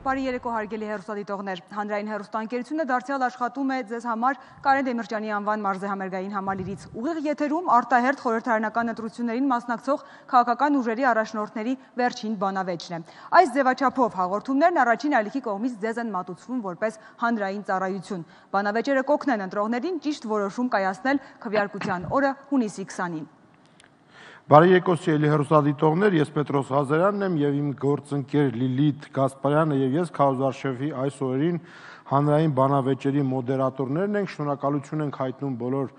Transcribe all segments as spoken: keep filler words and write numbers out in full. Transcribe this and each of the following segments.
Բարի երեկո հարգելի հեռուստադիտողներ, հանրային հեռուստաընկերությունը դարձյալ աշխատում է ձեզ համար Կարեն Դեմիրճյանի անվան մարզահամերգային համալիրից։ Ուղիղ եթերում արտահերթ խորհրդարանական ընտրություններին մասնակցող քաղաքական ուժերի առաջնորդների վերջին բանավեճն է։ Այս ձևաչափով հաղորդումներն առաջին ալիքի կողմից ձեզ են մատուցվում որպես հանրային ծառայություն։ Բանավեճերը կօգնեն ընտրողներին ճիշտ որոշում կայացնել քվեարկության օրը հունիսի քսանին։ Բարի երեկո սիրելի հեռուստադիտողներ, ես Պետրոս Ղազարյանն եմ եւ իմ գործընկեր Լիլիթ Գասպարյանը եւ ես Քարոզարշեվի այս օրերին հանրային բանավեճերի մոդերատորներն ենք, շնորհակալություն ենք հայտնում բոլոր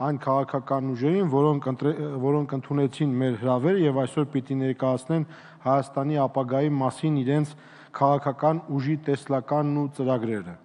այն քաղաքական ուժերին, որոնք որոնք ընդունեցին մեր հրավերը եւ այսօր պիտի ներկայացնեն Հայաստանի ապագայի մասին իրենց քաղաքական ուժի տեսլականն ու ծրագրերը։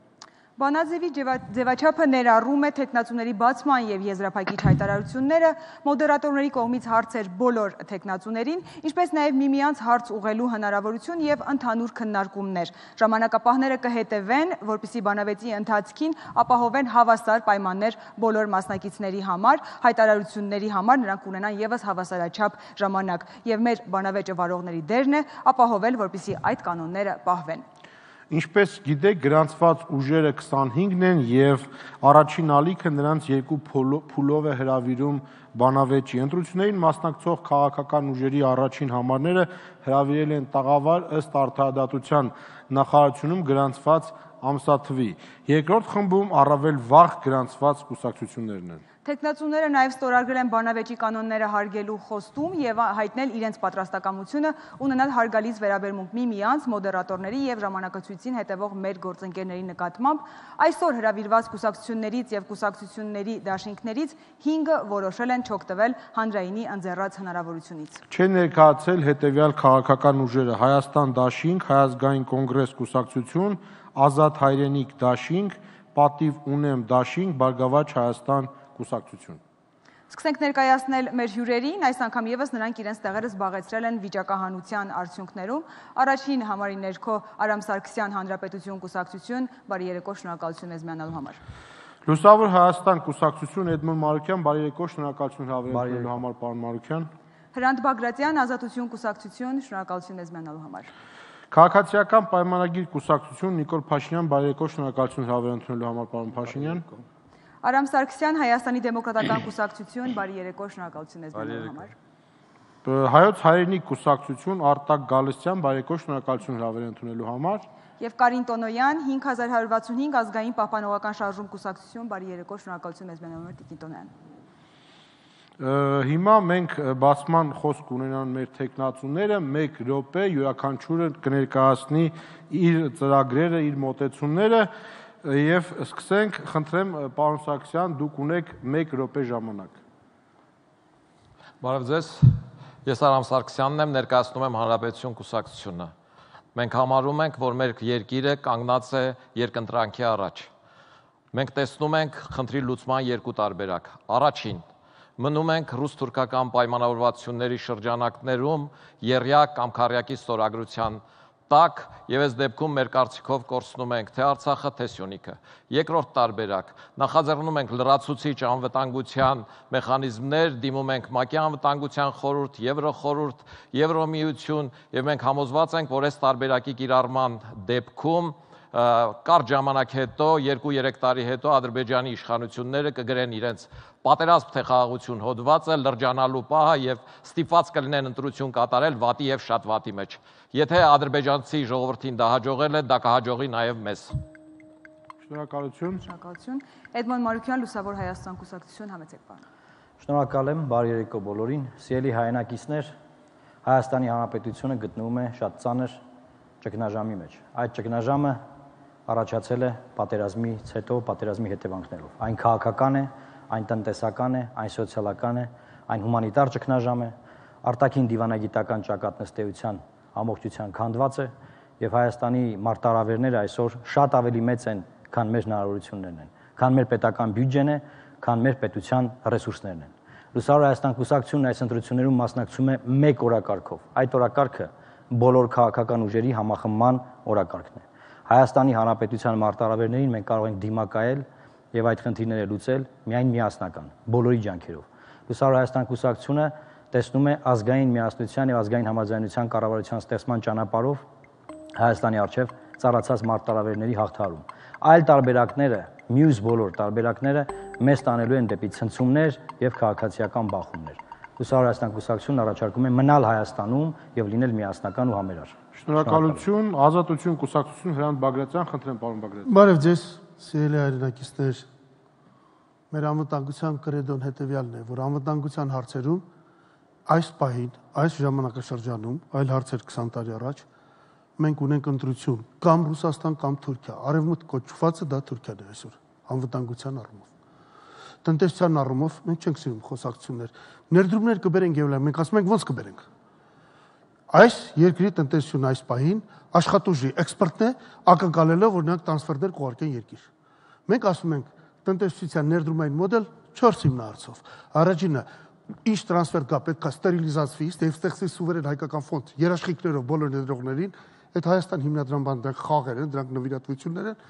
Բանաձևի ձևաչափը ներառում է թեկնածուների բացման և եզրափակիչ հայտարարությունները, մոդերատորների կողմից հարցեր բոլոր թեկնածուներին, ինչպես նաև միմյանց հարց ուղղելու հնարավորություն և ընդհանուր քննարկումներ։ Ժամանակապահները կհետևեն, որպեսզի բանավեճի ընթացքին ապահովեն հավասար պայմաններ բոլոր մասնակիցների համար, հայտարարությունների համար նրանք կունենան ևս հավասարաչափ ժամանակ, և մեր բանավեճը վարողների դերն է ապահովել, որպեսզի այդ կանոնները պահվեն։ Ինչպես գիտեք, գրանցված ուժերը քսանհինգն են եւ առաջին ալիքը նրանց երկու փուլով է հրավիրում բանավեճի։ Ընտրություններին մասնակցող քաղաքական ուժերի առաջին համարները հրավիրել են տաղավար ըստ արդարադատության նախարարությունում գրանցված ամսաթվի։ Երկրորդ խմբում առավել վաղ գրանցված կուսակցություններն են։ Թեկնածուները նաև ստորագրել են բանավեճի կանոնները հարգելու խոստում և հայտնել իրենց պատրաստակամությունը ունենալ հարգալից վերաբերմունք միմյանց, մոդերատորների և ժամանակացույցին հետևող մեր գործընկերների նկատմամբ։ Այսօր հրավիրված կուսակցություններից և կուսակցությունների դաշինքներից հինգը որոշել են չօգտվել հանրայինի ընձեռած հնարավորությունից։ Չեն ներկայացել հետևյալ քաղաքական ուժերը՝ Հայաստան դաշինք, Հայ ազգային կոնգրես կուսակցություն, Ազատ հայրենիք դաշինք, Պատիվ ունեմ դաշինք, Բարգավաճ Հայաստան կուսակցություն։ Սկսենք ներկայացնել մեր հյուրերին, այս անգամ ևս նրանք իրենց տեղերը զբաղեցրել են վիճակահանության արդյունքներում։ Առաջին համարի ներքո Արամ Սարգսյան Հանրապետություն կուսակցություն, բարի երեկո, շնորհակալություն մեզ միանալու համար։ Լուսավոր Հայաստան կուսակցություն, Էդմոն Մարուկյան, բարի երեկո, շնորհակալություն հավերելու համար, պարոն Մարուկյան։ Հրանտ Բագրատյան, Ազատություն կուսակցություն, շնորհակալություն մեզ միանալու համար։ Քաղաքացիական պայմանագիր կուսակցություն, Նիկոլ Փաշինյան, բարի երեկո, շնորհակալություն հավեր ընդունելու համար, պարոն Փաշինյան։ Արամ Սարգսյան, Հայաստանի դեմոկրատական կուսակցություն, բարի երեկո, շնորհակալություն մեզ միանալու համար։ Հայոց հայրենիք կուսակցություն, Արտակ Գալստյան, բարի երեկո, շնորհակալություն հավեր ընդունելու համար։ Եվ Կարին Տոնոյան, հինգ հազար հարյուր վաթսունհինգ ազգային պահպանողական շարժում կուսակցություն, բարի երեկո, շնորհակալություն մեզ միանալու համար, Տիկին Տոնոյան։ Հիմա մենք բացման խոսք ունենան մեր թեկնածուները, մեկ րոպե յուրաքանչյուրը կներկայացնի իր ծրագրերը, իր մոտեցումները եւ սկսենք, խնդրեմ պարոն Սարգսյան, դուք ունեք մեկ րոպե ժամանակ։ Բարև ձեզ, ես Արամ Սարգսյանն եմ, ներկայացնում եմ Հանրապետություն կուսակցությունը։ Մենք համարում ենք, որ մեր երկիրը կանգնած է երկընտրանքի առաջ։ Մենք տեսնում ենք խնդրի լուծման երկու տարբերակ։ Առաջին, մնում ենք ռուս-թուրքական պայմանավորվածությունների շրջանակներում եռյակ կամ քառյակի ստորագրության տակ եւ այս դեպքում մեր կարծիքով կորցնում ենք թե Արցախը, թե Սյունիքը։ Երկրորդ տարբերակ, նախաձեռնում ենք լրացուցիչ անվտանգության մեխանիզմներ, դիմում ենք ՄԱԿ-ի անվտանգության խորհուրդ, Եվրոխորհուրդ, Եվրոմիություն եւ մենք համոզված ենք, որ այս տարբերակի կիրառման դեպքում կարճ ժամանակ հետո, երկու-երեք տարի հետո Ադրբեջանի իշխանությունները կգրեն իրենց պատերազմ թե խաղաղություն հոդվածը, լրջանալու պահը եւ ստիպված կլինեն ընտրություն կատարել վատի եւ շատ վատի մեջ։ Եթե ադրբեջանցի ժողովրդին դա հաջողել է, դա կհաջողի նաեւ մեզ։ Շնորհակալություն։ Շնորհակալություն։ Էդմոն Մարուկյան, Լուսավոր Հայաստան կուսակցություն, համեցեք պարոն։ Շնորհակալ եմ, բարի երեկո բոլորին։ Սիրելի հայրենակիցներ, Հայաստանի Հանրապետությունը գտնվում է շատ ծանր ճգնաժամի մեջ։ Այդ ճգնաժամը առաջացել է պատերազմից հետո, պատերազմի հետևանքներով։ Այն քաղաքական է, այն տնտեսական է, այն սոցիալական է, այն հումանիտար ճգնաժամ է, արտաքին դիվանագիտական ճակատնստեյության ամբողջության քանդված է եւ Հայաստանի մարտահրավերները այսօր շատ ավելի մեծ են, քան մեր հնարավորություններն են, քան մեր պետական բյուջեն է, քան մեր պետության ռեսուրսներն են։ Լուսավոր Հայաստան կուսակցությունն այս ընտրություններում մասնակցում է մեկ օրակարգով։ Այդ օրակարգը բոլոր քաղաքական ուժերի համախմբման օրակարգն է։ Հայաստանի Հանրապետության մարտահրավերներին մենք կարող ենք դիմակայել եւ այդ խնդիրները լուծել միայն միասնական, բոլորի ջանքերով։ Լուսավոր Հայաստան կուսակցությունը տեսնում է ազգային միասնության եւ ազգային համաձայնության կառավարության ստեղծման ճանապարհով Հայաստանի առջև ծառացած մարտահրավերների հաղթահարում։ Այլ տարբերակները, մյուս բոլոր տարբերակները մեզ տանելու են դեպի ցնցումներ եւ քաղաքացիական բախումներ։ Լուսավոր Հայաստան կուսակցությունն առաջարկում է մնալ Հայաստանում եւ լինել միասնական ու համերար։ Շնորհակալություն, Ազատություն կուսակցություն Հրանտ Բագրատյան, խնդրեմ պարոն Բագրատյան։ Բարև ձեզ, սիրելի հայրենակիցներ։ Մեր անվտանգության կրեդոն հետևյալն է, որ անվտանգության հարցերում այս պահին, այս ժամանակաշրջանում, այլ հարցեր քսան տարի առաջ, մենք ունենք ընտրություն կամ Ռուսաստան կամ Թուրքիա, արևմուտք կոչվածը դա Թուրքիան է այսօր, անվտանգության առումով։ Տնտեսության առումով մենք չենք սիրում խոսակցություններ, ներդրումներ կբերենք եւ մենք ասում ենք ոնց կբերենք։ Այս երկրի տնտեսությունը այս պահին աշխատուժի էքսպորտն է, ակնկալելով որ նրանք տրանսֆերներ կուղարկեն երկիր։ Մենք ասում ենք տնտեսության ներդրումային մոդել չորս հիմնահարցով։ Առաջինը ինչ տրանսֆեր կա, պետք է ստերիլիզացվի, եւ ստեղծվի սուվերեն հայկական ֆոնդ երաշխիքներով բոլոր ներդրողներին, այդ Հայաստան հիմնադրամական դրանք խաղեր են, դրանք նվիրատվություններ են։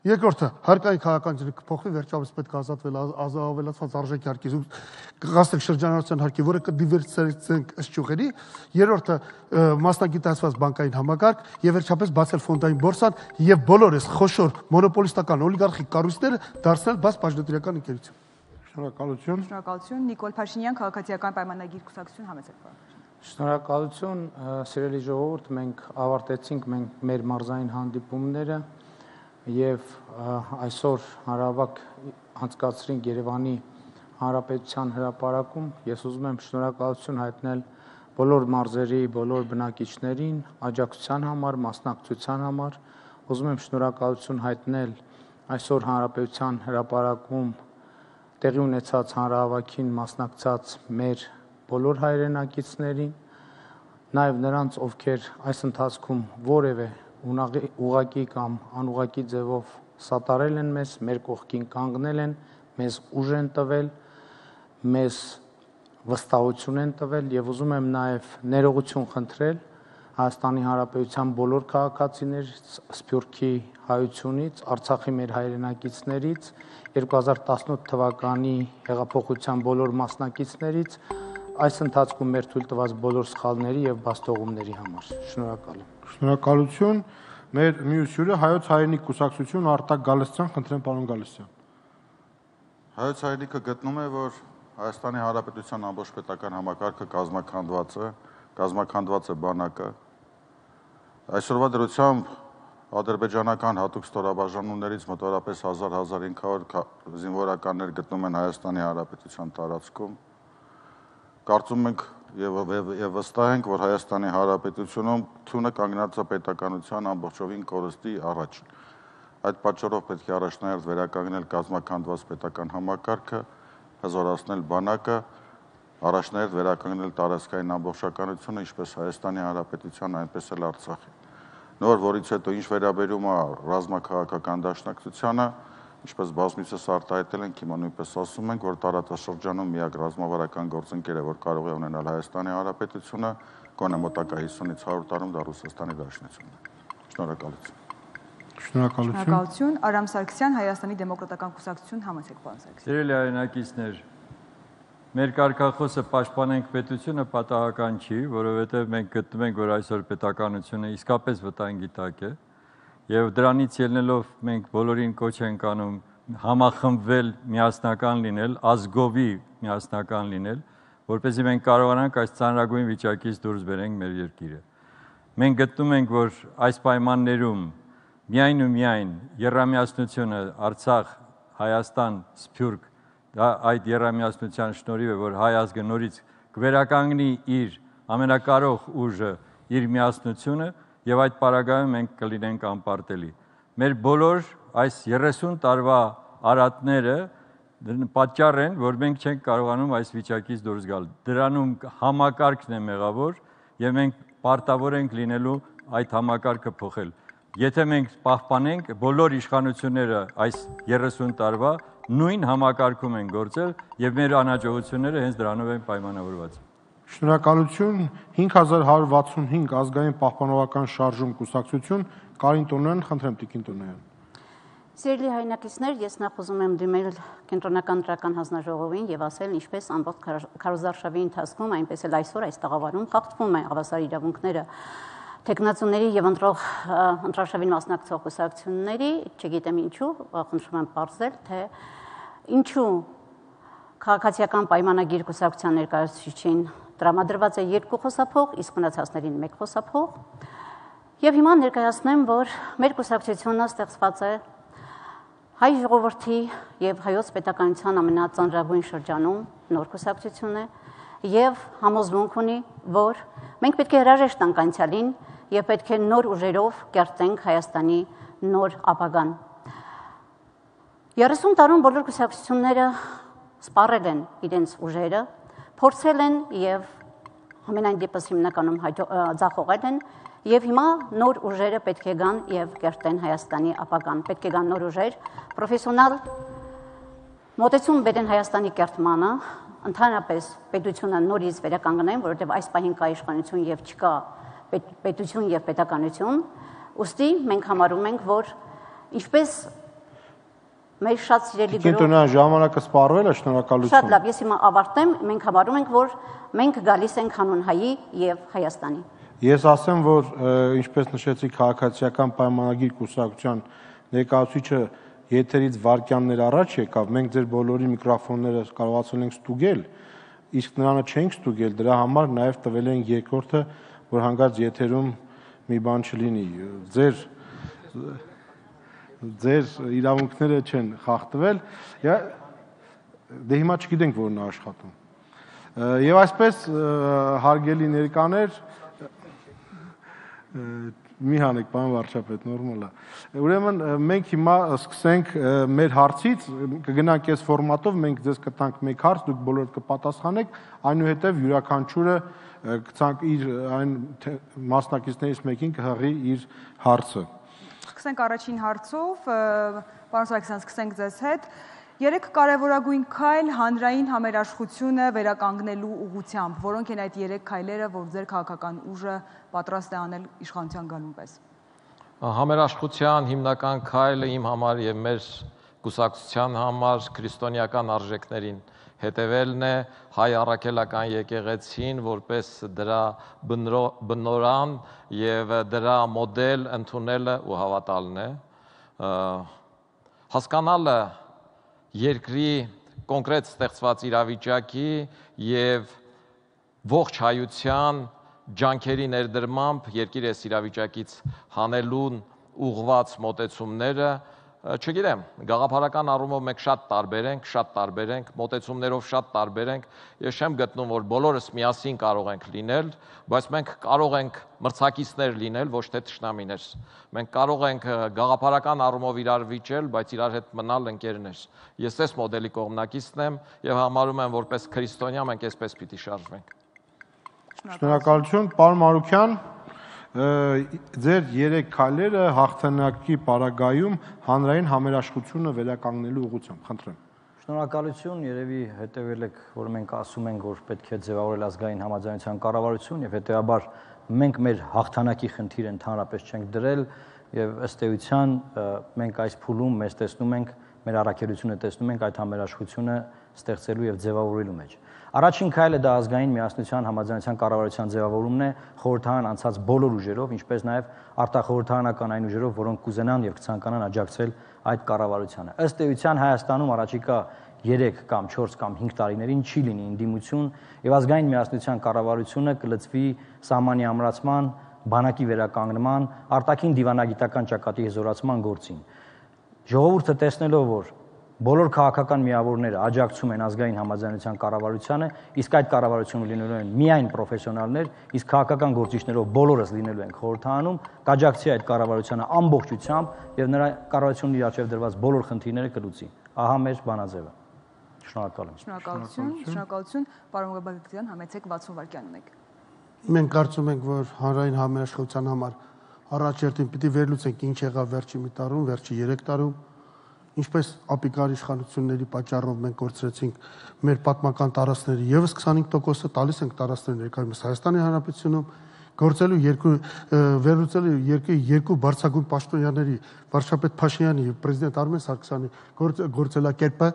Երկրորդը, հարկային քաղաքականությունը կփոխվի, վերջապես պետք է ազատվել ավելացված արժեքի հարկից, կգաստենք շրջանառության հարկի, որը կդիվերսիֆიცենք ըստ ճյուղերի։ Երրորդը, մասնագիտացված բանկային համակարգ եւ վերջապես բացել ֆոնդային բորսան եւ բոլոր այս խոշոր մոնոպոլիստական օլիգարխիկ կառույցները դարձնել բաց բաժնետիրական ընկերություն։ Շնորհակալություն։ Շնորհակալություն, Նիկոլ Փաշինյան, քաղաքացիական պայմանագիր կուսակցություն համեցեք պարոն։ Շնորհակալություն, սիրելի ժողովուրդ, մենք ավարտեցինք մենք մեր մարզային հանդիպումները եւ այսօր հարավակ անցկացրինք Երևանի Հանրապետության հրապարակում։ Ես ուզում եմ շնորհակալություն հայտնել բոլոր մարզերի, բոլոր բնակիչներին աջակցության համար, մասնակցության համար։ Ուզում եմ շնորհակալություն հայտնել այսօր Հանրապետության հրապարակում տեղի ունեցած հանրահավաքին մասնակցած մեր բոլոր հայրենակիցներին, նաև նրանց, ովքեր այս ընթացքում որևէ ուղղակի կամ անուղղակի ձևով սատարել են մեզ, մեր կողքին կանգնել են, մեզ ուժ են տվել, մեզ վստահություն են տվել եւ ուզում եմ նաև ներողություն խնդրել Հայաստանի Հանրապետության բոլոր քաղաքացիներից, Սփյուռքի հայությունից, Արցախի մեր հայրենակիցներից, երկու հազար տասնութ թվականի հեղափոխության բոլոր մասնակիցներից, այս ընթացքում մեր թույլ տված բոլոր սխալների եւ բաստողումների համար։ Շնորհակալ եմ։ Շնորհակալություն։ Մեր մյուս հյուրը Հայոց հայրենիք կուսակցություն Արտակ Գալստյան, խնդրեմ պարոն Գալստյան։ Հայոց հայրենիքը գտնում է, որ Հայաստանի Հանրապետության ամբողջ պետական համակարգը կազմաքանդված է, կազմաքանդված է բանակը։ Այսօրվա դրությամբ ադրբեջանական հատուկ ստորաբաժանումներից մոտավորապես հազար հազար հինգ հարյուր զինվորականներ գտնում են Հայաստանի Հանրապետության տարածքում։ Կարծում ենք եւ եւ վստահ ենք, որ Հայաստանի Հանրապետությունում թունը կանգնած է պետականության ամբողջովին կորստի առաջ։ Այդ պատճառով պետք է առաջնահերթ վերականգնել կազմաքանդված պետական համակարգը, հզորացնել բանակը, առաջնահերթ վերականգնել տարածքային ամբողջականությունը, ինչպես Հայաստանի Հանրապետության, այնպես էլ Արցախի։ Նոր որից հետո ինչ վերաբերում է ռազմաքաղաքական դաշնակցությանը, ինչպես բազմիցս արտահայտել ենք, հիմա նույնպես ասում ենք, որ տարածաշրջանում միակ ռազմավարական գործընկերը, որ կարող է ունենալ Հայաստանի Հանրապետությունը, գոնե մոտակա հիսունից հարյուր տարում դա Ռուսաստանի Դաշնությունն է։ Շնորհակալություն։ Շնորհակալություն։ Շնորհակալություն, Արամ Սարգսյան, Հայաստանի դեմոկրատական կուսակցություն, համեցեք պարոն Սարգսյան։ Սիրելի հայրենակիցներ, մեր կարգախոսը պաշտպանենք պետությունը պատահական չի, որովհետև մենք գտնում ենք, որ այսօր պետականությունը իսկապես վտանգի տակ է, եւ դրանից ելնելով մենք բոլորին կոչ ենք անում համախմբվել, միասնական լինել, ազգովի միասնական լինել, որպեսզի մենք կարողանանք այս ծանրագույն վիճակից դուրս բերենք մեր երկիրը։ Մենք գտնում ենք, որ այս պայմաններում միայն ու միայն եռամիասնությունը Արցախ, Հայաստան, Սփյուռք, դա այդ եռամիասնության շնորհիվ է, որ հայ ազգը նորից կվերականգնի իր ամենակարող ուժը, իր միասնությունը եւ այդ պարագայում մենք կլինենք անպարտելի։ Մեր բոլոր այս երեսուն տարվա արատները պատճառ են, որ մենք չենք կարողանում այս վիճակից դուրս գալ։ Դրանում համակարգն է մեղավոր եւ մենք պարտավոր ենք լինելու այդ համակարգը փոխել։ Եթե մենք պահպանենք բոլոր իշխանությունները այս երեսուն տարվա նույն համակարգում են գործել եւ մեր անհաջողությունները հենց դրանով են պայմանավորված։ Շնորհակալություն, հինգ հազար հարյուր վաթսունհինգ ազգային պահպանողական շարժում կուսակցություն, Կարին Տոնոյան, խնդրեմ Տիկին Տոնոյան։ Սիրելի հայրենակիցներ, ես նախ ուզում եմ դիմել կենտրոնական դրական հանձնաժողովին եւ ասել, ինչպես ամբողջ քարոզարշավի ընթացքում, այնպես էլ այսօր այս տաղավարում խախտվում է հավասար իրավունքները Տեխնացուների եւ ընտրող ընտրաշավին մասնակցող կուսակցությունների, չգիտեմ ինչու, խնդրում եմ բարձել, թե ինչու քաղաքացիական պայմանագիր կուսակցության ներկայացուցիչին տրամադրված է երկու խոսափող, իսկ մնացածներին մեկ խոսափող։ Եվ հիմա ներկայացնեմ, որ մեր կուսակցությունը ստեղծված է հայ ժողովրդի եւ հայոց պետականության ամենածանրագույն շրջանում նոր կուսակցություն է եւ համոզմունք ունի, որ մենք պետք է հրաժեշտ տանք անցյալին եւ պետք է նոր ուժերով կերտենք Հայաստանի նոր ապագան։ երեսուն տարում բոլոր կուսակցությունները սպառել են իրենց ուժերը, փորձել են եւ ամենայն դեպս հիմնականում ձախողել են եւ հիմա նոր ուժերը պետք է գան եւ կերտեն Հայաստանի ապագան։ Պետք է գան նոր ուժեր, պրոֆեսիոնալ մոտեցում բերեն Հայաստանի կերտմանը, ընդհանրապես պետությունը նորից վերականգնեն, որովհետեւ այս պահին կա իշխանություն եւ չկա պետություն եւ պետականություն, ուստի մենք համարում ենք, որ ինչպես մեր շատ սիրելի գրող Կենտրոնական ժամանակը սպառվել է, շնորհակալություն։ Շատ լավ, ես հիմա ավարտեմ, մենք համարում ենք, որ մենք գալիս ենք հանուն հայի եւ Հայաստանի։ Ես ասեմ, որ ինչպես նշեցի քաղաքացիական պայմանագիր կուսակցության ներկայացուցիչը եթերից վարքյաններ առաջ եկավ, մենք ձեր բոլորի միկրոֆոնները կարողացել ենք ստուգել, իսկ նրանը չենք ստուգել, դրա համար նաեւ տվել են երկրորդը, որ հանկարծ եթերում մի բան չլինի։ Ձեր ձեր իրավունքները չեն խախտվել, դե հիմա չգիտենք որն է աշխատում։ Եվ այսպես հարգելի ներկաներ, մի հանեք, պարոն վարչապետ, նորմալ է։ Ուրեմն մենք հիմա սկսենք մեր հարցից, կգնանք այս ֆորմատով, մենք ձեզ կտանք մեկ հարց, դուք բոլորդ կպատասխանեք, այնուհետև յուրաքանչյուրը կցանք իր այն մասնակիցներից մեկին կհղի իր հարցը։ Սկսենք առաջին հարցով, պարոն Սարգսյան, սկսենք ձեզ հետ։ Երեք կարևորագույն քայլ հանրային համերաշխությունը վերականգնելու ուղղությամբ, որոնք են այդ երեք քայլերը, որ ձեր քաղաքական ուժը պատրաստ է անել իշխանության գալուն պես։ Համերաշխության հիմնական քայլը իմ համար եւ մեր կուսակցության համար քրիստոնեական արժեքներին հետևելն է, հայ առաքելական եկեղեցին որպես դրա բնորան եւ դրա մոդել ընդունելը ու հավատալն է։ Հասկանալը երկրի կոնկրետ ստեղծված իրավիճակի եւ ողջ հայության ջանքերի ներդրմամբ երկիր այս իրավիճակից հանելուն ուղղված մոտեցումները, չգիտեմ, գաղափարական առումով մենք շատ տարբեր ենք, շատ տարբեր ենք, մոտեցումներով շատ տարբեր ենք, ես չեմ գտնում, որ բոլորս միասին կարող ենք լինել, բայց մենք կարող ենք մրցակիցներ լինել, ոչ թե թշնամիներ։ Մենք կարող ենք գաղափարական առումով իրար վիճել, բայց իրար հետ մնալ ընկերներ։ Ես այս մոդելի կողմնակիցն եմ եւ համարում եմ, որպես քրիստոնյա մենք այսպես պիտի շարժվենք։ Շնորհակալություն, պարոն Մարուքյան, ձեր երեք քայլերը հաղթանակի պարագայում հանրային համերաշխությունը վերականգնելու ուղղությամբ, խնդրեմ։ Շնորհակալություն, երևի հետևել եք, որ մենք ասում ենք, որ պետք է ձևավորել ազգային համաձայնության կառավարություն եւ հետեւաբար մենք մեր հաղթանակի խնդիրը ընդհանրապես չենք դրել եւ ըստ էության մենք այս փուլում մեզ տեսնում ենք, մեր առաքելությունը տեսնում ենք այդ համերաշխությունը ստեղծելու եւ ձևավորելու մեջ։ Առաջին քայլը դա ազգային միասնության համաձայնության կառավարության ձևավորումն է խորհրդարան անցած բոլոր ուժերով, ինչպես նաև արտախորհրդարանական այն ուժերով, որոնք կուզենան եւ կցանկանան աջակցել այդ կառավարությանը։ Ըստ էության Հայաստանում առաջիկա երեք կամ չորս կամ հինգ տարիներին չի լինի ընդդիմություն եւ ազգային միասնության կառավարությունը կլծվի սահմանի ամրացման, բանակի վերականգնման, արտաքին դիվանագիտական ճակատի հզորացման գործին։ Ժողովուրդը տեսնելով, որ բոլոր քաղաքական միավորները աջակցում են ազգային համաձայնության կառավարությանը, իսկ այդ կառավարությունը լինելու են միայն պրոֆեսիոնալներ, իսկ քաղաքական գործիչներով բոլորս լինելու են խորհրդարանում, կաջակցի այդ կառավարությանը ամբողջությամբ եւ նրա կառավարությունն իր առջեւ դրված բոլոր խնդիրները կլուծի։ Ահա մեր բանաձևը։ Շնորհակալ եմ։ Շնորհակալություն, շնորհակալություն, պարոն Գաբագդյան, համեցեք վաթսուն վայրկյան ունեք։ Մենք կարծում ենք, որ հանրային համերաշխության համար առաջերտին պիտի վերլուծենք ինչ եղավ վերջի մի տարում, վերջի երեք տարում, ինչպես ապիկար իշխանությունների պատճառով մենք կորցրեցինք մեր պատմական տարածքների եւս քսանհինգ տոկոսը տալիս ենք տարածքներ ներկայումս Հայաստանի Հանրապետությունում, գործելու երկու վերլուծելու երկու երկու բարձրագույն պաշտոնյաների վարչապետ Փաշինյանի եւ պրեզիդենտ Արմեն Սարգսյանի գործելակերպը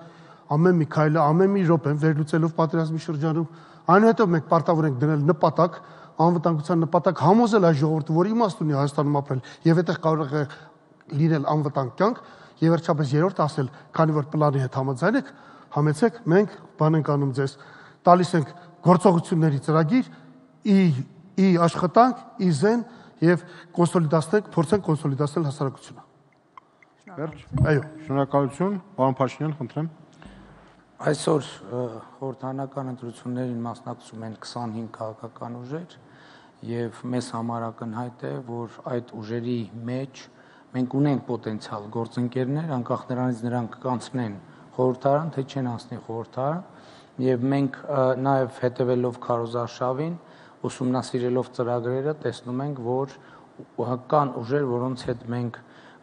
ամեն մի քայլը, ամեն մի րոպեն վերլուծելով պատերազմի շրջանում, այնուհետև մենք պարտավոր ենք դնել նպատակ անվտանգության նպատակ համոզել այս ժողովուրդը, որ իմաստ ունի Հայաստանում ապրել եւ այդտեղ կարող է լինել անվտանգ կյանք, եւ վերջապես երրորդ ասել, քանի որ պլանի հետ համաձայն եք, համեցեք, մենք բան ենք անում ձեզ, տալիս ենք գործողությունների ծրագիր, ի ի աշխատանք, ի զեն եւ կոնսոլիդացնենք, փորձենք կոնսոլիդացնել հասարակությունը։ Վերջ։ Այո, շնորհակալություն, պարոն Փաշինյան, խնդրեմ։ Այսօր խորհրդանական ընտրություններին մասնակցում են քսանհինգ քաղաքական ուժեր եւ մեզ համար ակնհայտ է, որ այդ ուժերի մեջ մենք ունենք պոտենցիալ գործընկերներ, անկախ նրանից նրանք կանցնեն խորհրդարան, թե չեն անցնի խորհրդարան, եւ մենք նաեւ հետեւելով քարոզարշավին, ուսումնասիրելով ծրագրերը, տեսնում ենք, որ կան ուժեր, որոնց հետ մենք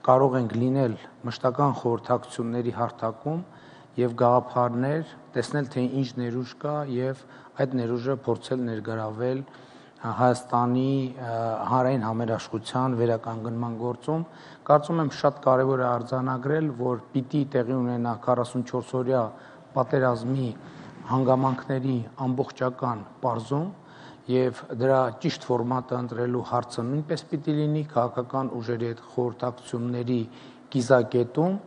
կարող ենք լինել մշտական խորհրդակցությունների հարթակում եւ գաղափարներ, տեսնել թե ինչ ներուժ կա եւ այդ ներուժը փորձել ներգրավել Հայաստանի հանրային համերաշխության վերականգնման գործում։ Կարծում եմ շատ կարևոր է արձանագրել, որ պիտի տեղի ունենա քառասունչորս օրյա պատերազմի հանգամանքների ամբողջական պարզում եւ դրա ճիշտ ֆորմատը ընտրելու հարցը նույնպես պիտի լինի քաղաքական ուժերի հետ խորհրդակցությունների կիզակետում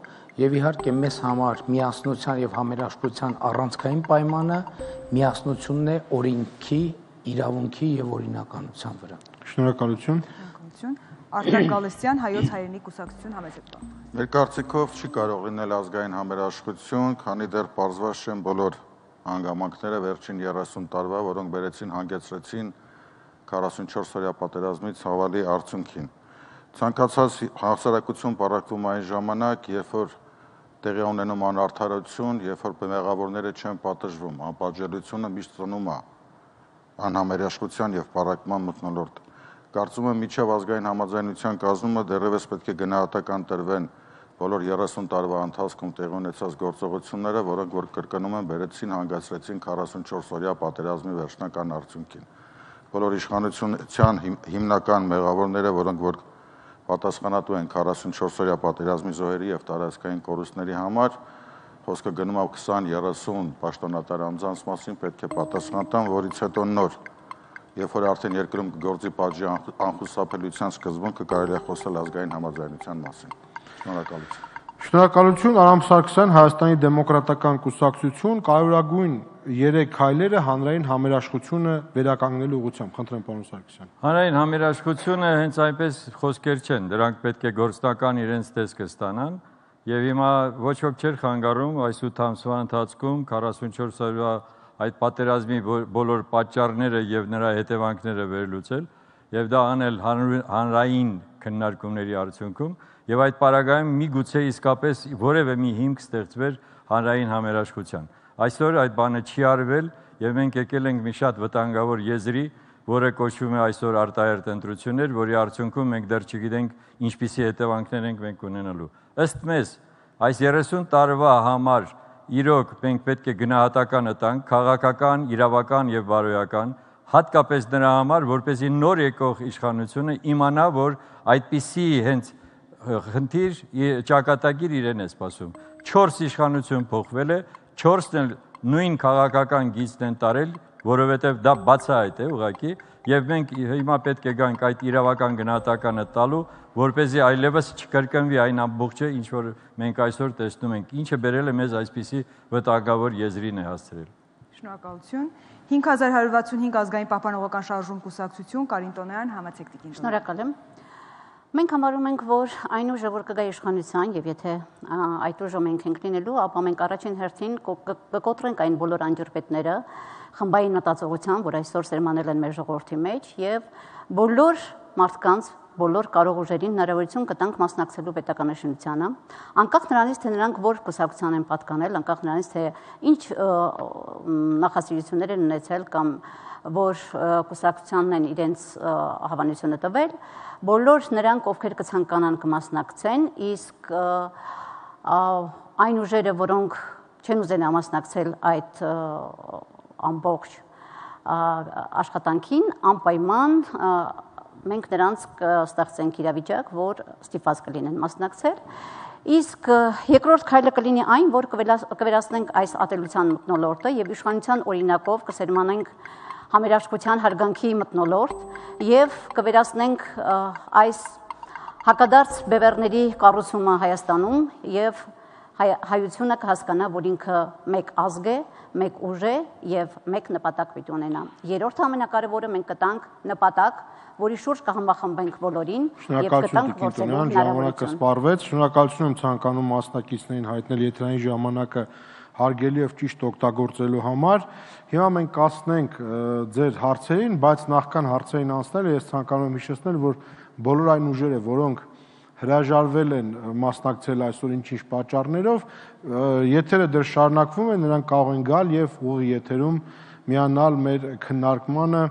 եւ իհարկե մեզ համար միասնության եւ համերաշխության առանցքային պայմանը միասնությունն է օրենքի, իրավունքի եւ օրինականության վրա։ Շնորհակալություն։ Շնորհակալություն։ Արտակ Գալստյան, Հայոց հայրենի կուսակցություն, համեցեք։ Մեր կարծիքով չի կարող լինել ազգային համերաշխություն, քանի դեռ պարզված չեն բոլոր հանգամանքները վերջին երեսուն տարվա, որոնք բերեցին հանգեցրեցին քառասունչորս օրյա պատերազմի ցավալի արդյունքին։ Ցանկացած հասարակություն պարակվում այն ժամանակ, երբ որ տեղի ունենում անարդարություն, երբ որ մեղավորները չեն պատժվում, անպատժելիությունը միշտ ծնում է անհամերաշխության եւ պարակման մթնոլորտ։ Կարծում եմ միջև ազգային համաձայնության կազմումը դեռևս պետք է գնահատական տրվեն բոլոր երեսուն տարվա ընթացքում տեղի ունեցած գործողությունները, որոնք որ կրկնում են բերեցին հանգեցրեցին քառասունչորս օրյա պատերազմի վերջնական արդյունքին։ Բոլոր իշխանության հիմնական մեղավորները, որոնք որ պատասխանատու են քառասունչորս օրյա պատերազմի զոհերի եւ տարածքային կորուստների համար, խոսքը գնում է քսան երեսուն պաշտոնատար անձանց մասին, պետք է պատասխան տան, որից հետո նոր, երբ որ արդեն երկրում գործի պատժի անխուսափելիության սկզբունքը կարելի է խոսել ազգային համաձայնության մասին։ Շնորհակալություն։ Շնորհակալություն, Արամ Սարգսյան, Հայաստանի դեմոկրատական կուսակցություն, կարևորագույն երեք քայլերը հանրային համերաշխությունը վերականգնելու ուղղությամբ։ Խնդրեմ, պարոն Սարգսյան։ Հանրային համերաշխությունը հենց այնպես խոսքեր չեն, դրանք պետք է գործնական իրենց տեսքը ստանան, եւ հիմա ոչ ոք չէր խանգարում այս ութ ամսվա ընթացքում քառասունչորս օրվա այդ պատերազմի բոլոր պատճառները եւ նրա հետևանքները վերլուծել եւ դա անել հանրային քննարկումների արդյունքում եւ այդ պարագայում միգուցե իսկապես որևէ մի հիմք ստեղծվեր հանրային համերաշխության։ Այսօր այդ բանը չի արվել եւ մենք եկել ենք մի շատ վտանգավոր եզրի, որը կոչվում է այսօր արտահերթ ընտրություններ, որի արդյունքում մենք դեռ չգիտենք ինչպիսի հետևանքներ ենք մենք ունենալու։ Ըստ մեզ, այս երեսուն տարվա համար իրոք մենք պետք է գնահատականը տանք քաղաքական, իրավական եւ բարոյական, հատկապես նրա համար, որպեսզի նոր եկող իշխանությունը իմանա, որ այդպիսի հենց խնդիր ճակատագիր իրեն է սպասում։ Չորս իշխանություն փոխվել է, չորսն էլ նույն քաղաքական գիծն են տարել, որովհետև դա բացահայտ է ուղղակի, եւ մենք հիմա պետք է գանք այդ իրավական գնահատականը տալու, որպեսզի այլևս չկրկնվի այն ամբողջը, ինչ որ մենք այսօր տեսնում ենք, ինչը բերել է մեզ այսպիսի վտանգավոր եզրին է հասցրել։ Շնորհակալություն։ հինգ հազար հարյուր վաթսունհինգ ազգային պահպանողական շարժում կուսակցություն, Կարին Տոնոյան, համեցեք տիկին։ Շնորհակալ եմ։ Մենք համարում ենք, որ այն ուժը, որ կգա իշխանության, եւ եթե այդ ուժը մենք ենք լինելու, ապա մենք առաջին հերթին կկոտրենք այն բոլոր անջրպետները, խմբային մտածողության, որ այսօր սերմանել են մեր ժողովրդի մեջ, եւ բոլոր մարդկանց, բոլոր կարող ուժերին հնարավորություն կտանք մասնակցելու պետականաշինությանը, անկախ նրանից, թե նրանք որ կուսակցության են պատկանել, անկախ նրանից, թե ինչ նախասիրություններ են ունեցել կամ որ կուսակցությանն են իրենց հավանությունը տվել, բոլոր նրանք, ովքեր կցանկանան կմասնակցեն, իսկ այն ուժերը, որոնք չեն ուզենա մասնակցել այդ ամբողջ աշխատանքին, անպայման մենք նրանց կստեղծենք իրավիճակ, որ ստիպված կլինեն մասնակցել, իսկ երկրորդ քայլը կլինի այն, որ կվերացնենք այս ատելության մթնոլորտը եւ իշխանության օրինակով կսերմանենք համերաշխության հարգանքի մթնոլորտ եւ կվերացնենք այս հակադարձ բևեռների կառուցումը Հայաստանում եւ հայությունը կհասկանա, որ ինքը մեկ ազգ է, մեկ ուժ է եւ մեկ նպատակ պիտի ունենա։ Երրորդ ամենակարևորը մենք կտանք նպատակ, որի շուրջ կհամախմբենք բոլորին եւ կտանք գործելու հնարավորություն։ Սպառվեց, շնորհակալություն եմ ցանկանում մասնակիցներին հայտնել եթերային ժամանակը հարգելի եւ ճիշտ օգտագործելու համար։ Հիմա մենք կասնենք ձեր հարցերին, բայց նախքան հարցերին անցնելը ես ցանկանում եմ հիշեցնել, որ բոլոր այն ուժերը, որոնք հրաժարվել են մասնակցել այսօր ինչ-ինչ պատճառներով, եթերը դեռ շարունակվում է, նրանք կարող են գալ եւ ուղի եթերում միանալ մեր քննարկմանը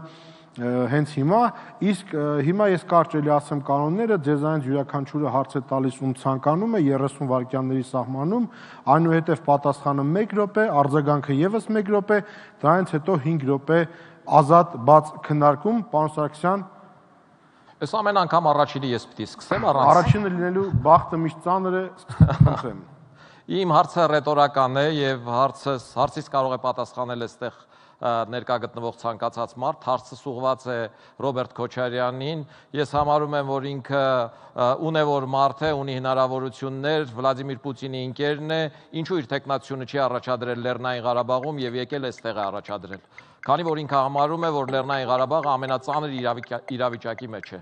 հենց հիմա, իսկ հիմա ես կարճ էլի ասեմ կանոնները, ձեզանից յուրաքանչյուրը հարց է տալիս ում ցանկանում է երեսուն վայրկյանների սահմանում, այնուհետև պատասխանը մեկ րոպե, արձագանքը եւս մեկ րոպե, դրանից հետո հինգ րոպե ազատ բաց քննարկում, պարոն Սարգսյան։ Այս ամեն անգամ առաջինը ես պիտի սկսեմ առանց։ Առաջինը լինելու բախտը միշտ ծանր է, խնդրեմ։ Իմ հարցը ռետորական է եւ հարցս հարցից կարող է պատասխանել այստեղ ներկա գտնվող ցանկացած մարդ, հարցը ուղղված է Ռոբերտ Քոչարյանին։ Ես համարում եմ, որ ինքը ունևոր մարդ է, ունի հնարավորություններ, Վլադիմիր Պուտինի ընկերն է, ինչու իր տեխնացիությունը չի առաջադրել Լեռնային Ղարաբաղում եւ եկել այստեղ է առաջադրել։ Քանի որ ինքը համարում է, որ Լեռնային Ղարաբաղը ամենածանր իրավիճակի մեջ է։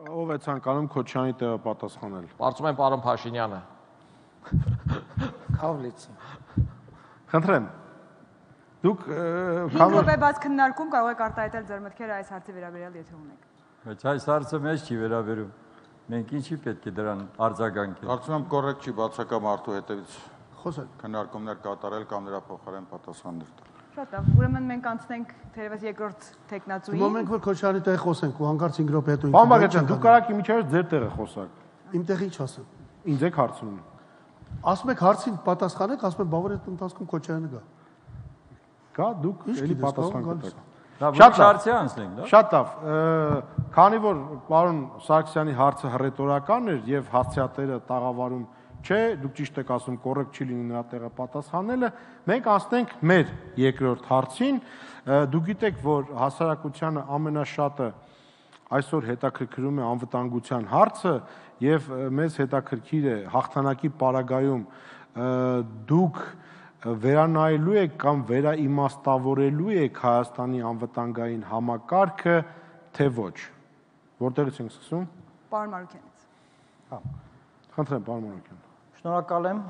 Ով է ցանկանում Քոչյանի տեղը պատասխանել։ Կարծում եմ պարոն Փաշինյանը։ Քավլիցի։ Խնդրեմ։ Դուք հինգ րոպե բաց քննարկում կարող եք արտահայտել ձեր մտքերը այս հարցի վերաբերյալ, եթե ունեք։ Բայց այս հարցը մեզ չի վերաբերում։ Մենք ինչի պետք է դրան արձագանքենք։ Կարծում եմ կոռեկտ չի բացակա մարդու հետևից Խոսեք։ քննարկումներ կատարել կամ նրա փոխարեն պատասխաններ տալ։ Շատ լավ, ուրեմն մենք անցնենք թերևս երկրորդ տեխնացուին։ Հիմա մենք որ Քոչարյանի տեղ խոսենք ու հանկարծ հինգ րոպե հետո Պարոն Բաղդասարյան, դուք կարաք իմիջիայլոց ձեր տեղը խոսակ։ Իմ տեղ ինչ ասեմ։ Ինձ եք հարցնում։ Ասում եք հարցին պատասխանեք, ասում եք բավարար այդ ընթացքում Քոչարյանը գա։ Գա, դուք էլի պատասխան կտաք։ Շատ հարցի անցնենք, դա։ Շատ լավ։ Քանի որ պարոն Սարգսյանի հարցը հռետորական էր եւ հասցեատերը տաղավարում չէ, դուք ճիշտ եք ասում, կոռեկտ չի լինի նրա տեղը պատասխանելը, մենք անցնենք մեր երկրորդ հարցին։ Դուք գիտեք, որ հասարակությանը ամենաշատը այսօր հետաքրքրում է անվտանգության հարցը եւ մեզ հետաքրքիր է հաղթանակի պարագայում դուք վերանայելու եք կամ վերաիմաստավորելու եք Հայաստանի անվտանգային համակարգը, թե ոչ։ Որտեղից ենք սկսում։ Պարոն Մարուկյանից։ Հա։ Խնդրեմ, պարոն Մարուկյան։ Շնորհակալ եմ,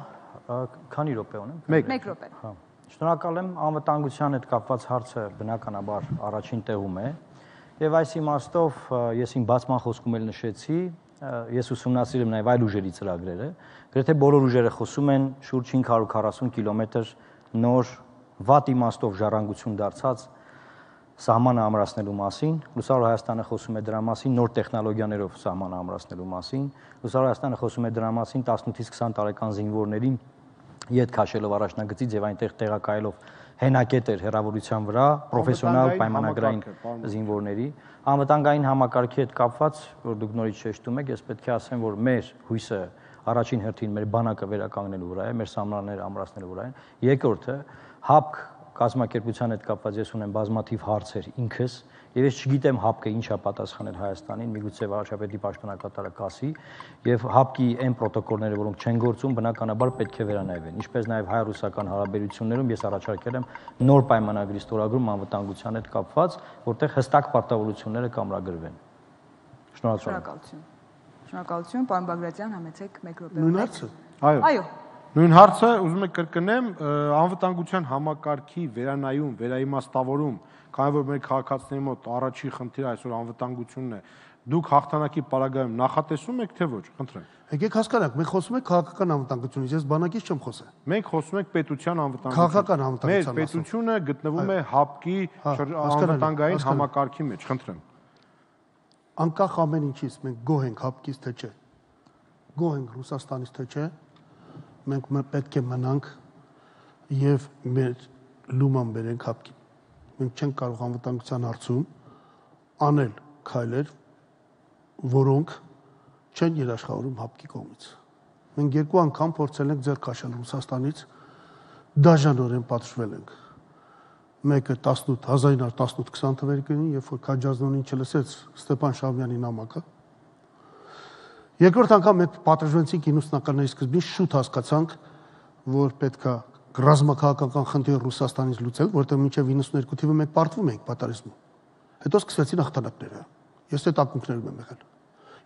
քանի րոպե ունեմ։ մեկ րոպե։ Հա։ Շնորհակալ եմ, անվտանգության հետ կապված հարցը բնականաբար առաջին տեղում է, եւ այս իմաստով ես իմ բացման խոսքում էլ նշեցի, ես ուսումնասիրել եմ նաեւ այլ ուժերի ծրագրերը, գրեթե բոլոր ուժերը խոսում են շուրջ հինգ հարյուր քառասուն կիլոմետր նոր վատ իմաստով ժառանգություն դարձած սահմանը ամրացնելու մասին, Լուսավոր Հայաստանը խոսում է դրա մասին, նոր տեխնոլոգիաներով սահմանը ամրացնելու մասին, Լուսավոր Հայաստանը խոսում է դրա մասին տասնութից քսան տարեկան զինվորներին ետ քաշելով առաջնագծից եւ այնտեղ տեղակայելով հենակետեր հեռավորության վրա պրոֆեսիոնալ պայմանագրային զինվորների անվտանգային համակարգի հետ կապված, որ դուք նորից շեշտում եք, ես պետք է ասեմ, որ մեր հույսը առաջին հերթին մեր բանակը վերականգնելու վրա է, մեր սահմանները ամրացնելու վրա են։ Երկրորդը ՀԱՊԿ կազմակերպության հետ կապված ես ունեմ բազմաթիվ հարցեր ինքս, եւ ես չգիտեմ ՀԱՊԿ-ը ինչա պատասխանել Հայաստանին, միգուցե վարչապետի պաշտոնակատարը կասի, եւ ՀԱՊԿ-ի այն պրոտոկոլները, որոնք չեն գործում, բնականաբար պետք է վերանայվեն։ Ինչպես նաեւ հայ-ռուսական հարաբերություններում ես առաջարկել եմ նոր պայմանագրի ստորագրում անվտանգության հետ կապված, որտեղ հստակ պարտավորությունները կամրագրվեն։ Շնորհակալություն։ Շնորհակալություն, պարոն Բագրատյան, համեցեք մեկ րոպե։ Նույն հարցը։ Այո։ Այո։ Նույն հարցը ուզում եք կրկնեմ, անվտանգության համակարգի վերանայում, վերաիմաստավորում, քանի որ մեր քաղաքացիների մոտ առաջի խնդիրը այսօր անվտանգությունն է, դուք հաղթանակի պարագայում նախատեսում եք, թե ոչ, խնդրեմ։ Եկեք հասկանանք, մենք խոսում ենք քաղաքական անվտանգությունից, ես բանակից չեմ խոսել։ Մենք խոսում ենք պետության անվտանգություն։ Քաղաքական անվտանգության Մեր պետությունը գտնվում է ՀԱՊԿ-ի անվտանգային համակարգի մեջ, խնդրեմ։ Անկախ ամեն ինչից մենք գոհ ենք ՀԱՊԿ-ից, թե չէ։ Գոհ ենք Ռուսաստանից, թե չէ։ Մենք պետք է մնանք եւ մեր լուման բերենք ՀԱՊԿ-ին։ Մենք չենք կարող անվտանգության հարցում անել քայլեր, որոնք չեն երաշխավորում ՀԱՊԿ-ի կողմից։ Մենք երկու անգամ փորձել ենք ձեռք քաշել Ռուսաստանից, դաժանորեն պատժվել ենք։ մեկը հազար ինը հարյուր տասնութ քսան թվականին, երբ որ Քաջազնոնին չլսեց Ստեփան Շահումյանի նամակը։ Երկրորդ անգամ մենք պատժվեցինք իննսունականների սկզբին, շուտ հասկացանք, որ պետքա ռազմաքաղաքական խնդիր Ռուսաստանից լուծել, որտեղ մինչև իննսուններկու թիվը մենք պարտվում էինք պատերազմում։ Հետո սկսվեցին հաղթանակները։ Ես այդ ակունքներում եմ եղել։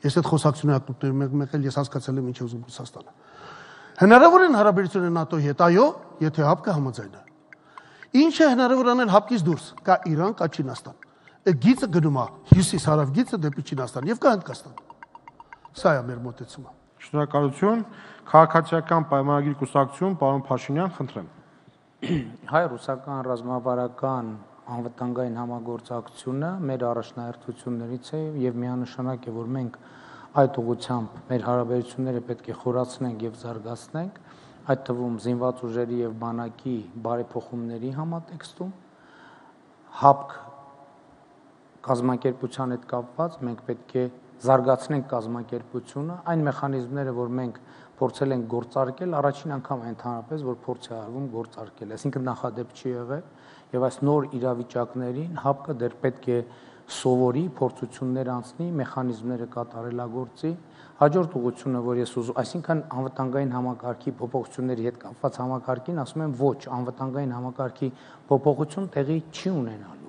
Ես այդ խոսակցությունների ակունքներում եմ եղել, ես հասկացել եմ ինչ է ուզում Ռուսաստանը։ Հնարավոր են հարաբերությունները ՆԱՏՕ-ի հետ, այո, եթե ՀԱՊԿ-ը համաձայն է։ Ինչ է հնարավոր անել ՀԱՊԿ-ից դուրս, կա Իրան, կա Չինաստան։ Այդ գիծը գնում է հյուսիս-հարավ գիծը դեպի Չինաստան եւ կա Հնդկաստան։ Սա է մեր մոտեցումը։ Շնորհակալություն։ Քաղաքացիական պայմանագիր կուսակցություն, պարոն Փաշինյան, խնդրեմ։ Հայ-ռուսական ռազմավարական անվտանգային համագործակցությունը մեր առաջնահերթություններից է եւ միանշանակ է, որ մենք այդ ուղղությամբ մեր հարաբերությունները պետք է խորացնենք եւ զարգացնենք, այդ թվում զինված ուժերի եւ բանակի բարեփոխումների համատեքստում ՀԱՊԿ կազմակերպության հետ կապված մենք պետք է զարգացնենք կազմակերպությունը, այն մեխանիզմները, որ մենք փորձել ենք գործարկել, առաջին անգամ ընդհանրապես, որ փորձ է արվում գործարկել, այսինքն նախադեպ չի եղել, եւ այս նոր իրավիճակներին ՀԱՊԿ-ը դեռ պետք է սովորի, փորձություններ անցնի, մեխանիզմները կատարելագործի, հաջորդ ուղղությունը, որ ես ուզում, այսինքն անվտանգային համակարգի փոփոխությունների հետ կապված համակարգին ասում եմ ոչ, անվտանգային համակարգի փոփոխություն տեղի չի ունենալու։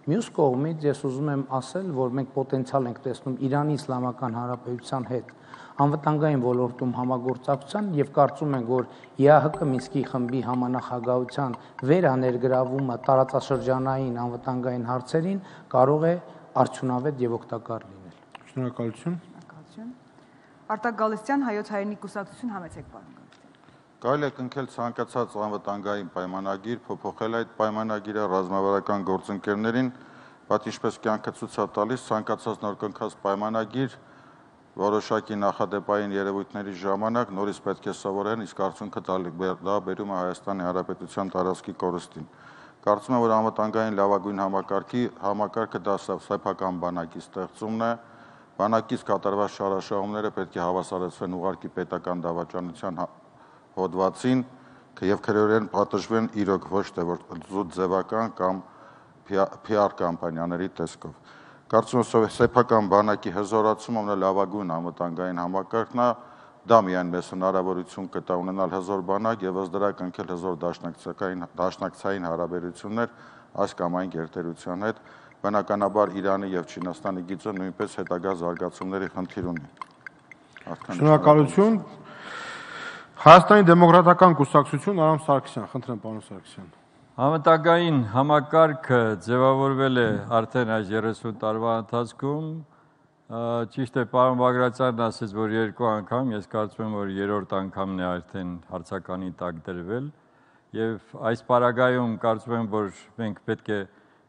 Մյուս կողմից ես ուզում եմ ասել, որ մենք պոտենցիալ ենք տեսնում Իրանի Իսլամական Հանրապետության հետ անվտանգային ոլորտում համագործակցության եւ կարծում ենք, որ ԵԱՀԿ Մինսկի խմբի համանախագահության վերաներգրավումը տարածաշրջանային անվտանգային հարցերին կարող է արդյունավետ եւ օգտակար լինել։ Շնորհակալություն։ Շնորհակալություն։ Արտակ Գալստյան, Հայոց հայրենի կուսակցություն, համեցեք պարոն Գալստյան։ Կարելի է կնքել ցանկացած անվտանգային պայմանագիր, փոփոխել այդ պայմանագիրը ռազմավարական գործընկերներին, բայց ինչպես կյանքը ցույց է տալիս, ցանկացած նոր կնքած պայմանագիր որոշակի նախադեպային երևույթների ժամանակ նորից պետք է սովորեն, իսկ արդյունքը դա բերում է Հայաստանի Հանրապետության տարածքի կորստին։ Կարծում եմ, որ անվտանգային լավագույն համակարգի համակարգը դա սեփական բանակի ստեղծումն է, բանակից կատարված շարաշահումները պետք է հավասարեցվեն ուղղակի պետական դավաճանության հոդվածին եւ քրեորեն պատժվեն իրոք ոչ թե որ զուտ ձևական կամ P R կամպանիաների տեսքով։ Կարծում եմ, սեփական բանակի հզորացումը ունի լավագույն անվտանգային համակարգն է, դա միայն մեզ հնարավորություն կտա ունենալ հզոր բանակ եւ ըստ դրա կնքել հզոր դաշնակցային դաշնակցային հարաբերություններ այս կամ այն գերտերության հետ, բնականաբար Իրանի եւ Չինաստանի գիծը նույնպես հետագա զարգացումների խնդիր ունի։ Շնորհակալություն։ Հայաստանի դեմոկրատական կուսակցություն, Արամ Սարգսյան, խնդրեմ պարոն Սարգսյան։ Համատագային համակարգը ձևավորվել է արդեն այս երեսուն տարվա ընթացքում, ճիշտ է պարոն Բագրատյանն ասեց, որ երկու անգամ, ես կարծում եմ, որ երրորդ անգամն է արդեն հարցականի տակ դրվել եւ այս պարագայում կարծում եմ, որ մենք պետք է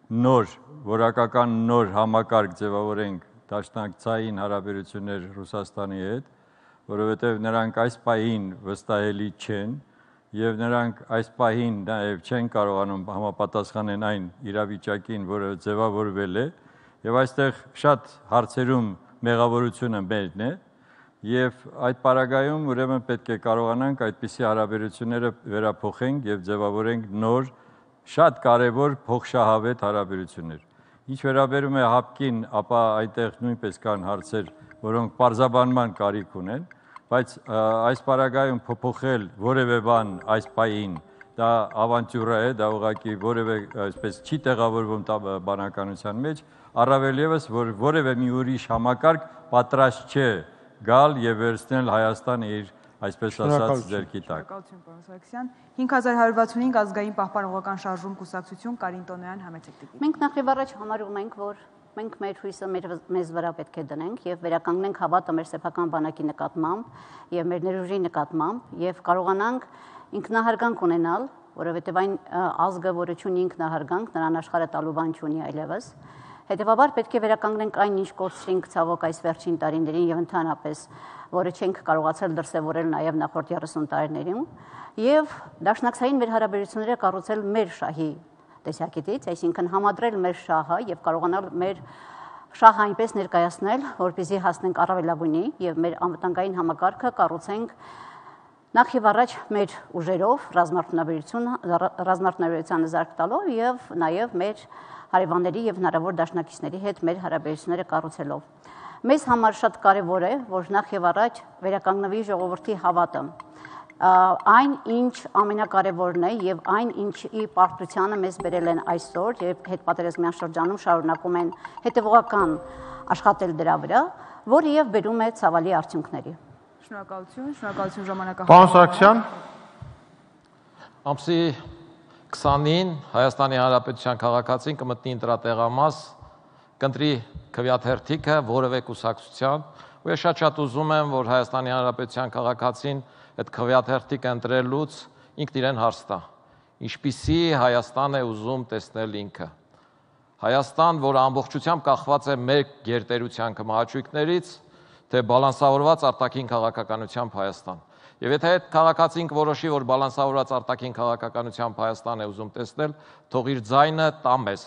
նոր, որակական նոր համակարգ ձևավորենք դաշնակցային հարաբերություններ Ռուսաստանի հետ, որովհետեւ նրանք այս պահին վստահելի չեն եւ նրանք այս պահին նաեւ չեն կարողանում համապատասխանել այն իրավիճակին, որը ձևավորվել է եւ այստեղ շատ հարցերում մեղավորությունը մերն է եւ այդ պարագայում ուրեմն պետք է կարողանանք այդպիսի հարաբերությունները վերափոխենք եւ ձևավորենք նոր շատ կարեւոր փոխշահավետ հարաբերություններ։ Ինչ վերաբերում է ՀԱՊԿ-ին, ապա այնտեղ նույնպես կան հարցեր, որոնք պարզաբանման կարիք ունեն, բայց այս պարագայում փոփոխել որևէ բան այս պահին դա ավանտյուրա է, դա ուղղակի որևէ այսպես չի տեղավորվում բանականության մեջ, առավել եւս որ որևէ մի ուրիշ համակարգ պատրաստ չէ գալ եւ վերցնել Հայաստանը իր այսպես ասած ձեռքի տակ։ Շնորհակալություն պարոն Սարգսյան։ հինգ հազար հարյուր վաթսունհինգ ազգային պահպանողական շարժում կուսակցություն, Կարին Տոնոյան, համեցեք տիկին։ Մենք նախ եւ առաջ համարում ենք, որ մենք մեր հույսը մեզ վրա պետք է դնենք եւ վերականգնենք հավատը մեր սեփական բանակի նկատմամբ եւ մեր ներուժի նկատմամբ եւ կարողանանք ինքնահարգանք ունենալ, որովհետեւ այն ազգը, որը ունի ինքնահարգանք, նրան աշխարհը տալու բան չունի այլևս։ Հետևաբար պետք է վերականգնենք այն, ինչ կորցրինք ցավոք այս վերջին տարիներին եւ ընդհանրապես, որը չենք կարողացել դրսեւորել նաեւ նախորդ երեսուն տարիներին, եւ դաշնակցային մեր հարաբերությունները կառուցել մեր շահի տեսակետից, այսինքն համադրել մեր շահը եւ կարողանալ մեր շահը այնպես ներկայացնել, որպեսզի հասնենք առավելագույնի եւ մեր անվտանգային համակարգը կառուցենք Նախ եւ առաջ մեր ուժերով ռազմարդյունաբերությանը զարգ տալով եւ նաեւ մեր հարևանների եւ հնարավոր դաշնակիցների հետ մեր հարաբերությունները կառուցելով։ Մեզ համար շատ կարեւոր է, որ նախ եւ առաջ վերականգնվի ժողովրդի հավատը։ Այն ինչ ամենակարևորն է եւ այն ինչի պարտությանը մեզ բերել են այսօր եւ հետպատերազմյան շրջանում շարունակում են հետեւողական աշխատել դրա վրա, որը եւ բերում է ցավալի արդյունքների։ Շնորհակալություն, շնորհակալություն ժամանակահատվածին։ Պարոն Սարգսյան, ամսի քսանին Հայաստանի Հանրապետության քաղաքացին կմտնի ընտրատեղամաս, կընտրի քվեաթերթիկը որևէ կուսակցության, ու ես շատ-շատ ուզում եմ, որ Հայաստանի Հանրապետության քաղաքացին այդ քվեաթերթիկը ընտրելուց ինքն իրեն հարց տա. ինչպիսի Հայաստան է ուզում տեսնել ինքը։ Հայաստան, որը ամբողջությամբ կախված է մեր գերտերության կմահաճույքներից, թե բալանսավորված արտաքին քաղաքականությամբ Հայաստան։ Եվ եթե այդ քաղաքացին որոշի, որ բալանսավորված արտաքին քաղաքականությամբ Հայաստան է ուզում տեսնել, թող իր ձայնը տա մեզ։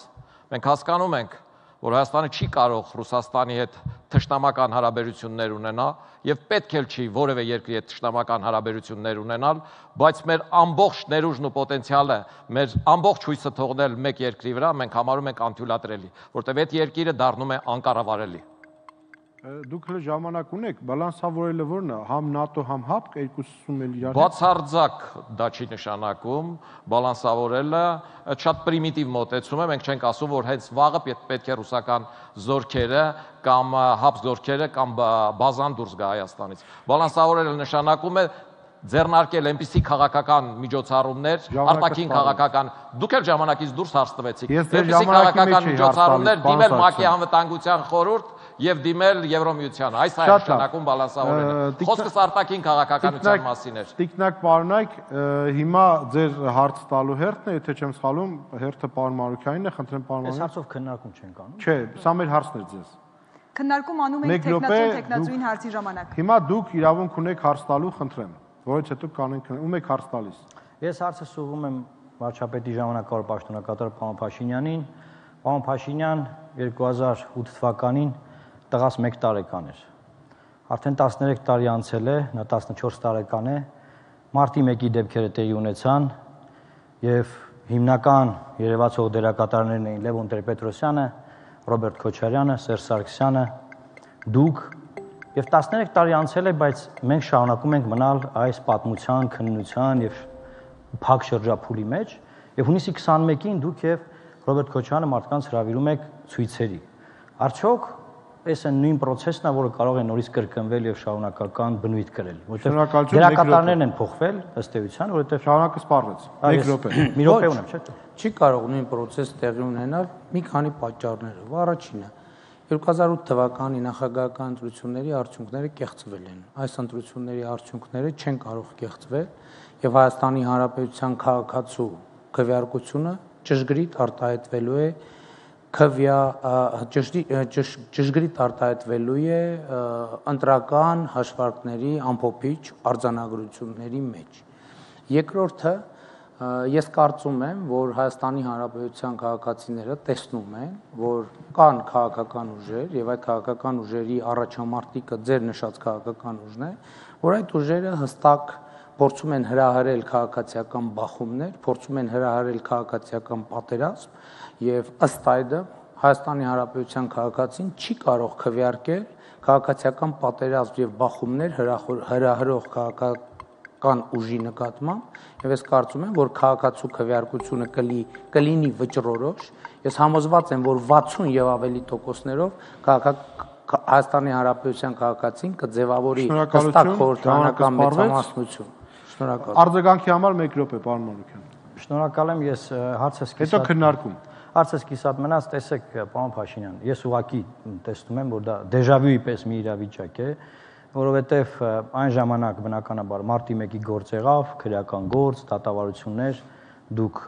Մենք հասկանում ենք, որ Հայաստանը չի կարող Ռուսաստանի հետ թշնամական հարաբերություններ ունենալ եւ պետք էլ չի որևէ երկրի հետ թշնամական հարաբերություններ ունենալ, բայց մեր ամբողջ ներուժն ու պոտենցիալը, մեր ամբողջ հույսը թողնել մեկ երկրի վրա մենք համարում ենք անթույլատրելի, որտեղ այդ երկիրը դառնում է անկառավարելի։ Դուք հենց ժամանակ ունեք, բալանսավորելը ո՞րն է, համ ՆԱՏՕ, համ ՀԱՊԿ երկուսում էլ իրար։ Բացարձակ դա չի նշանակում, բալանսավորելը շատ պրիմիտիվ մոտեցում է, մենք չենք ասում, որ հենց վաղը պետք է ռուսական զորքերը կամ ՀԱՊԿ զորքերը կամ բազան դուրս գա Հայաստանից։ Բալանսավորելը նշանակում է ձեռնարկել այնպիսի քաղաքական միջոցառումներ, արտաքին քաղաքական, դուք էլ ժամանակից դուրս հարց տվեցիք, այնպիսի քաղաքական միջոցառումներ դիմել ՄԱԿ-ի անվտանգության խորհուրդ եւ դիմել Եվրոմիությանը, այս է նշանակում բալանսավորելը։ Խոսքս արտաքին քաղաքականության մասին էր։ Տիկնակ պարոնայք, հիմա ձեր հարց տալու հերթն է, եթե չեմ սխալվում, հերթը պարոն Մարուքյանին է, խնդրեմ պարոն Մարուքյան։ Այս հարցով քննարկում չենք անում։ Չէ, սա մեր հարցն է ձեզ։ Քննարկում անում ենք տեխնացուն տեխնացուին հարցի ժամանակ։ Հիմա դուք իրավունք ունեք հարց տալու, խնդրեմ, որից հետո կանենք ում եք հարց տալիս։ Ես հարցը ուղղում եմ վարչապետի ժամանակավոր պաշտոնակատար պարոն Փաշինյանին։ Պարոն Փաշինյան երկու հազար ութ թվականին տղաս մեկ տարեկան էր։ Արդեն տասներեք տարի անցել է, նա տասնչորս տարեկան է։ Մարտի մեկի դեպքերը տեղի ունեցան եւ հիմնական երևացող դերակատարներն էին Լևոն Տեր-Պետրոսյանը, Ռոբերտ Քոչարյանը, Սերժ Սարգսյանը, դուք եւ տասներեք տարի անցել է, բայց մենք շարունակում ենք մնալ այս պատմության, քննության եւ փակ շրջափուլի մեջ եւ հունիսի քսանմեկին դուք եւ Ռոբերտ Քոչարյանը մարդկանց հրավիրում եք ցույցերի։ Արդյոք այս այն նույն process-ն է, որը կարող է նորից կրկնվել եւ շարունակական բնույթ կրել, որտեղ դերակատարներն են փոխվել ըստ էության, որովհետեւ շարունակը սպառվեց։ Մեկ րոպե։ Մի րոպե ունեմ, չէ՞։ Չի կարող նույն process տեղի ունենալ մի քանի պատճառներով։ Առաջինը երկու հազար ութ թվականի նախագահական ընտրությունների արդյունքները կեղծվել են։ Այս ընտրությունների արդյունքները չեն կարող կեղծվել եւ Հայաստանի Հանրապետության քաղաքացու քվեարկությունը ճշգրիտ արտահայտվելու է քվյա ճշգրիտ արտահայտվելու է ընտրական հաշվարկների ամփոփիչ արձանագրությունների մեջ։ Երկրորդը ես կարծում եմ, որ Հայաստանի Հանրապետության քաղաքացիները տեսնում են, որ կան քաղաքական ուժեր եւ այդ քաղաքական ուժերի առաջամարտիկը ձեր նշած քաղաքական ուժն է, որ այդ ուժերը հստակ փորձում են հրահրել քաղաքացիական բախումներ, փորձում են հրահրել քաղաքացիական պատերազմ եւ ըստ այդմ Հայաստանի Հանրապետության քաղաքացին չի կարող քվեարկել քաղաքացիական պատերազմ եւ բախումներ հրահրող քաղաքական ուժի նկատմամբ եւ ես կարծում եմ, որ քաղաքացու քվեարկությունը կլինի վճռորոշ։ Ես համոզված եմ, որ վաթսուն եւ ավելի տոկոսներով Հայաստանի Հանրապետության քաղաքացին կձևավորի հստակ խորհրդանական մեծամասնություն։ Շնորհակալ։ Արձագանքի համար մեկ րոպե, պարոն Մարուքյան։ Շնորհակալ եմ, ես հարցս կիսատ։ Հետո քննարկում։ Հարցս կիսատ մնաց, տեսեք, պարոն Փաշինյան, ես ուղղակի տեսնում եմ, որ դա դեժավյուի պես մի իրավիճակ է, որովհետև այն ժամանակ բնականաբար մարտի մեկի գործ եղավ, քրեական գործ, դատավարություններ, դուք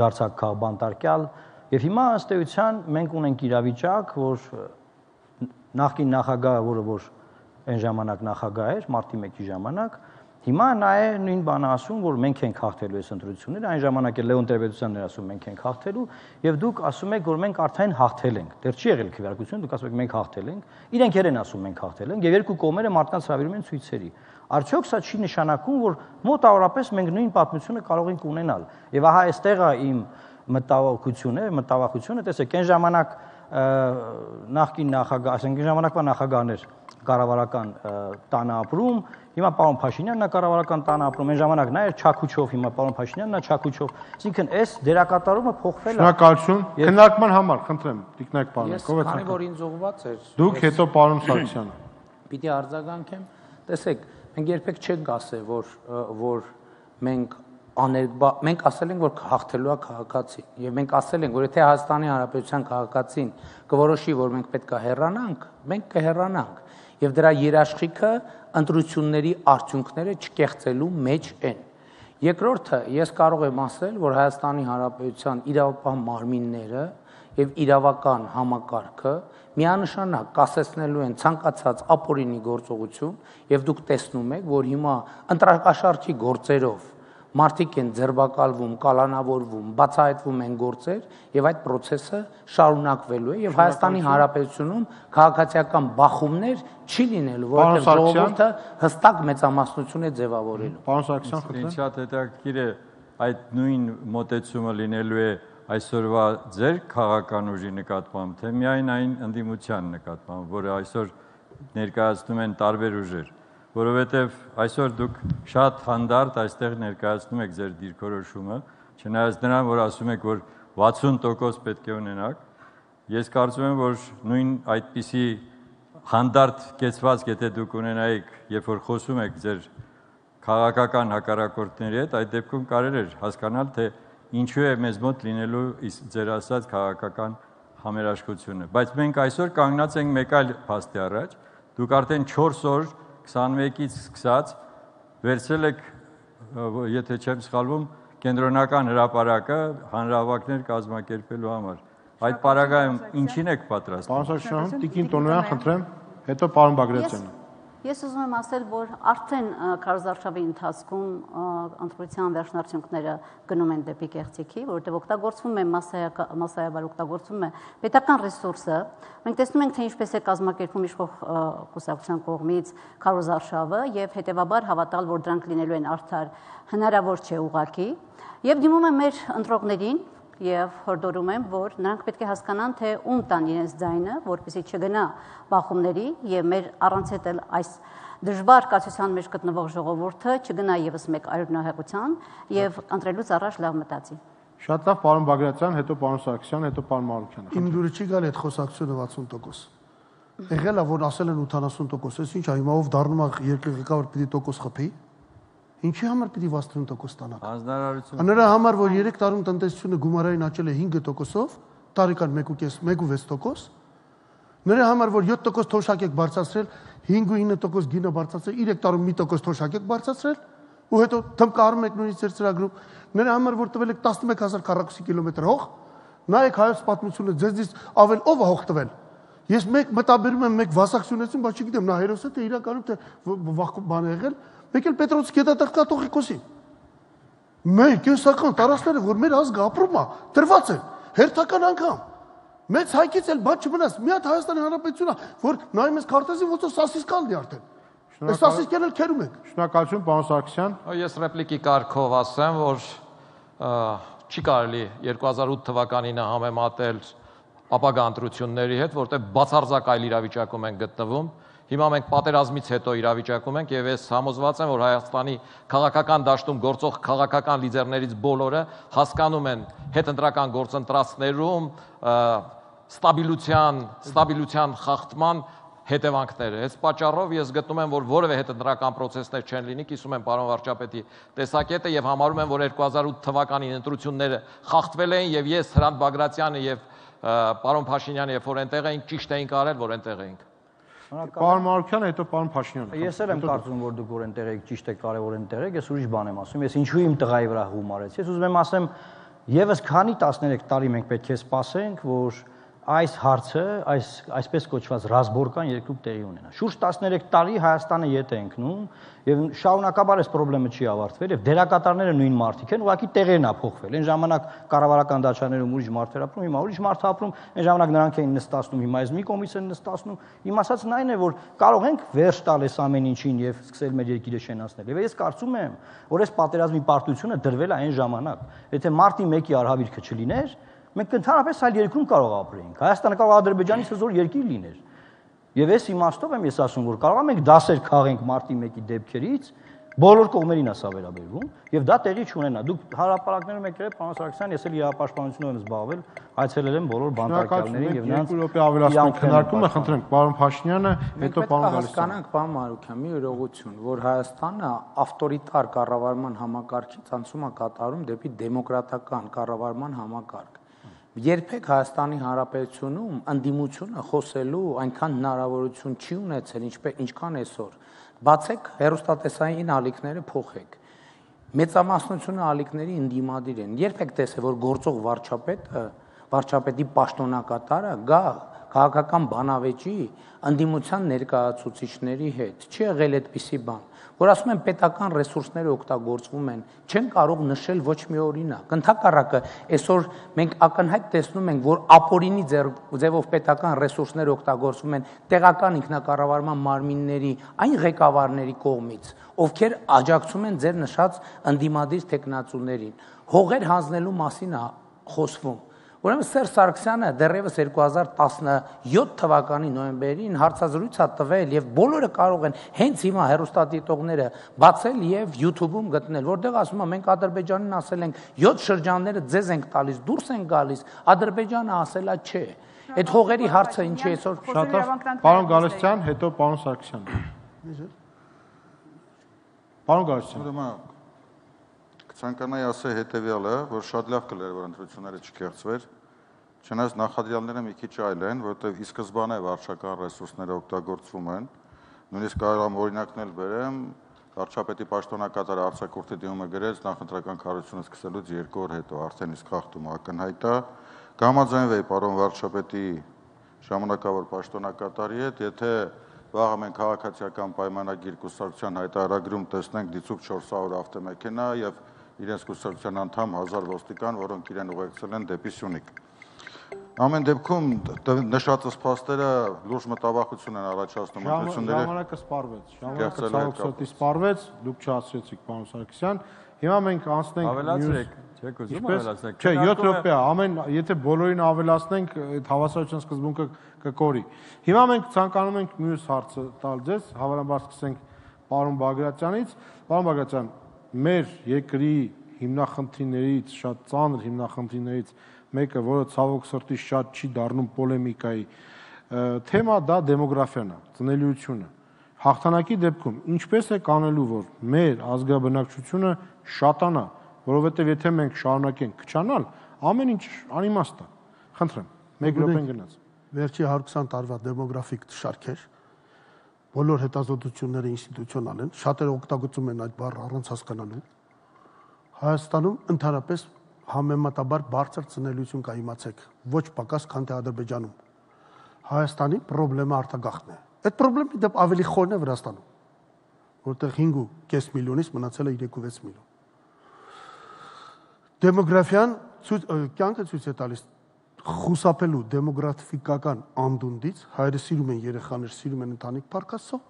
դարձաք քաղբանտարկյալ, եւ հիմա ըստ էության մենք ունենք իրավիճակ, որ նախկին նախագահը, որը որ այն ժամանակ նախագահ էր, մարտի մեկի ժամանակ, Հիմա նա է նույն բանը ասում, որ մենք ենք հաղթելու այս ընտրությունները, այն ժամանակ է Լեոն Տեր-Պետրոսյանն էր ասում մենք ենք հաղթելու, եւ դուք ասում եք, որ մենք արդեն հաղթել ենք։ Դեռ չի եղել քվեարկություն, դուք ասում եք մենք հաղթել ենք, իրենք են ասում մենք հաղթել ենք, եւ երկու կողմերը մարդկանց հրավիրում են ցույցերի։ Արդյոք սա չի նշանակում, որ մոտավորապես մենք նույն պատմությունը կարող ենք ունենալ։ Եվ ահա այստեղ է իմ մտավախությունը, մտավախությունը, տեսեք, այն ժամանակ նախկին նախագահ, ասենք այն ժամանակվա նախագահն էր կառավարական տանը ապրում, հիմա պարոն Փաշինյանն է կառավարական տանը ապրում, այն ժամանակ նա էր Չաքուչով, հիմա պարոն Փաշինյանն է Չաքուչով, այսինքն այս դերակատարումը փոխվել է։ Շնորհակալություն, քննարկման համար, խնդրեմ, Տիկնակ պարոն, ով է։ Քանի որ ինձ ուղված էր։ Դուք հետո պարոն Սարգսյանը։ Պիտի արձագանքեմ, տեսեք, մենք երբեք չենք ասել, որ որ մենք աներկբա մենք ասել ենք, որ հաղթելու է քաղաքացին, եւ մենք ասել ենք, որ եթե Հայաստանի Հանրապետության քաղաքացին կորոշի, որ մենք պետք է հեռանանք, մենք կհեռանանք, եւ դրա երաշխիքը ընտրությունների արդյունքները չկեղծելու մեջ են։ Երկրորդը, ես կարող եմ ասել, որ Հայաստանի Հանրապետության իրավապահ մարմինները եւ իրավական համակարգը միանշանակ կասեցնելու են ցանկացած ապօրինի գործողություն, եւ դուք տեսնում եք, որ հիմա ընտրակաշառքի գործերով մարդիկ են ձերբակալվում, կալանավորվում, բացահայտվում են գործեր եւ այդ process-ը շարունակվելու է եւ Հայաստանի Հանրապետությունում քաղաքացիական բախումներ չի լինելու, որովհետեւ ժողովուրդը հստակ մեծամասնություն է ձևավորելու։ Պարոն Սարգսյան, խնդրեմ։ Ինչ շատ հետաքրքիր է այդ նույն մոտեցումը լինելու է այսօրվա ձեր քաղաքական ուժի նկատմամբ, թե միայն այն ընդդիմության նկատմամբ, որը այսօր ներկայացնում են տարբեր ուժեր, որովհետև այսօր դուք շատ հանդարտ այստեղ ներկայացնում եք ձեր դիրքորոշումը, չնայած նրան, որ ասում եք, որ վաթսուն տոկոս պետք է ունենաք, ես կարծում եմ, որ նույն այդպիսի հանդարտ կեցվածք, եթե դուք ունենայիք, երբ որ խոսում եք ձեր քաղաքական հակառակորդների հետ, այդ դեպքում կարելի էր հասկանալ, թե ինչու է մեզ մոտ լինելու ձեր ասած քաղաքական համերաշխությունը, բայց մենք այսօր կանգնած ենք մեկ այլ փաստի առաջ, դուք արդեն չորս օր քսանմեկից սկսած վերցրել եք, եթե չեմ սխալվում, կենտրոնական հրապարակը հանրահավաքներ կազմակերպելու համար։ Այդ պարագայում ինչին եք պատրաստ։ Պարոն Սարգսյան, Տիկին Տոնոյան, խնդրեմ, հետո պարոն Բագրատյանը։ Ես ուզում եմ ասել, որ արդեն քարոզարշավի ընթացքում ընտրության վերջնարդյունքները գնում են դեպի կեղծիքի, որովհետև օգտագործվում է մասսայաբար օգտագործվում է պետական ռեսուրսը։ Մենք տեսնում ենք, թե ինչպես է կազմակերպվում իշխող կուսակցության կողմից քարոզարշավը եւ հետեւաբար հավատալ, որ դրանք լինելու են արդար, հնարավոր չէ ուղղակի։ Եվ դիմում եմ մեր ընտրողներին եւ հորդորում եմ, որ նրանք պետք է հասկանան, թե ում տան իրենց ձայնը, որպեսզի չգնա բախումների եւ մեր առանց հետել այս դժվար կացության մեջ գտնվող ժողովուրդը չգնա եւս մեկ արյունահեղության եւ ընտրելուց առաջ լավ մտածի։ Շատ լավ, պարոն Բագրատյան, հետո պարոն Սարգսյան, հետո պարոն Մարուկյան։ Իմ դուրը չի գալ այդ խոսակցությունը վաթսուն տոկոս։ Եղել է, որ ասել են ութանասուն տոկոս, այս ինչ է, հիմա ով դառնում է երկրի ղեկավար պիտի տոկոս խփի։ Ինչի համար պիտի վաթսուն տոկոս ստանաք։ Հանձնարարություն։ Նրա համար, որ երեք տարում տնտեսությունը գումարային աճել է հինգ տոկոսով, տարեկան մեկ ու վեց տոկոս, նրա համար, որ յոթ տոկոս թոշակ եք բարձրացրել, հինգ ու ինը տոկոս գինը բարձրացրել, երեք տարում մի տոկոս թոշակ եք բարձրացրել, ու հետո թմկարում եք նույնիսկ ձեր ծրագրում, նրա համար, որ տվել եք տասնմեկ հազար քառակուսի կիլոմետր հող, նայեք հայոց պատմությունը, ձեզնից ավել ով է հող տվել։ Ես մեկ մտաբերում եմ, մեկ վասակցությունեցում, բայց չգիտեմ, նա հերոս է, թե իրականում թե բան է եղել, մեկ էլ Պետրոցի գետատեղկատողի կոսի։ Մենք կենսական տարածքները, որ մեր ազգը ապրում է, դրված են, հերթական անգամ։ Մեծ հայկից էլ բան չմնաց, մի հատ Հայաստանի Հանրապետությունն է, որ նայում ես քարտեզին, ոնց որ սասիսկալն է արդեն։ Այս սասիսկեն էլ քերում ենք։ Շնորհակալություն, պարոն Սարգսյան։ Ես ռեպլիկի կարգով ասեմ, որ չի կարելի երկու հազար ութ թվականին համեմատել ապագա ընտրությունների հետ, որտեղ բացարձակ այլ իրավիճակում են գտնվում։ Հիմա մենք պատերազմից հետո իրավիճակում ենք եւ ես համոզված եմ, որ Հայաստանի քաղաքական դաշտում գործող քաղաքական լիդերներից բոլորը հասկանում են հետընտրական գործընթացներում ստաբիլության, ստաբիլության խախտման հետևանքները։ Այս պատճառով ես գտնում եմ, որ որևէ հետընտրական process-ներ չեն լինի, կիսում եմ պարոն վարչապետի տեսակետը եւ համարում եմ, որ երկու հազար ութ թվականին ընտրությունները խախտվել էին եւ ես Հրանտ Բագրատյանը եւ պարոն Փաշինյանը երբ որ այնտեղ էինք, ճիշտ էինք արել, որ այնտեղ էինք։ Պարոն Մարուկյանը, հետո պարոն Փաշինյանը։ Ես էլ եմ կարծում, որ դուք որ այնտեղ եք, ճիշտ եք, կարևոր այնտեղ եք, ես ուրիշ բան եմ ասում, ես ինչու իմ տղայի վրա հում արեցի։ Ես ուզում եմ ասեմ, եւս քանի տասներեք տարի մենք պետք է սպասենք, որ այս հարցը, այս այսպես կոչված ռազմորկան երկրում տեղի ունենա։ Շուրջ տասներեք տարի Հայաստանը ետ է ընկնում եւ շարունակաբար այս խնդրը չի ավարտվել եւ դերակատարները նույն մարդիկ են, ուղղակի տեղերն ա փոխվել։ Այն ժամանակ կառավարական դաշաներում ուրիշ մարդեր ապրում, հիմա ուրիշ մարդ ապրում, այն ժամանակ նրանք էին նստացնում, հիմա այս մի կողմից են նստացնում։ Իմ ասածն այն է, որ կարող ենք վերջ տալ այս ամեն ինչին եւ սկսել մեր երկիրը շենացնել։ Եվ ես կարծում եմ, որ այս պատերազմի պարտությունը դրվել է այն ժամանակ։ Եթե մարտի մեկի արհավիրքը չլիներ, մենք ընդհանրապես այլ երկրում կարող ապրեինք։ Հայաստանը կարող Ադրբեջանից հզոր երկիր լիներ։ Եվ այս իմաստով եմ ես ասում, որ կարող ենք դասեր քաղենք մարտի մեկի դեպքերից, բոլոր կողմերին է սա վերաբերվում, եւ դա տեղի չունենա։ Դուք հարաբերակներում եք եղել, պարոն Սարգսյան, ես էլ իրավապաշտպանությունով եմ զբաղվել, այցելել եմ բոլոր բանտարկյալներին եւ նրանց երկու րոպե ավելացնենք քննարկումը, խնդրենք պարոն Փաշինյանը, հետո պարոն Գալստյան։ Հասկանանք, պարոն Մարուկյան, մի իրողություն, որ Հայաստանը ավտորիտար կառավարման համակարգից անցում է կատարում դեպի դեմոկրատական կառավարման համակարգ։ Երբեք Հայաստանի Հանրապետությունում ընդդիմությունը խոսելու այնքան հնարավորություն չի ունեցել, ինչպես ինչքան այսօր։ Բացեք հեռուստատեսային ալիքները փոխեք։ Մեծամասնությունը ալիքների ընդդիմադիր են։ Երբեք տեսե, որ գործող վարչապետը, վարչապետի պաշտոնակատարը գա քաղաքական բանավեճի ընդդիմության ներկայացուցիչների հետ։ Չի եղել այդպիսի բան, որ ասում են պետական ռեսուրսները օգտագործվում են, չեն կարող նշել ոչ մի օրինակ։ Ընդհակառակը, այսօր մենք ակնհայտ տեսնում ենք, որ ապօրինի ձևով պետական ռեսուրսները օգտագործվում են տեղական ինքնակառավարման մարմինների այն ղեկավարների կողմից, ովքեր աջակցում են ձեր նշած ընդդիմադիր տեխնացուներին։ Հողեր հանձնելու մասին է խոսվում։ Ուրեմն Սերժ Սարգսյանը դեռևս երկու հազար տասնյոթ թվականի նոյեմբերին հարցազրույց է տվել եւ բոլորը կարող են հենց հիմա հեռուստադիտողները բացել եւ YouTube-ում գտնել, որտեղ ասում է մենք Ադրբեջանին ասել ենք յոթ շրջանները ձեզ ենք տալիս, դուրս են գալիս, Ադրբեջանը ասելա չէ։ Այդ հողերի հարցը ինչի այսօր շատ պարոն Գալստյան, հետո պարոն Սարգսյան։ Պարոն Գալստյան, Ցանկանայի ասել հետևյալը, որ շատ լավ կլեր, որ ընտրությունները չկեղծվեր, չնայած նախադրյալները մի քիչ այլ են, որովհետև ի սկզբանե վարչական ռեսուրսները օգտագործվում են, նույնիսկ կարող եմ օրինակներ բերեմ, վարչապետի պաշտոնակատար արձակուրդի դիմումը գրեց նախընտրական քարոզությունը սկսելուց երկու օր հետո, արդեն իսկ խախտումը ակնհայտ է, կհամաձայնվեի պարոն վարչապետի ժամանակավոր պաշտոնակատարի հետ, եթե վաղը մենք քաղաքացիական պայմանագիր կուսակցության հայտարարագրում տեսնենք դիցուք չորս հարյուր ավտոմեքենա եւ իրենց կուսակցության անդամ հազար ոստիկան, որոնք իրեն ուղեկցել են դեպի Սյունիք։ Ամեն դեպքում նշածս փաստերը լուրջ մտավախություն են առաջացնում ընտրությունների։ Ժամանակը սպառվեց, ժամանակը ցավոքսոտի սպառվեց, դուք չասեցիք պարոն Սարգսյան։ Հիմա մենք անցնենք ավելացրեք, չեք ուզում ավելացնել։ Չէ, յոթ րոպե, ամեն եթե բոլորին ավելացնենք, այդ հավասարության սկզբունքը կկորի։ Հիմա մենք ցանկանում ենք մյուս հարցը տալ ձեզ, հավանաբար սկսենք պարոն Բագրատյանից։ Պարոն Բագրատյան, մեր երկրի հիմնախնդիրներից, շատ ծանր հիմնախնդիրներից մեկը, որը ցավոք սրտի շատ չի դառնում պոլեմիկայի թեմա, դա դեմոգրաֆիան է, ծնելիությունը։ Հաղթանակի դեպքում ինչպես է կանելու, որ մեր ազգաբնակչությունը շատանա, որովհետև եթե մենք շարունակենք քչանալ, ամեն ինչ անիմաստ է։ Խնդրեմ, մեկ րոպեն գնաց։ Վերջի հարյուր քսան տարվա դեմոգրաֆիկ շարքեր, բոլոր հետազոտությունները ինստիտուցիոնալ են, շատերը օգտագործում են այդ բառը առանց հասկանալու։ Հայաստանում ընդհանրապես համեմատաբար բարձր ծնելիություն կա, իմացեք, ոչ պակաս, քան թե Ադրբեջանում։ Հայաստանի խնդրեմը արտագաղթն է։ Այդ խնդրեմի դեպ ավելի խորն է Վրաստանում, որտեղ հինգ ու կես միլիոնից մնացել է երեք ու վեց միլիոն։ Դեմոգրաֆիան կյանքը ցույց է տալիս խուսափելու դեմոգրաֆիկական անդունդից, հայրը սիրում են երեխաներ, սիրում են ընտանիք փառքաստո,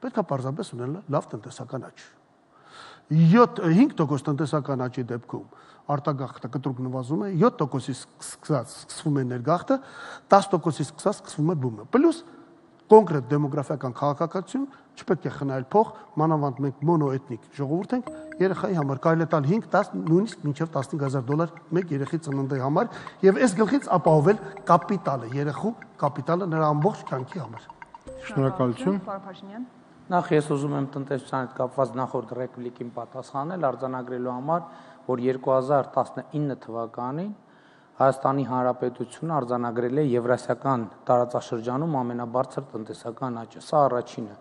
պետք է պարզապես ունենալ լավ տնտեսական աճ։ հինգ տոկոս տնտեսական աճի դեպքում արտագաղթը կտրուկ նվազում է, յոթ տոկոսից սկսած սկսվում է ներգաղթը, տասը տոկոսից սկսած սկսվում է բումը։ Պլյուս կոնկրետ դեմոգրաֆիական քաղաքականություն չպետք է խնայել փող, մանավանդ մենք մոնոէթնիկ ժողովուրդ ենք, երեխայի համար կարելի է տալ հինգ, դաս, նույնիսկ մինչև տասնհինգ հազար դոլար մեկ երեխի ծննդի համար եւ այս գլխից ապահովել կապիտալը, երեխու կապիտալը նրա ամբողջ կյանքի համար։ Շնորհակալություն։ Պարոն Փաշինյան։ Նախ ես ուզում եմ տնտեսության հետ կապված նախորդ ռեպլիկին պատասխանել արձանագրելու համար, որ երկու հազար տասնինը թվականին Հայաստանի Հանրապետությունը արձանագրել է Եվրասիական տարածաշրջանում ամենաբարձր տնտեսական աճը, սա առաջինը։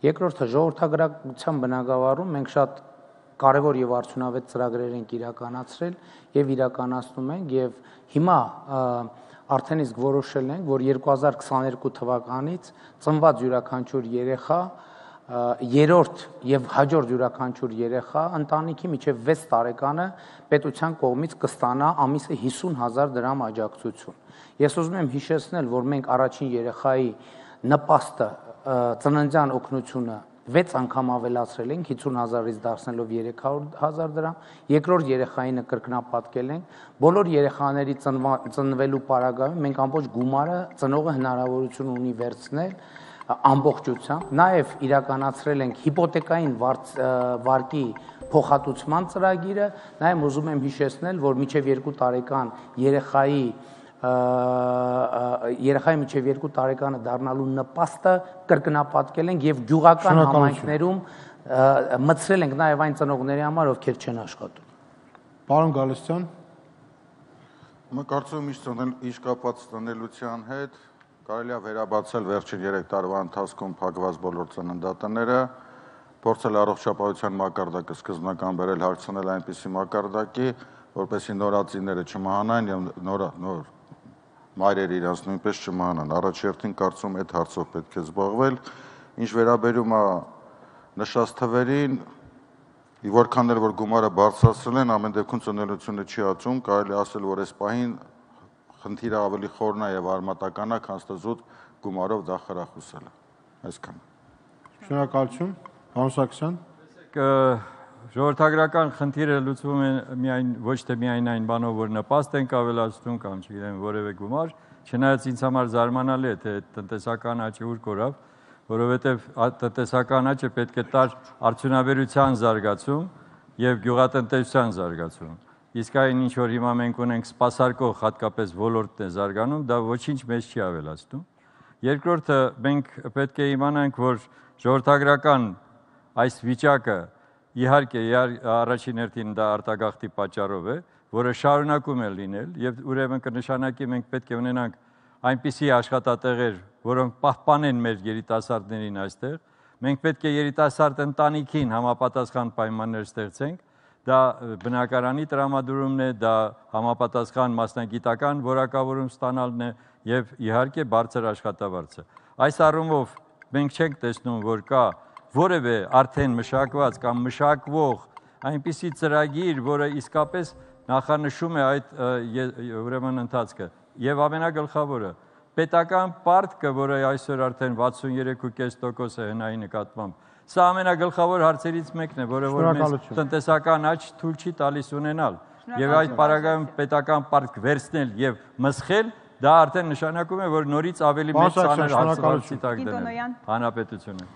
Երկրորդը ժողովրդագրական բնագավառում մենք շատ կարևոր եւ արդյունավետ ծրագրեր ենք իրականացրել եւ իրականացնում ենք եւ հիմա արդեն իսկ որոշել ենք, որ երկու հազար քսաներկու թվականից ծնված յուրաքանչյուր երեխա երրորդ եւ հաջորդ յուրաքանչյուր երեխա ընտանիքի միջև վեց տարեկանը պետության կողմից կստանա ամիսը հիսուն հազար դրամ աջակցություն։ Ես ուզում եմ հիշեցնել, որ մենք առաջին երեխայի նպաստը ծննդյան օգնությունը վեց անգամ ավելացրել ենք հիսուն հազարից դարձնելով երեք հարյուր հազար դրամ, երկրորդ երեխայինը կրկնապատկել ենք, բոլոր երեխաների ծնվելու պարագայում մենք ամբողջ գումարը ծնողը հնարավորություն ունի վերցնել ամբողջությամբ, նաև իրականացրել ենք հիպոթեկային վարկի փոխհատուցման ծրագիրը, նաև ուզում եմ հիշեցնել, որ մինչև երկու տարեկան երեխայի երեխայի մինչև երկու տարեկանը դառնալու նպաստը կրկնապատկել ենք եւ գյուղական համայնքներում մտցրել ենք նաև այն ծնողների համար, ովքեր չեն աշխատում։ Պարոն Գալստյան, Մենք կարծում եմ իշ կապված տնելության հետ կարելի է վերաբացել վերջին երեք տարվա ընթացքում փակված բոլոր ծննդատները, փորձել առողջապահության մակարդակը սկզբնական բերել հարցնել այնպիսի մակարդակի, որպեսզի նորածինները չմահանան եւ նոր նոր մայրերը իրենց նույնպես չմահանան։ Առաջերտին կարծում այդ հարցով պետք է զբաղվել։ Ինչ վերաբերում է նշած թվերին, որքան էլ որ գումարը բարձրացրել են, ամեն դեպքում ծնելիությունը չի աճում, կարելի ասել, որ այս պահին խնդիրը ավելի խորն է եւ արմատական է, քան ստզուտ գումարով դա խրախուսել է։ Այսքան։ Շնորհակալություն, պարոն Սարգսյան։ Ժողովրդագրական խնդիրը լուծվում է միայն ոչ թե միայն այն բանով, որ նպաստ ենք ավելացնում կամ չգիտեմ որևէ գումար, չնայած ինձ համար զարմանալի է, թե տնտեսական աճը ուր կորավ, որովհետև տնտեսական աճը պետք է տար արդյունաբերության զարգացում եւ գյուղատնտեսության զարգացում։ Իսկ այն ինչ որ հիմա մենք ունենք սպասարկող հատկապես ոլորտն է զարգանում, դա ոչինչ մեզ չի ավելացնում։ Երկրորդը մենք պետք է իմանանք, որ ժողովրդագրական այս վիճակը իհարկե առաջին հերթին դա արտագաղթի պատճառով է, որը շարունակում է լինել եւ ուրեմն կնշանակի մենք պետք է ունենանք այնպիսի աշխատատեղեր, որոնք պահպանեն մեր երիտասարդներին այստեղ։ Մենք պետք է երիտասարդ ընտանիքին համապատասխան պայմաններ ստեղծենք։ Դա բնակարանի տրամադրումն է, դա համապատասխան մասնագիտական որակավորում ստանալն է եւ իհարկե բարձր աշխատավարձը։ Այս առումով մենք չենք տեսնում, որ կա որևէ արդեն մշակված կամ մշակվող այնպիսի ծրագիր, որը իսկապես նախանշում է այդ ուրեմն ընթացքը։ Եվ ամենագլխավորը, պետական պարտքը, որը այսօր արդեն վաթսուններեք փոքր կես տոկոս է հնայի նկատմամբ, սա ամենագլխավոր հարցերից մեկն է, որը որ մեզ տնտեսական աճ թույլ չի տալիս ունենալ։ Եվ այդ պարագայում պետական պարտք վերցնել եւ մսխել, դա արդեն նշանակում է, որ նորից ավելի մեծ ծանր հարցի տակ դնել հանրապետությունը։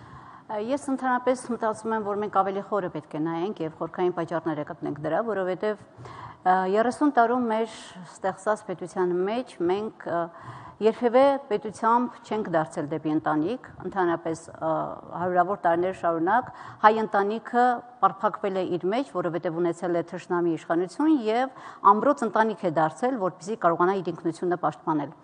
Ես ընդհանրապես մտածում եմ, որ մենք ավելի խորը պետք է նայենք եւ խորքային պատճառները գտնենք դրա, որովհետեւ երեսուն տարում մեր ստեղծած պետության մեջ մենք երբևէ պետությամբ չենք դարձել դեպի ընտանիք, ընդհանրապես հարյուրավոր տարիներ շարունակ հայ ընտանիքը պարփակվել է իր մեջ, որովհետև ունեցել է թշնամի իշխանություն եւ ամրոց ընտանիք է դարձել, որպեսզի կարողանա իր ինքնությունը պաշտպանել։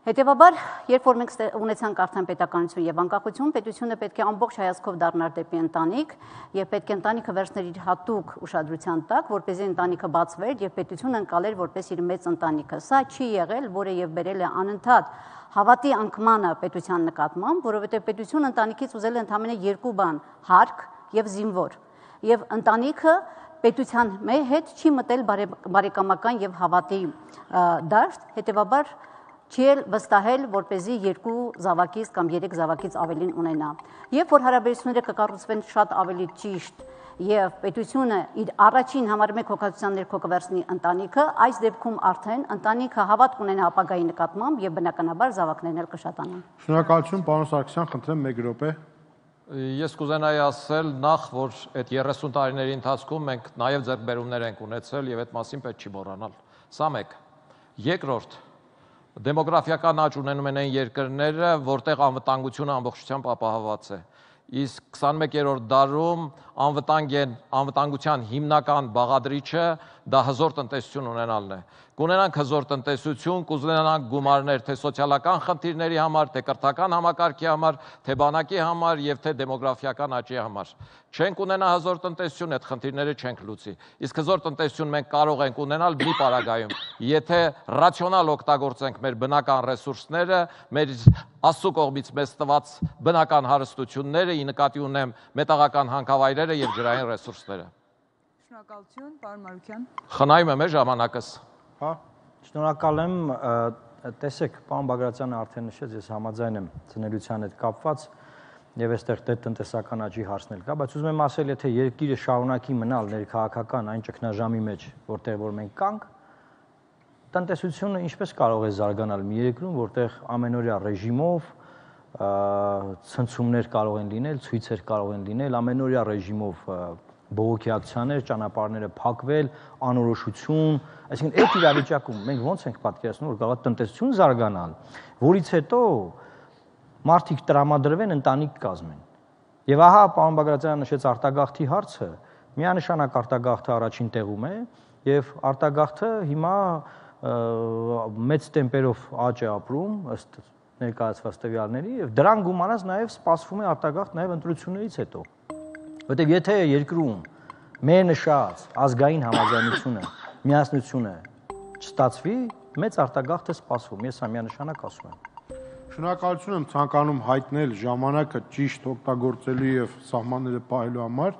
Հետևաբար, երբ որ մենք ունեցանք արդեն պետականություն եւ անկախություն, պետությունը պետք է ամբողջ հայացքով դառնար դեպի ընտանիք եւ պետք է ընտանիքը վերցներ իր հատուկ ուշադրության տակ, որպեսզի ընտանիքը բացվեր եւ պետությունը ընկալեր որպես իր մեծ ընտանիքը։ Սա չի եղել, որը եւ բերել է անընդհատ հավատի անկմանը պետության նկատմամբ, որովհետեւ պետությունը ընտանիքից ուզել է ընդամենը երկու բան՝ հարկ եւ զինվոր։ Եվ ընտանիքը պետության հետ չի մտել բարեկամական եւ հավատի դաշտ, հետեւաբար չի էլ վստահել, որպեսզի երկու զավակից կամ երեք զավակից ավելին ունենա։ Երբ որ հարաբերությունները կկառուցվեն շատ ավելի ճիշտ եւ պետությունը իր առաջին համար մեկ հոգացության ներքո կվերցնի ընտանիքը, այս դեպքում արդեն ընտանիքը հավատ կունենա ապագայի նկատմամբ եւ բնականաբար զավակներն էլ կշատանան։ Շնորհակալություն, պարոն Սարգսյան, խնդրեմ մեկ րոպե։ Ես կուզենայի ասել նախ, որ այդ երեսուն տարիների ընթացքում մենք նաեւ ձեռքբերումներ ենք ունեցել եւ այդ մասին պետք չի մոռանալ։ Սա մեկ։ Երկրորդ, դեմոգրաֆիական աճ ունենում են այն երկրները, որտեղ անվտանգությունը ամբողջությամբ ապահովված է։ իսկ քսանմեկերորդ դարում անվտանգ անվտանգության հիմնական բաղադրիչը դա հզոր տնտեսություն ունենալն է։ Կունենանք հզոր տնտեսություն, կուզենանք գումարներ թե սոցիալական խնդիրների համար, թե կրթական համակարգի համար, թե բանակի համար եւ թե դեմոգրաֆիական աճի համար։ Չենք ունենա հզոր տնտեսություն, այդ խնդիրները չենք լուծի։ Իսկ հզոր տնտեսություն մենք կարող ենք ունենալ մի պարագայում, եթե ռացիոնալ օգտագործենք մեր բնական ռեսուրսները, մեր Աստծո կողմից մեզ տված բնական հարստությունները, ի նկատի ունեմ մետաղական հանքավայրերը եւ ջրային ռեսուրսները։ Շնորհակալություն, պարոն Մարուկյան։ Խնայում եմ ժամանակս։ Հա։ Շնորհակալ եմ, տեսեք, պարոն Բագրատյանը արդեն նշեց, ես համաձայն եմ ծնելիության հետ կապված եւ այստեղ դե տնտեսական աճի հարցն էլ կա, բայց ուզում եմ ասել, եթե երկիրը շարունակի մնալ ներքաղաքական այն ճգնաժամի մեջ, որտեղ որ մենք կանք, տնտեսությունը ինչպես կարող է զարգանալ մի երկրում, որտեղ ամենօրյա ռեժիմով ցնցումներ կարող են լինել, ցույցեր կարող են լինել, ամենօրյա ռեժիմով բողոքի ակցիաներ, ճանապարհները փակվել, անորոշություն, այսինքն այդ իրավիճակում մենք ո՞նց ենք պատկերացնում, որ կարող է տնտեսություն զարգանալ, որից հետո մարդիկ տրամադրվեն ընտանիք կազմեն։ Եվ ահա պարոն Բագրատյանը նշեց արտագաղթի հարցը, միանշանակ արտագաղթը առաջին տեղում է, եւ արտագաղթը հիմա մեծ տեմպերով աճ է ապրում ըստ ներկայացված տվյալների եւ դրան գումարած նաեւ սպասվում է արտագաղթ նաեւ ընտրություններից հետո։ Որտեւ եթե երկրում մեր նշած ազգային համաձայնությունը, միասնությունը չստացվի, մեծ արտագաղթ է սպասվում, ես ամենաշնորհակ ասում եմ։ Շնորհակալություն եմ ցանկանում հայտնել ժամանակը ճիշտ օգտագործելու եւ սահմանները պահելու համար։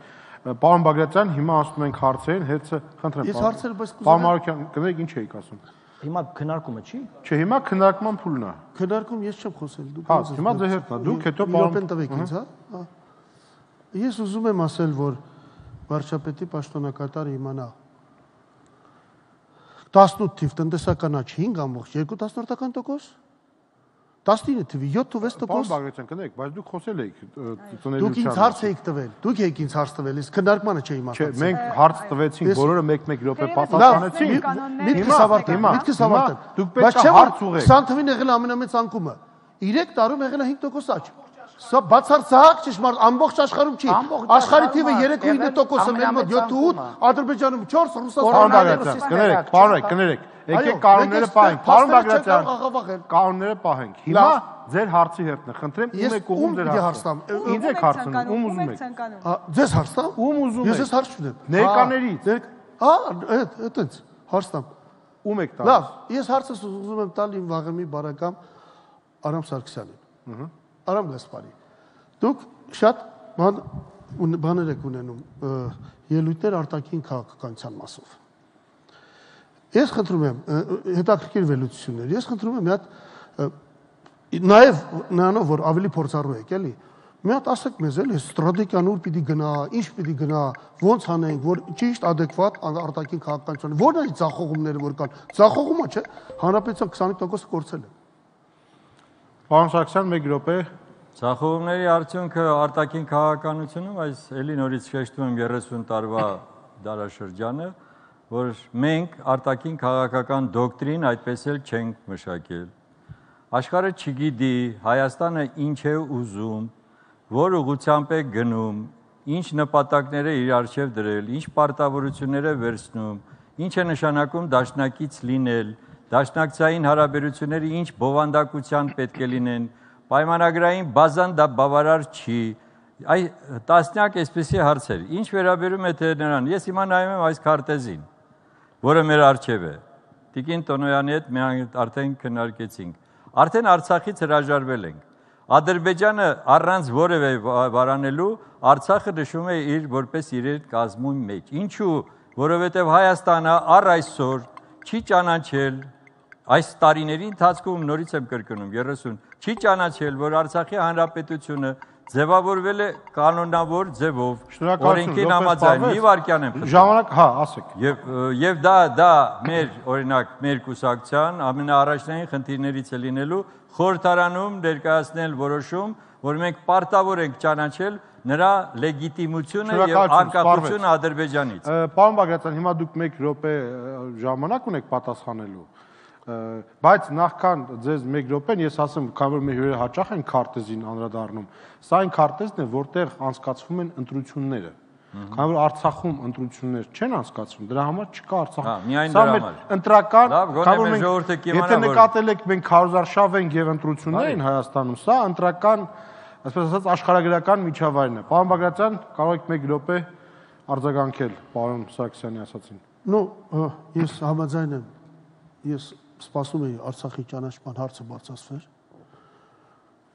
Պարոն Բագրատյան, հիմա ասում ենք հարցերին, հերթը խնդրեմ։ Ես հարցերը բայց կուզենամ։ Պարոն Մարուկյան, կներեք ինչ էիք ասում։ Հիմա քննարկումը չի։ Չէ, հիմա քննարկման փուլն է։ Քննարկում ես չեմ խոսել, դուք։ Հա, հիմա ձեր հերթն է, դուք հետո պարոն տվեք ինձ, հա։ Ես ուզում եմ ասել, որ վարչապետի պաշտոնակատարը իմանա տասնութ թիվ տնտեսական աճ հինգ ամբողջ երկու տասնորդական տոկոս, տասնինը թվի յոթ ու վեց տոկոս։ Պարոն Բագրատյան, կներեք, բայց դուք խոսել եք ծնելիության։ Դուք ինձ հարց եք տվել, դուք եք ինձ հարց տվել, իսկ քննարկմանը չէի իմացել։ Չէ, մենք հարց տվեցինք, բոլորը մեկ-մեկ րոպե պատասխանեցին։ Միտքս ավարտել, միտքս ավարտել։ Դուք պետք է հարց ուղղեք։ քսան թվին եղել է ամենամեծ անկումը։ երեք տարում եղել է հինգ տոկոս աճ։ Սա բացարձակ ճշմարտ, ամբողջ աշխարհում չի։ Աշխարհի թիվը երեք ու ինը տոկոսը, մեր մոտ յոթ ու ութ, Ադրբեջանում չորս, Ռուսաստանում կներեք, պարոն, կներեք։ Եկեք կանոնները պահենք, պարոն Բագրատյան, կանոնները պահենք։ Հիմա ձեր հարցի հերթն է, խնդրեմ, ում եք ուղում ձեր հարցը։ Ինձ եք հարցնում, ում ուզում եք։ Ձեզ հարց տամ։ Ում ուզում եք։ Ես ես հարց չունեմ։ Ներկաներից։ Հա, այդ, այդպես, հարց տամ։ Ում եք տալիս։ Լավ, ես հարցս ուզում եմ տալ իմ վաղեմի բարեկամ Արամ Սարգսյանին։ Արամ Գասպարի։ Դուք շատ բաներ եք ունենում ելույթներ արտաքին քաղաքականության մասով։ Ես խնդրում եմ հետաքրքիր վերլուծություններ։ Ես խնդրում եմ մի հատ նաև նրանով որ ավելի փորձառու եք, էլի։ Մի հատ ասեք մեզ, էլի, ստրատեգիան ուր պիտի գնա, ինչ պիտի գնա, ոնց անենք, որ ճիշտ adekvat արտաքին քաղաքականություն։ Որն է ցախողումները որ կան։ Ցախողումը չէ, հանրապետության քսանինը տոկոս կորցել է։ Պարոն Սարգսյան, մեկ րոպե։ Ցախողումների արդյունքը արտաքին քաղաքականությունում, այս էլի նորից շեշտում եմ երեսուն տարվա դարաշրջանը, որ մենք արտաքին քաղաքական դոկտրին այդպես էլ չենք մշակել։ Աշխարհը չգիտի Հայաստանը ինչ է ուզում, որ ուղղությամբ է գնում, ինչ նպատակներ է իր առջև դրել, ինչ պարտավորություններ է վերցնում, ինչ է նշանակում դաշնակից լինել, դաշնակցային հարաբերությունները ինչ բովանդակության պետք է լինեն, պայմանագրային բազան դա բավարար չի։ Այ տասնյակ այսպիսի հարցեր։ Ինչ վերաբերում է թե նրան, ես հիմա նայում եմ այս քարտեզին, որը մեր առջև է։ Տիկին Տոնոյանի հետ մենք արդեն քննարկեցինք։ Արդեն Արցախից հրաժարվել ենք։ Ադրբեջանը առանց որևէ վարանելու Արցախը նշում է իր որպես իր կազմում մեջ։ Ինչու՞, որովհետև Հայաստանը առ այսօր չի ճանաչել այս տարիների ընթացքում նորից եմ կրկնում երեսուն չի ճանաչել, որ Արցախի հանրապետությունը ձևավորվել է կանոնավոր ձևով, օրենքին համաձայն, մի վարքյան եմ խնդրում։ Ժամանակ, հա, ասեք։ Եվ եւ դա դա մեր օրինակ մեր կուսակցության ամենաառաջնային խնդիրներից է լինելու խորհրդարանում ներկայացնել որոշում, որ մենք պարտավոր ենք ճանաչել նրա լեգիտիմությունը եւ անկախությունը Ադրբեջանից։ Պարոն Բագրատյան, հիմա դուք մեկ րոպե ժամանակ ունեք պատասխանելու։ Բայց նախքան ձեզ մեկ րոպեն ես ասեմ, քանի որ մեր հյուրերը հաճախ են քարտեզին անդրադառնում, սա այն քարտեզն է, որտեղ անցկացվում են ընտրությունները։ Քանի որ Արցախում ընտրություններ չեն անցկացվում, դրա համար չկա Արցախում։ Սա մեր ընտրական, քանի որ մենք եթե նկատել եք մենք քարոզարշավ ենք եւ ընտրություններ են Հայաստանում, սա ընտրական, այսպես ասած, աշխարհագրական միջավայրն է։ Պարոն Բագրատյան, կարող եք մեկ րոպե արձագանքել պարոն Սարգսյանի ասածին։ Նո, ես համաձայն եմ։ Ես սպասում էի Արցախի ճանաչման հարցը բարձրացվեր։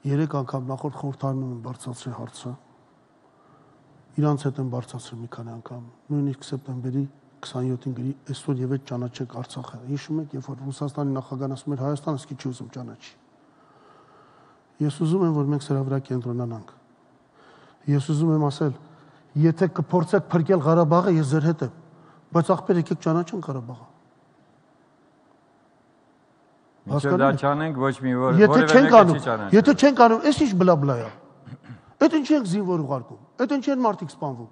Երեք անգամ նախորդ խորհրդարանում եմ բարձրացրել հարցը։ Իրանց հետ եմ բարձրացրել մի քանի անգամ։ Նույնիսկ սեպտեմբերի քսանյոթին գրի այսօր եւ այդ ճանաչեք Արցախը։ Հիշում եք, երբ որ Ռուսաստանի նախագահն ասում էր Հայաստանը սկի չի ուզում ճանաչի։ Ես ուզում եմ, որ մենք սրա վրա կենտրոնանանք։ Ես ուզում եմ ասել, եթե կփորձեք փրկել Ղարաբաղը, ես ձեր հետ եմ, բայց ախպեր եկեք ճանաչենք Ղարաբաղը։ Մինչև դա չանենք, ոչ մի որ որևէ մեկը չի ճանաչի։ Եթե չենք անում, էս ինչ բլա-բլա է։ Այդ ինչի ենք զինվոր ուղարկում։ Այդ ինչի են մարդիկ սպանվում։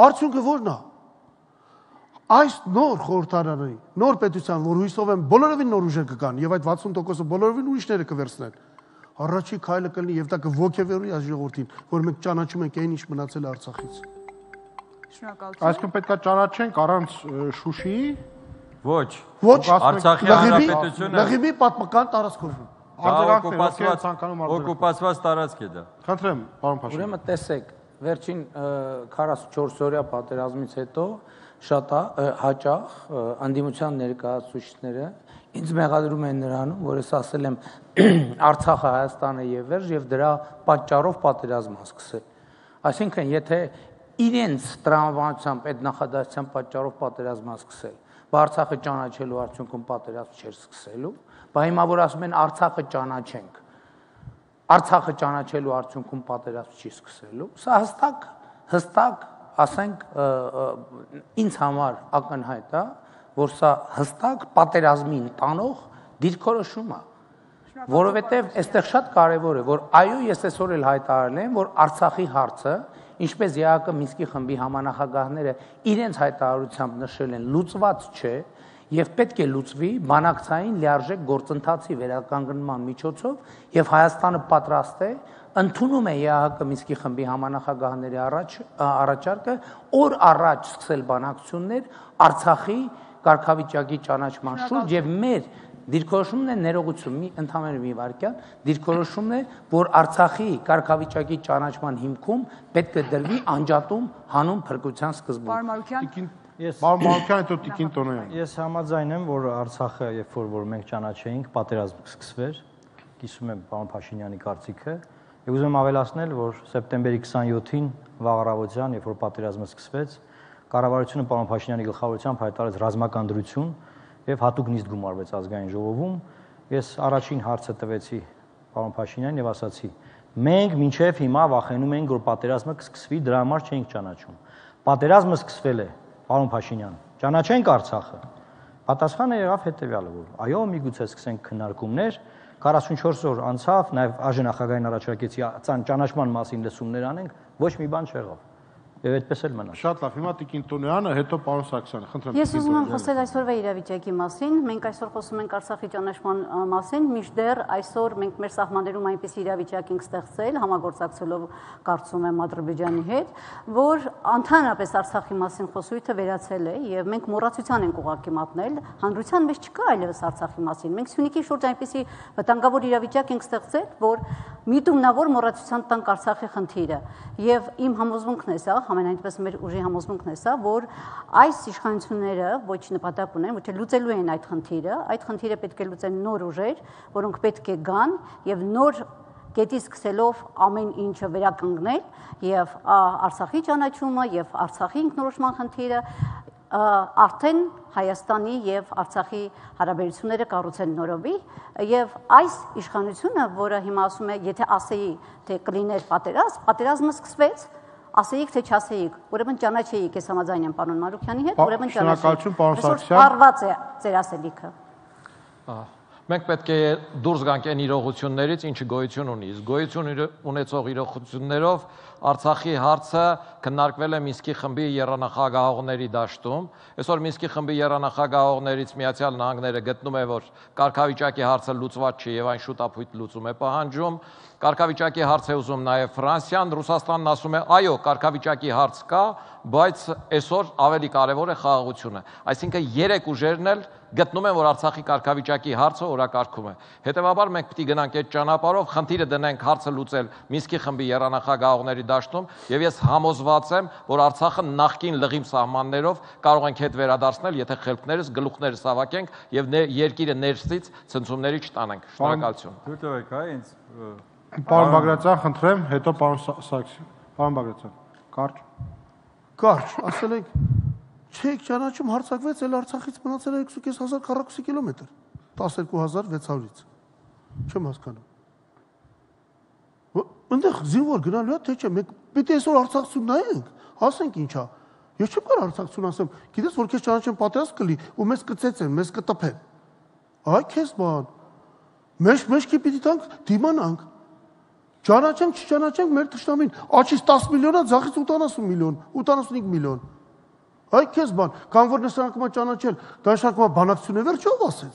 Արդյունքը ո՞րն է։ Այս նոր խորհրդարանի, նոր պետության, որ հույսով եմ բոլորովին նոր ուժեր կգան եւ այդ վաթսուն տոկոսը բոլորովին ուրիշները կվերցնեն։ Առաջի քայլը կլինի եւ դա կոգեվորի այս ժողովրդին, որ մենք ճանաչում ենք այն ինչ մնացել է Արցախից։ Շնորհակալություն։ Այսինքն պետքա ճանաչենք առանց Շուշիի։ Ոչ։ Ոչ, Արցախի հանրապետությունը Լղիմի պատմական տարածքով։ Օկուպացված տարածք է դա։ Խնդրեմ, պարոն Փաշինյան։ Ուրեմն տեսեք, վերջին քառասունչորս օրյա պատերազմից հետո շատ հաճախ անդիմության ներկայացուցիչները ինձ մեղադրում են նրանում, որ ես ասել եմ Արցախը Հայաստանը եւ վերջ եւ դրա պատճառով պատերազմ ա սկսել։ Այսինքն, եթե իրենց տրամաբանությամբ այդ նախադասության պատճառով պատերազմ ա սկսել, Արցախը ճանաչելու արդյունքում պատերազմ չէր սկսելու, բայց հիմա որ ասում են Արցախը ճանաչենք, Արցախը ճանաչելու արդյունքում պատերազմ չի սկսելու, սա հստակ, հստակ, ասենք, ինձ համար ակնհայտ է, որ սա հստակ պատերազմին տանող դիրքորոշում է, որովհետև այստեղ շատ կարևոր է, որ այո, ես այսօր էլ հայտարարել եմ, որ Արցախի հարցը, ինչպես ԵԱՀԿ Մինսկի խմբի համանախագահները իրենց հայտարարությամբ նշել են, լուծված չէ եւ պետք է լուծվի բանակցային լիարժեք գործընթացի վերականգնման միջոցով եւ Հայաստանը պատրաստ է ընդունում է ԵԱՀԿ Մինսկի խմբի համանախագահների առաջ առաջարկը օր առաջ սկսել բանակցություններ Արցախի կարգավիճակի ճանաչման շուրջ եւ մեր դիրքորոշումն է ներողություն, մի ընդհանուր մի վարքյան, դիրքորոշումն է, որ Արցախի կարգավիճակի ճանաչման հիմքում պետք է դրվի անջատում հանուն փրկության սկզբունք։ Պարոն Մարուկյան, ես Պարոն Մարուկյան, հետո Տիկին Տոնոյան։ Ես համաձայն եմ, որ Արցախը, երբ որ որ մենք ճանաչեինք, պատերազմ սկսվեր, կիսում եմ պարոն Փաշինյանի կարծիքը, եւ ուզում եմ ավելացնել, որ սեպտեմբերի քսանյոթին վաղ-առավոտյան, երբ որ պատերազմը սկսվեց, կառավարությունը պարոն Փաշինյանի գլխավորությամբ հայտարարեց ռազմական դրություն եւ հատուկ նիստ գումարվեց ազգային ժողովում։ Ես առաջին հարցը տվեցի պարոն Փաշինյանին եւ ասացի. մենք մինչեւ հիմա վախենում ենք, որ պատերազմը կսկսվի, դրա համար չենք ճանաչում։ Պատերազմը սկսվել է, պարոն Փաշինյան, ճանաչենք Արցախը։ Պատասխանը եղավ հետեւյալը, որ այո, միգուցե սկսենք քննարկումներ, քառասունչորս օր անցավ, նաեւ ԱԺ-նախագահային առաջարկեցի ճանաչման մասին լսումներ անենք, ոչ մի բան չեղավ։ Եվ այդպես էլ մնաց։ Շատ լավ, հիմա Տիկին Տոնոյանը, հետո պարոն Սարգսյանը, խնդրեմ։ Ես ուզում եմ խոսել այսօրվա իրավիճակի մասին։ Մենք այսօր խոսում ենք Արցախի ճանաչման մասին, մինչդեռ այսօր մենք մեր սահմաններում այնպես իրավիճակ ենք ստեղծել, համագործակցելով կարծում եմ Ադրբեջանի հետ, որ ընդհանրապես Արցախի մասին խոսույթը վերացել է եւ մենք մոռացության ենք ուղղակի մատնել, հանրության մեջ չկա այլևս Արցախի մասին։ Մենք Սյունիքի շուրջ այնպեսի վտանգավոր իրավիճակ ենք ստեղծել, որ միտումնավոր մոռացության տանք Արցախի խնդիրը եւ իմ համոզմունքն է սա, ամենայնպես մեր ուժի համոզմունքն է սա, որ այս իշխանությունները ոչ նպատակ ունեն, ոչ լուծելու են այդ խնդիրը, այդ խնդիրը պետք է լուծեն նոր ուժեր, որոնք պետք է գան եւ նոր կետի սկսելով ամեն ինչը վերականգնել եւ Արցախի ճանաչումը եւ Արցախի ինքնորոշման խնդիրը արդեն Հայաստանի եւ Արցախի հարաբերությունները կառուցեն նորովի եւ այս իշխանությունը, որը հիմա ասում է, եթե ասեի, թե կլիներ պատերազմ, պատերազմը սկսվեց, ասեիք թե չասեիք, ուրեմն ճանաչեիք, ես համաձայն եմ պարոն Մարուկյանի հետ, ուրեմն ճանաչեիք։ Շնորհակալություն պարոն Սարգսյան։ Պարված է ձեր ասելիքը։ Մենք պետք է դուրս գանք այն իրողություններից, ինչը գոյություն ունի։ Իսկ գոյություն ունեցող իրողություններով Արցախի հարցը քննարկվել է Մինսկի խմբի եռանախագահողների դաշտում։ Այսօր Մինսկի խմբի եռանախագահողներից Միացյալ Նահանգները գտնում է, որ կարգավիճակի հարցը լուծված չի եւ այն շուտապույտ լուծում է պահանջում։ Կարգավիճակի հարց է ուզում նաև Ֆրանսիան, Ռուսաստանն ասում է, այո, կարգավիճակի հարց կա, բայց այսօր ավելի կարևոր է խաղաղությունը։ Այսինքն երեք ուժերն էլ գտնում են, որ Արցախի կարգավիճակի հարցը օրակարգում է։ Հետևաբար մենք պետք է գնանք այդ ճանապարհով, խնդիրը դնենք հարցը լուծել Մինսկի խմբի եռանախագահողների դաշտում, եւ ես համոզված եմ, որ Արցախը նախկին լղիմ սահմաններով կարող ենք հետ վերադարձնել, եթե խելքներս, գլուխներս հավաքենք եւ երկիրը ներսից ցնցումների չտանենք։ Շնորհակալություն։ Դուք եք, այ ինձ Պարոն Բագրատյան, խնդրեմ, հետո պարոն Սարգսյան։ Պարոն Բագրատյան, կարճ։ Կարճ, ասել եք, չեք ճանաչում հարձակվեց, էլ Արցախից մնացել է երկու հազար քառակուսի կիլոմետր, տասներկու հազար վեց հարյուրից։ Չեմ հասկանում։ Այնտեղ զինվոր գնալու է, թե չէ, մենք պետք է այսօր Արցախցուն նայենք, ասենք ինչա։ Ես չեմ կարող Արցախցուն ասեմ, գիտես, որ քեզ ճանաչեն պատրաստ կլի ու մեզ կծեցեն, մեզ կտպեն։ Այ քեզ բան։ Մենք մեջքի պիտի տանք դիմանանք։ Ճանաչենք, չճանաչենք մեր թշնամին, աչից տասը միլիոնա, ձախից ութանասուն միլիոն, ութանասունհինգ միլիոն։ Այ քեզ բան, կամ որ նշանակում է ճանաչել, դա նշանակում է բանակցություն է, վերջ ով ասեց։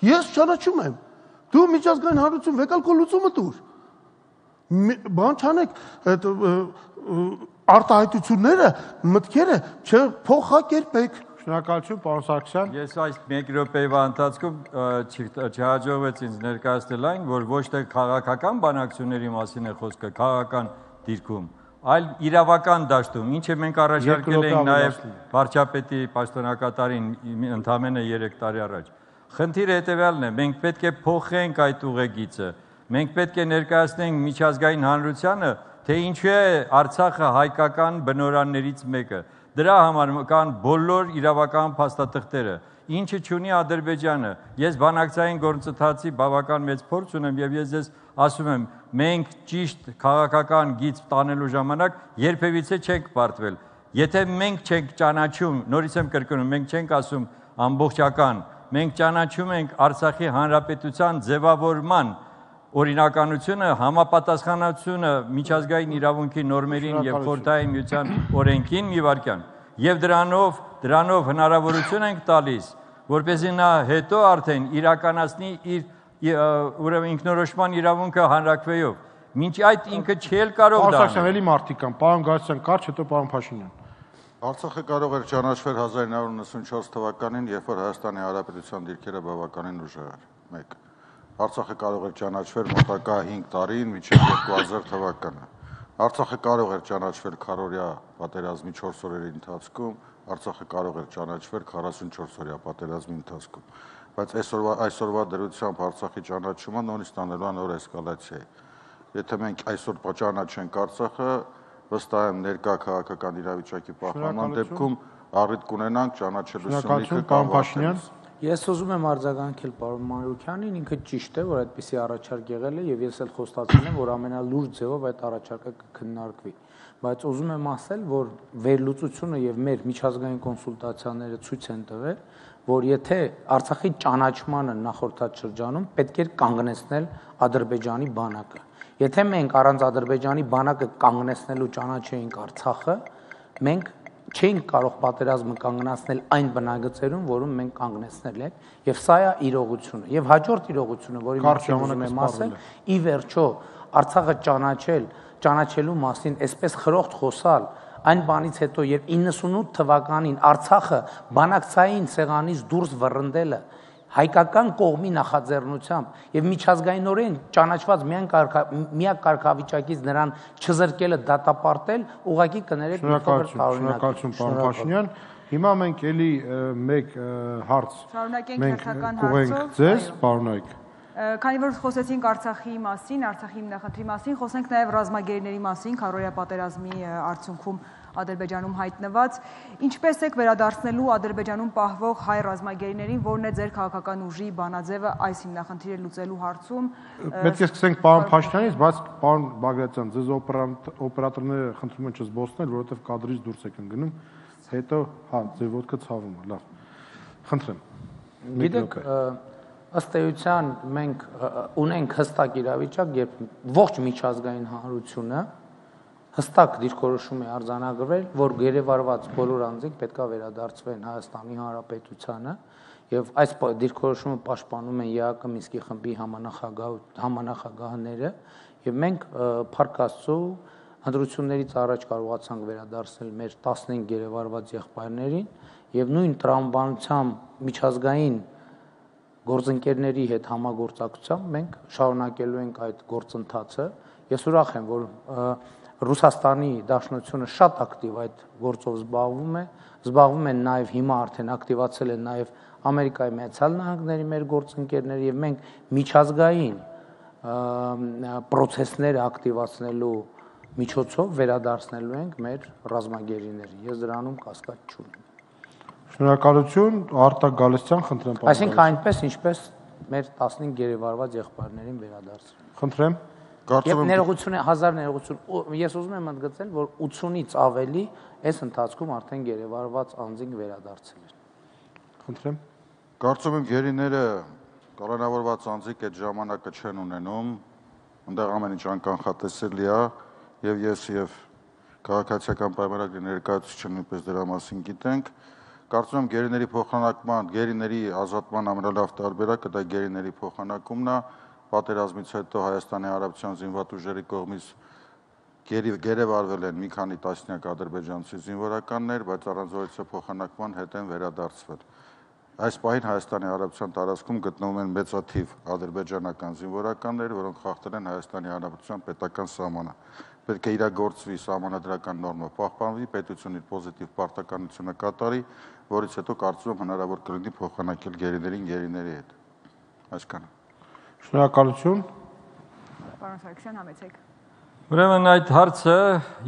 Ես ճանաչում եմ։ Դու միջազգային հանրություն վեկալ քո լուծումը տուր։ Բան չանեք, այդ արտահայտությունները, մտքերը չփոխակերպեք։ Շնորհակալություն, պարոն Սարգսյան։ Ես այս մեկ րոպեվա ընթացքում չհաջողվեց ինձ ներկայացնել այն, որ ոչ թե քաղաքական բանակցությունների մասին է խոսքը, քաղաքական դիրքում, այլ իրավական դաշտում, ինչը մենք առաջարկել էինք նաև վարչապետի պաշտոնակատարին ընդամենը երեք տարի առաջ։ Խնդիրը հետևյալն է, մենք պետք է փոխենք այդ ուղեգիծը, մենք պետք է ներկայացնենք միջազգային հանրությանը, թե ինչու է Արցախը հայկական բնօրաններից մեկը։ Դրա համար կան բոլոր իրավական փաստաթղթերը, ինչը չունի Ադրբեջանը։ Ես բանակցային գործընթացի բավական մեծ փորձ ունեմ եւ ես ձեզ ասում եմ, մենք ճիշտ քաղաքական գիծ տանելու ժամանակ երբևիցե չենք պարտվել։ Եթե մենք չենք ճանաչում, նորից եմ կրկնում, մենք չենք ասում ամբողջական, մենք ճանաչում ենք Արցախի հանրապետության ձևավորման օրինականությունը, համապատասխանությունը միջազգային իրավունքի նորմերին եւ խորհրդային միության օրենքին մի վարքյան։ Եվ դրանով, դրանով հնարավորություն ենք տալիս, որպեսզի նա հետո արդեն իրականացնի իր ուրեմն ինքնորոշման իրավունքը հանրակրվեով։ Մինչ այդ ինքը չի կարող դա։ Պարոն Սարգսյան, էլի մարդիկ կան, պարոն Գարսյան կարճ, հետո պարոն Փաշինյան։ Արցախը կարող էր ճանաչվել հազար իննսուն ութանասունչորս թվականին, երբ որ Հայաստանի Հանրապետության դիրքերը բավականին ուժեղ էր։ մեկ Արցախը կարող էր ճանաչվել մոտակա հինգ տարին մինչև երկու հազար թվականը։ Արցախը կարող էր ճանաչվել քառօրյա պատերազմի չորս օրերի ընթացքում, Արցախը կարող էր ճանաչվել քառասունչորս օրյա պատերազմի ընթացքում։ Բայց այսօրվա այսօրվա դրությամբ Արցախի ճանաչումը նորից ստանելու է նոր էսկալացիա։ Եթե մենք այսօր ճանաչենք Արցախը, վստահ եմ ներկա քաղաքական իրավիճակի պահպանման դեպքում առիթ կունենանք ճանաչելու սյունիքը կամ Փաշինյան։ Ես ուզում եմ արձագանքել պարոն Մանուկյանին, ինքը ճիշտ է, որ այդպիսի առաջարկ եղել է եւ ես էլ խոստացել եմ, որ ամենալուրջ ձևով այդ առաջարկը կքննարկվի, բայց ուզում եմ ասել, որ վերլուծությունը եւ մեր միջազգային կոնսուլտացիաները ցույց են տվել, որ եթե Արցախի ճանաչմանը նախորդած շրջանում պետք էր կանգնեցնել Ադրբեջանի բանակը։ Եթե մենք առանց Ադրբեջանի բանակը կանգնեցնելու ճանաչեինք Արցախը, մենք չենք կարող պատերազմը կանգնացնել այն բնագծերում, որում մենք կանգնեցնել ենք, եւ սա է իրողությունը։ Եվ հաջորդ իրողությունը, որի մասին ուզում եմ ասել, ի վերջո Արցախը ճանաչել, ճանաչելու մասին այսպես խրոխտ խոսալ, այն բանից հետո, երբ իննսունութ թվականին Արցախը բանակցային սեղանից դուրս վռնդելը հայկական կողմի նախաձեռնությամբ եւ միջազգայինորեն ճանաչված միայն միակ կարգավիճակից նրան չզրկելը դատապարտել, ուղղակի կներեք մի փոքր տարօրինակ։ Շնորհակալություն, պարոն Փաշինյան։ Հիմա մենք էլի մեկ հարց մենք կուղենք ձեզ, պարոնայք։ Քանի որ խոսեցինք Արցախի մասին, Արցախի հիմնախնդրի մասին, խոսենք նաև ռազմագերիների մասին, քառօրյա պատերազմի արդյունքում Ադրբեջանում հայտնված, ինչպես եք վերադարձնելու Ադրբեջանում պահվող հայ ռազմագերիներին, որն է ձեր քաղաքական ուժի բանաձևը այս հիմնախնդիրը լուծելու հարցում։ Պետք է սկսենք պարոն Փաշինյանից, բայց պարոն Բագրատյան, ձեզ օպերատորները խնդրում են չզբոսնել, որովհետև կադրից դուրս եք ընկնում, հետո հա, ձեր ոտքը ցավում է, լավ։ Խնդրեմ։ Գիտեք, ըստ էության մենք ունենք հստակ իրավիճակ, երբ ողջ միջազգային հանրությունը հստակ դիրքորոշում է արձանագրվել, որ գերեվարված բոլոր անձինք պետքա վերադարձվեն Հայաստանի Հանրապետությանը, եւ այս դիրքորոշումը պաշտպանում են ԵԱԿ Մինսկի խմբի համանախագահները, եւ մենք Փառք Աստծո ընտրություններից առաջ կարողացանք վերադարձնել մեր տասնհինգ գերեվարված եղբայրներին եւ նույն տրամաբանությամբ միջազգային գործընկերների հետ համագործակցությամբ մենք շարունակելու ենք այդ գործընթացը։ Ես ուրախ եմ, որ Ռուսաստանի Դաշնությունը շատ ակտիվ այդ գործով զբաղվում է, զբաղվում են նաեւ հիմա արդեն ակտիվացել են նաեւ Ամերիկայի Միացյալ Նահանգների մեր գործընկերները եւ մենք միջազգային պրոցեսները ակտիվացնելու միջոցով վերադարձնելու ենք մեր ռազմագերիներին։ Ես դրանում կասկած չունեմ։ Շնորհակալություն, Արտակ Գալստյան, խնդրեմ։ Այսինքն այնպես, ինչպես մեր տասնհինգ գերեվարված եղբայրներին վերադարձրել։ Խնդրեմ։ Եվ ներողություն է, հազար ներողություն, ես ուզում եմ ընդգծել, որ ութսունից ավելի այս ընթացքում արդեն գերեվարված անձինք վերադարձել են։ Խնդրեմ։ Կարծում եմ գերիները կալանավորված անձիկ այդ ժամանակը չեն ունենում, այնտեղ ամեն ինչ անկանխատեսելի է, եւ ես եւ քաղաքացիական պայմանագրի ներկայացուցիչը նույնպես դրա մասին գիտենք։ Կարծում եմ գերիների փոխանակման, գերիների ազատման ամենալավ տարբերակը դա գերիների փոխանակումն է, պատերազմից հետո Հայաստանի Հանրապետության զինված ուժերի կողմից գերեվարվել են մի քանի տասնյակ ադրբեջանցի զինվորականներ, բայց առանց որևէ փոխանակման հետ են վերադարձվել։ Այս պահին Հայաստանի Հանրապետության տարածքում գտնվում են մեծաթիվ ադրբեջանական զինվորականներ, որոնք խախտել են Հայաստանի Հանրապետության պետական սահմանը։ Պետք է իրագործվի սահմանադրական նորմը պահպանվի, պետությունն իր պոզիտիվ պարտականությունը կատարի, որից հետո կարծում եմ հնարավոր կլինի փոխանակել գերիներին գերիների հետ։ Այսքանը։ Շնորհակալություն։ Պարոն Սարգսյան, համեցեք։ Ուրեմն այդ հարցը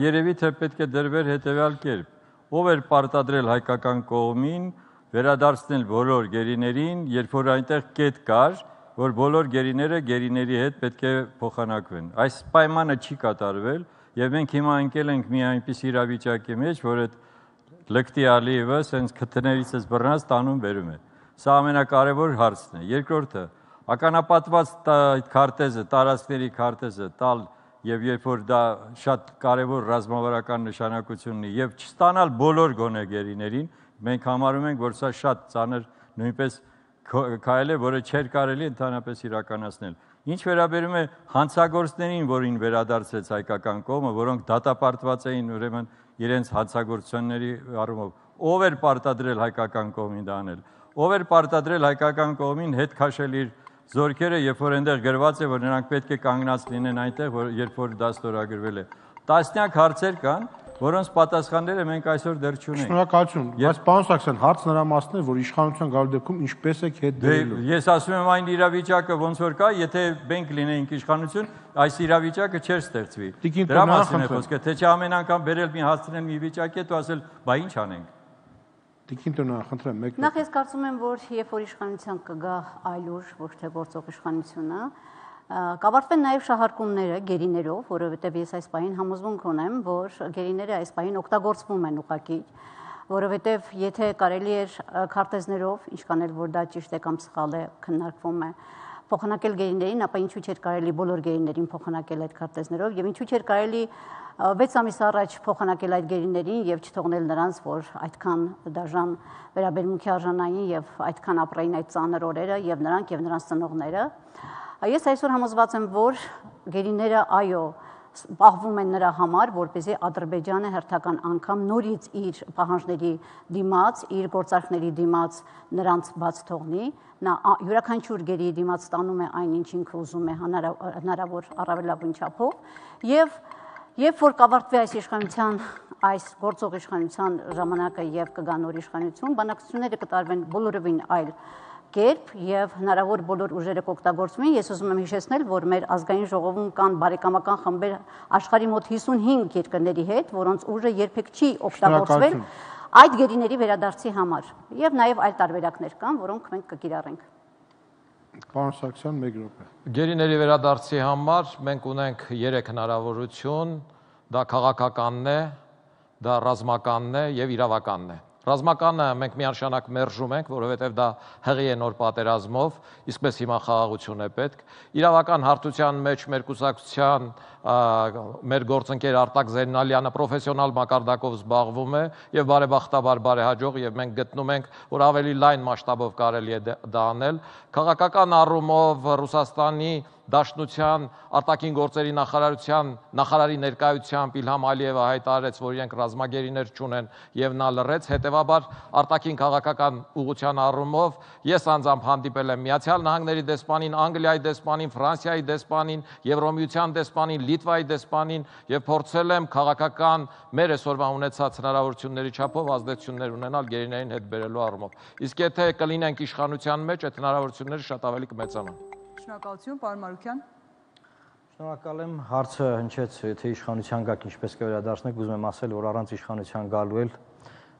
երևի թե պետք է դրվեր հետևյալ կերպ. ով էր պարտադրել հայկական կողմին վերադարձնել բոլոր գերիներին, երբ որ այնտեղ կետ կար, որ բոլոր գերիները գերիների հետ պետք է փոխանակվեն։ Այս պայմանը չի կատարվել, եւ մենք հիմա ընկել ենք մի այնպես իրավիճակի մեջ, որ այդ լկտի Ալիևը սենց քթներիցս բռնած տանում բերում է։ Սա ամենակարևոր հարցն է։ Երկրորդը, ականապատված այդ քարտեզը, տարածքների քարտեզը տալ եւ երբ որ դա շատ կարևոր ռազմավարական նշանակություն ունի եւ չստանալ բոլոր գոնե գերիներին, մենք համարում ենք, որ սա շատ ծանր նույնպես քայլ է, որը չէր կարելի ընդհանրապես իրականացնել։ Ինչ վերաբերում է հանցագործներին, որին վերադարձեց հայկական կողմը, որոնք դատապարտված էին ուրեմն իրենց հանցագործությունների առումով, ով էր պարտադրել հայկական կողմին դա անել, ով էր պարտադրել հայկական կողմին հետ քաշել իր զորքերը, երբ որ այնտեղ գրված է, որ նրանք պետք է կանգնած լինեն այնտեղ, որ երբ որ դա ստորագրվել է։ Տասնյակ հարցեր կան, որոնց պատասխանները մենք այսօր դեռ չունենք։ Շնորհակալություն։ Բայց պարոն Սարգսյան, հարցն նրա մասն է, որ իշխանության գալու դեպքում ինչպես եք հետ դրելու։ Ես ասում եմ այն իրավիճակը ոնց որ կա, եթե մենք լինեինք իշխանություն, այս իրավիճակը չէր ստեղծվի։ Դրա մասին է խոսքը, թե չէ ամեն անգամ բերել մի հասցնել մի վիճակի հետ ու ասել, բա ինչ անենք։ Տիկին Տոնա, խնդրեմ, մեկ։ Նախ ես կարծում եմ, որ երբ որ իշխանության կգա այլ ուժ, ոչ թե գործող իշխանությունը, կավարտվեն նաև շահարկումները գերիներով, որովհետև ես այս պահին համոզմունք ունեմ, որ գերիները այս պահին օգտագործվում են ուղղակի, որովհետև եթե կարելի էր քարտեզներով, ինչքան էլ որ դա ճիշտ է կամ սխալ է, քննարկվում է, փոխանակել գերիներին, ապա ինչու՞ չէր կարելի բոլոր գերիներին փոխանակել այդ քարտեզներով եւ ինչու՞ չէր կարելի վեց ամիս առաջ փոխանակել այդ գերիներին եւ չթողնել նրանց, որ այդքան դաժան վերաբերմունքի արժանային եւ այդքան ապրային այդ ծանր օրերը եւ նրանք եւ նրանց ծնողները։ Ես այսօր համոզված եմ, որ գերիները այո պահվում են նրա համար, որպեսզի Ադրբեջանը հերթական անգամ նորից իր պահանջների դիմաց, իր գործարքների դիմաց նրանց բաց թողնի, նա յուրաքանչյուր գերի դիմաց ստանում է այն, ինչ ինքը ուզում է հնարավոր առավելագույն չափով եւ երբ որ կավարտվի այս իշխանության, այս գործող իշխանության ժամանակը եւ կգա նոր իշխանություն, բանակցությունները կտարվեն բոլորովին այլ կերպ եւ հնարավոր բոլոր ուժերը կօգտագործվեն։ Ես ուզում եմ հիշեցնել, որ մեր ազգային ժողովում կան բարեկամական խմբեր աշխարհի մոտ հիսունհինգ երկրների հետ, որոնց ուժը երբեք չի օգտագործվել այդ գերիների վերադարձի համար եւ նաեւ այլ տարբերակներ կան, որոնք մենք կկիրառենք։ Պարոն Սարգսյան, մեկ րոպե։ Գերիների վերադարձի համար մենք ունենք երեք հնարավորություն, դա քաղաքականն է, դա ռազմականն է եւ իրավականն է։ Ռազմականը մենք միանշանակ մերժում ենք, որովհետև դա հղի է նոր պատերազմով, իսկպես հիմա խաղաղություն է պետք։ Իրավական հարթության մեջ մեր կուսակցության մեր գործընկեր Արտակ Զեննալյանը պրոֆեսիոնալ մակարդակով զբաղվում է եւ բարեբախտաբար բարեհաջող եւ մենք գտնում ենք, որ ավելի լայն մասշտաբով կարելի է դա անել։ Քաղաքական առումով Ռուսաստանի Դաշնության արտաքին գործերի նախարարության նախարարի ներկայությամբ Իլհամ Ալիևը հայտարարեց, որ իրենք ռազմագերիներ չունեն եւ նա լռեց, հետեւաբար արտաքին քաղաքական ուղղության առումով ես անձամբ հանդիպել եմ Միացյալ Նահանգների դեսպանին, Անգլիայի դեսպանին, Ֆրանսիայի դեսպանին, Եվրոմիության դեսպանին, Լիտվայի դեսպանին եւ փորձել եմ քաղաքական մեր այսօրվա ունեցած հնարավորությունների չափով ազդեցություններ ունենալ գերիներին հետ բերելու առումով։ Իսկ եթե կլինենք իշխանության մեջ, այդ հնարավորությունները շատ ավելի կմեծանան։ Շնորհակալություն, պարոն Մարուկյան։ Շնորհակալ եմ, հարցը հնչեց, թե իշխանության գաք ինչպես կվերադարձնեք, ուզում եմ ասել, որ առանց իշխանության գալու էլ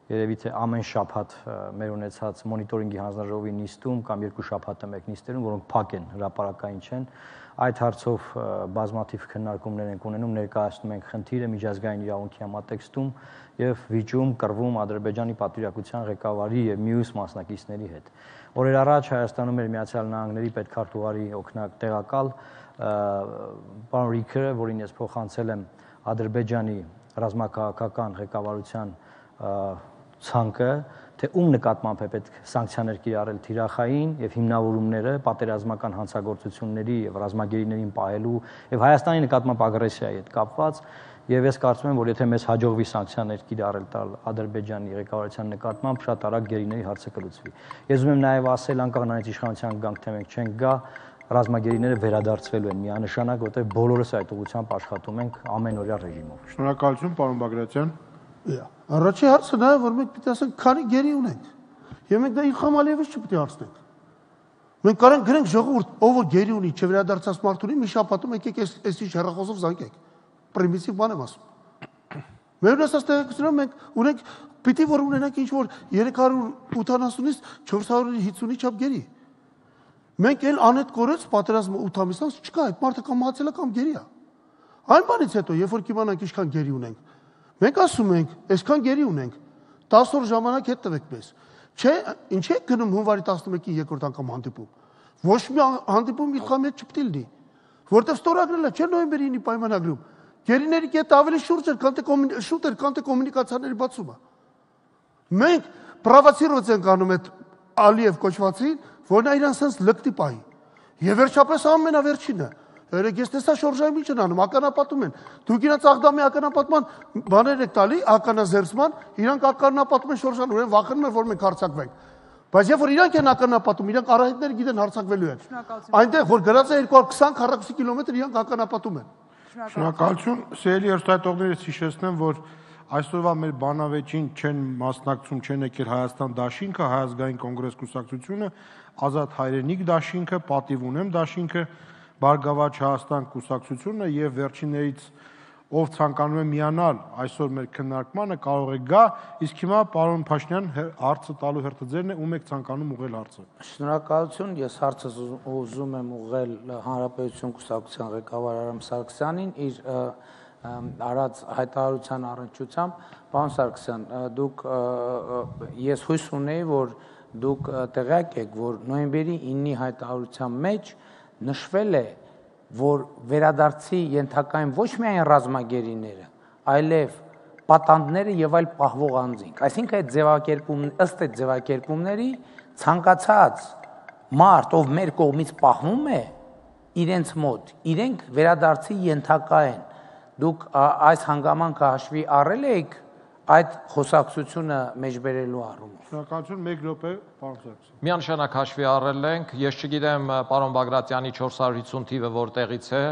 երևի թե ամեն շաբաթ մեր ունեցած մոնիտորինգի հանձնաժողովի նիստում կամ երկու շաբաթը մեկ նիստերում, որոնք փակ են, հրապարակային չեն, այդ հարցով բազմաթիվ քննարկումներ ենք ունենում, ներկայացնում ենք խնդիրը միջազգային իրավունքի համատեքստում եւ վիճում կռվում Ադրբեջանի պատվիրակության ղեկավարի եւ մյուս մասնակիցների հետ։ Օրեր առաջ Հայաստանում էր Միացյալ Նահանգների պետքարտուղարի օգնակ տեղակալ պարոն Ռիքերը, որին ես փոխանցել եմ Ադրբեջանի ռազմաքաղաքական ղեկավարության ցանկը, թե ում նկատմամբ է պետք սանկցիաներ կիրառել թիրախային եւ հիմնավորումները պատերազմական հանցագործությունների եւ ռազմագերիներին պահելու եւ Հայաստանի նկատմամբ ագրեսիայի հետ կապված, եւ ես կարծում եմ, որ եթե մեզ հաջողվի սանկցիաներ կիրառել տալ Ադրբեջանի ղեկավարության նկատմամբ, շատ արագ գերիների հարցը կլուծվի։ Ես ուզում եմ նաեւ ասել, անկախ նրանից իշխանության գանք թե մենք չենք գա, ռազմագերիները վերադարձվելու են միանշանակ, որտեղ բոլորս այդ ուղղությամբ աշխատում ենք ամենօրյա ռեժիմով։ Շնորհակալություն, պարոն Բագրատյան։ Առաջի հարցը նա է, որ մենք պիտի ասենք, քանի գերի ունենք։ Եվ մենք դա Իլհամ Ալիևից չպիտի հարցնենք։ Մենք կարող ենք գրենք ժողովուրդ, ով որ գերի ունի, չվերադարձած մարդ ունի, մի շաբաթում եկեք այս ինչ հեռախոսով զանգեք։ Պրիմիտիվ բան եմ ասում։ Մեր ունեցած տեղեկությունով մենք ունենք պիտի որ ունենանք ինչ որ երեք հարյուր ութանասունից չորս հարյուր հինգի չափ գերի։ Մենք էլ անետ կորեց պատերազմը ութ ամիսից չկա, այդ մարդը կամ մահացել է կամ գերի է։ Այն բանից հետո, երբ որ կիմանանք ինչքան գերի ունենք, մենք ասում ենք, այսքան գերի ունենք, տասը օր ժամանակ հետ տվեք մեզ։ Չէ, ինչ է գնում հունվարի տասնմեկի երկրորդ անգամ հանդիպում։ Ոչ մի հանդիպում Իլհամի հետ չպիտի լինի, որտեղ ստորագրել է, չէ նոյեմբերի ինի պայմանագրում։ Գերիների կետը ավելի շուրջ էր, քան թե շուտ էր, քան թե կոմունիկացիաների բացումը։ Մենք պրովոցիրված ենք անում այդ Ալիև կոչվածին, որ նա իրան sense լկտի պահի։ Եվ վերջապես ամենավերջինը, երեք ես տեսա շորժայում ինչ են անում, ականապատում են։ Դուք իրանց աղդամի ականապատման բաներ եք տալի, ականազերծման, իրանք ականապատում են շորժան, ուրեմն վախենում են, որ մենք հարձակվենք։ Բայց երբ որ իրանք են ականապատում, իրանք արահետները գիտեն հարձակվելու են։ Այնտեղ որ գրած է երկու հարյուր քսան քառակուսի կիլոմետր իրանք ականապատում են։ Շնորհակալություն, սիրելի հեռուստատողներից հիշեցնեմ, որ այսօրվա մեր բանավեճին չեն մասնակցում, չեն եկել Հայաստան դաշինքը, Հայ ազգային կոնգրես կուսակցությունը, Ազատ հայրենիք դաշինքը, Պատիվ ունեմ դաշինքը, Բարգավաճ Հայաստան կուսակցությունը եւ վերջիններից ով ցանկանում է միանալ այսօր մեր քննարկմանը կարող է գա, իսկ հիմա պարոն Փաշինյան հարցը տալու հերթը ձերն է, ում եք ցանկանում ուղղել հարցը։ Շնորհակալություն, ես հարցը ուզում եմ ուղղել Հանրապետություն կուսակցության ղեկավար Արամ Սարգսյանին իր արած հայտարարության առնչությամբ, պարոն Սարգսյան, դուք ես հույս ունեի, որ դուք տեղյակ եք, որ նոյեմբերի ինի հայտարարության մեջ նշվել է, որ վերադարձի ենթակային ոչ միայն ռազմագերիները, այլև պատանդները եւ այլ պահվող անձինք։ Այսինքն այդ ձևակերպում ըստ այդ ձևակերպումների ցանկացած մարդ, ով մեր կողմից պահվում է իրենց մոտ, իրենք վերադարձի ենթակա են։ Դուք այս հանգամանքը հաշվի առել եք այդ խոսակցությունը մեջբերելու առումով։ Շնորհակալություն, մեկ րոպե, պարոն Սարգսյան։ Միանշանակ հաշվի առել ենք, ես չգիտեմ պարոն Բագրատյանի չորս հարյուր հիսուն թիվը որտեղից է,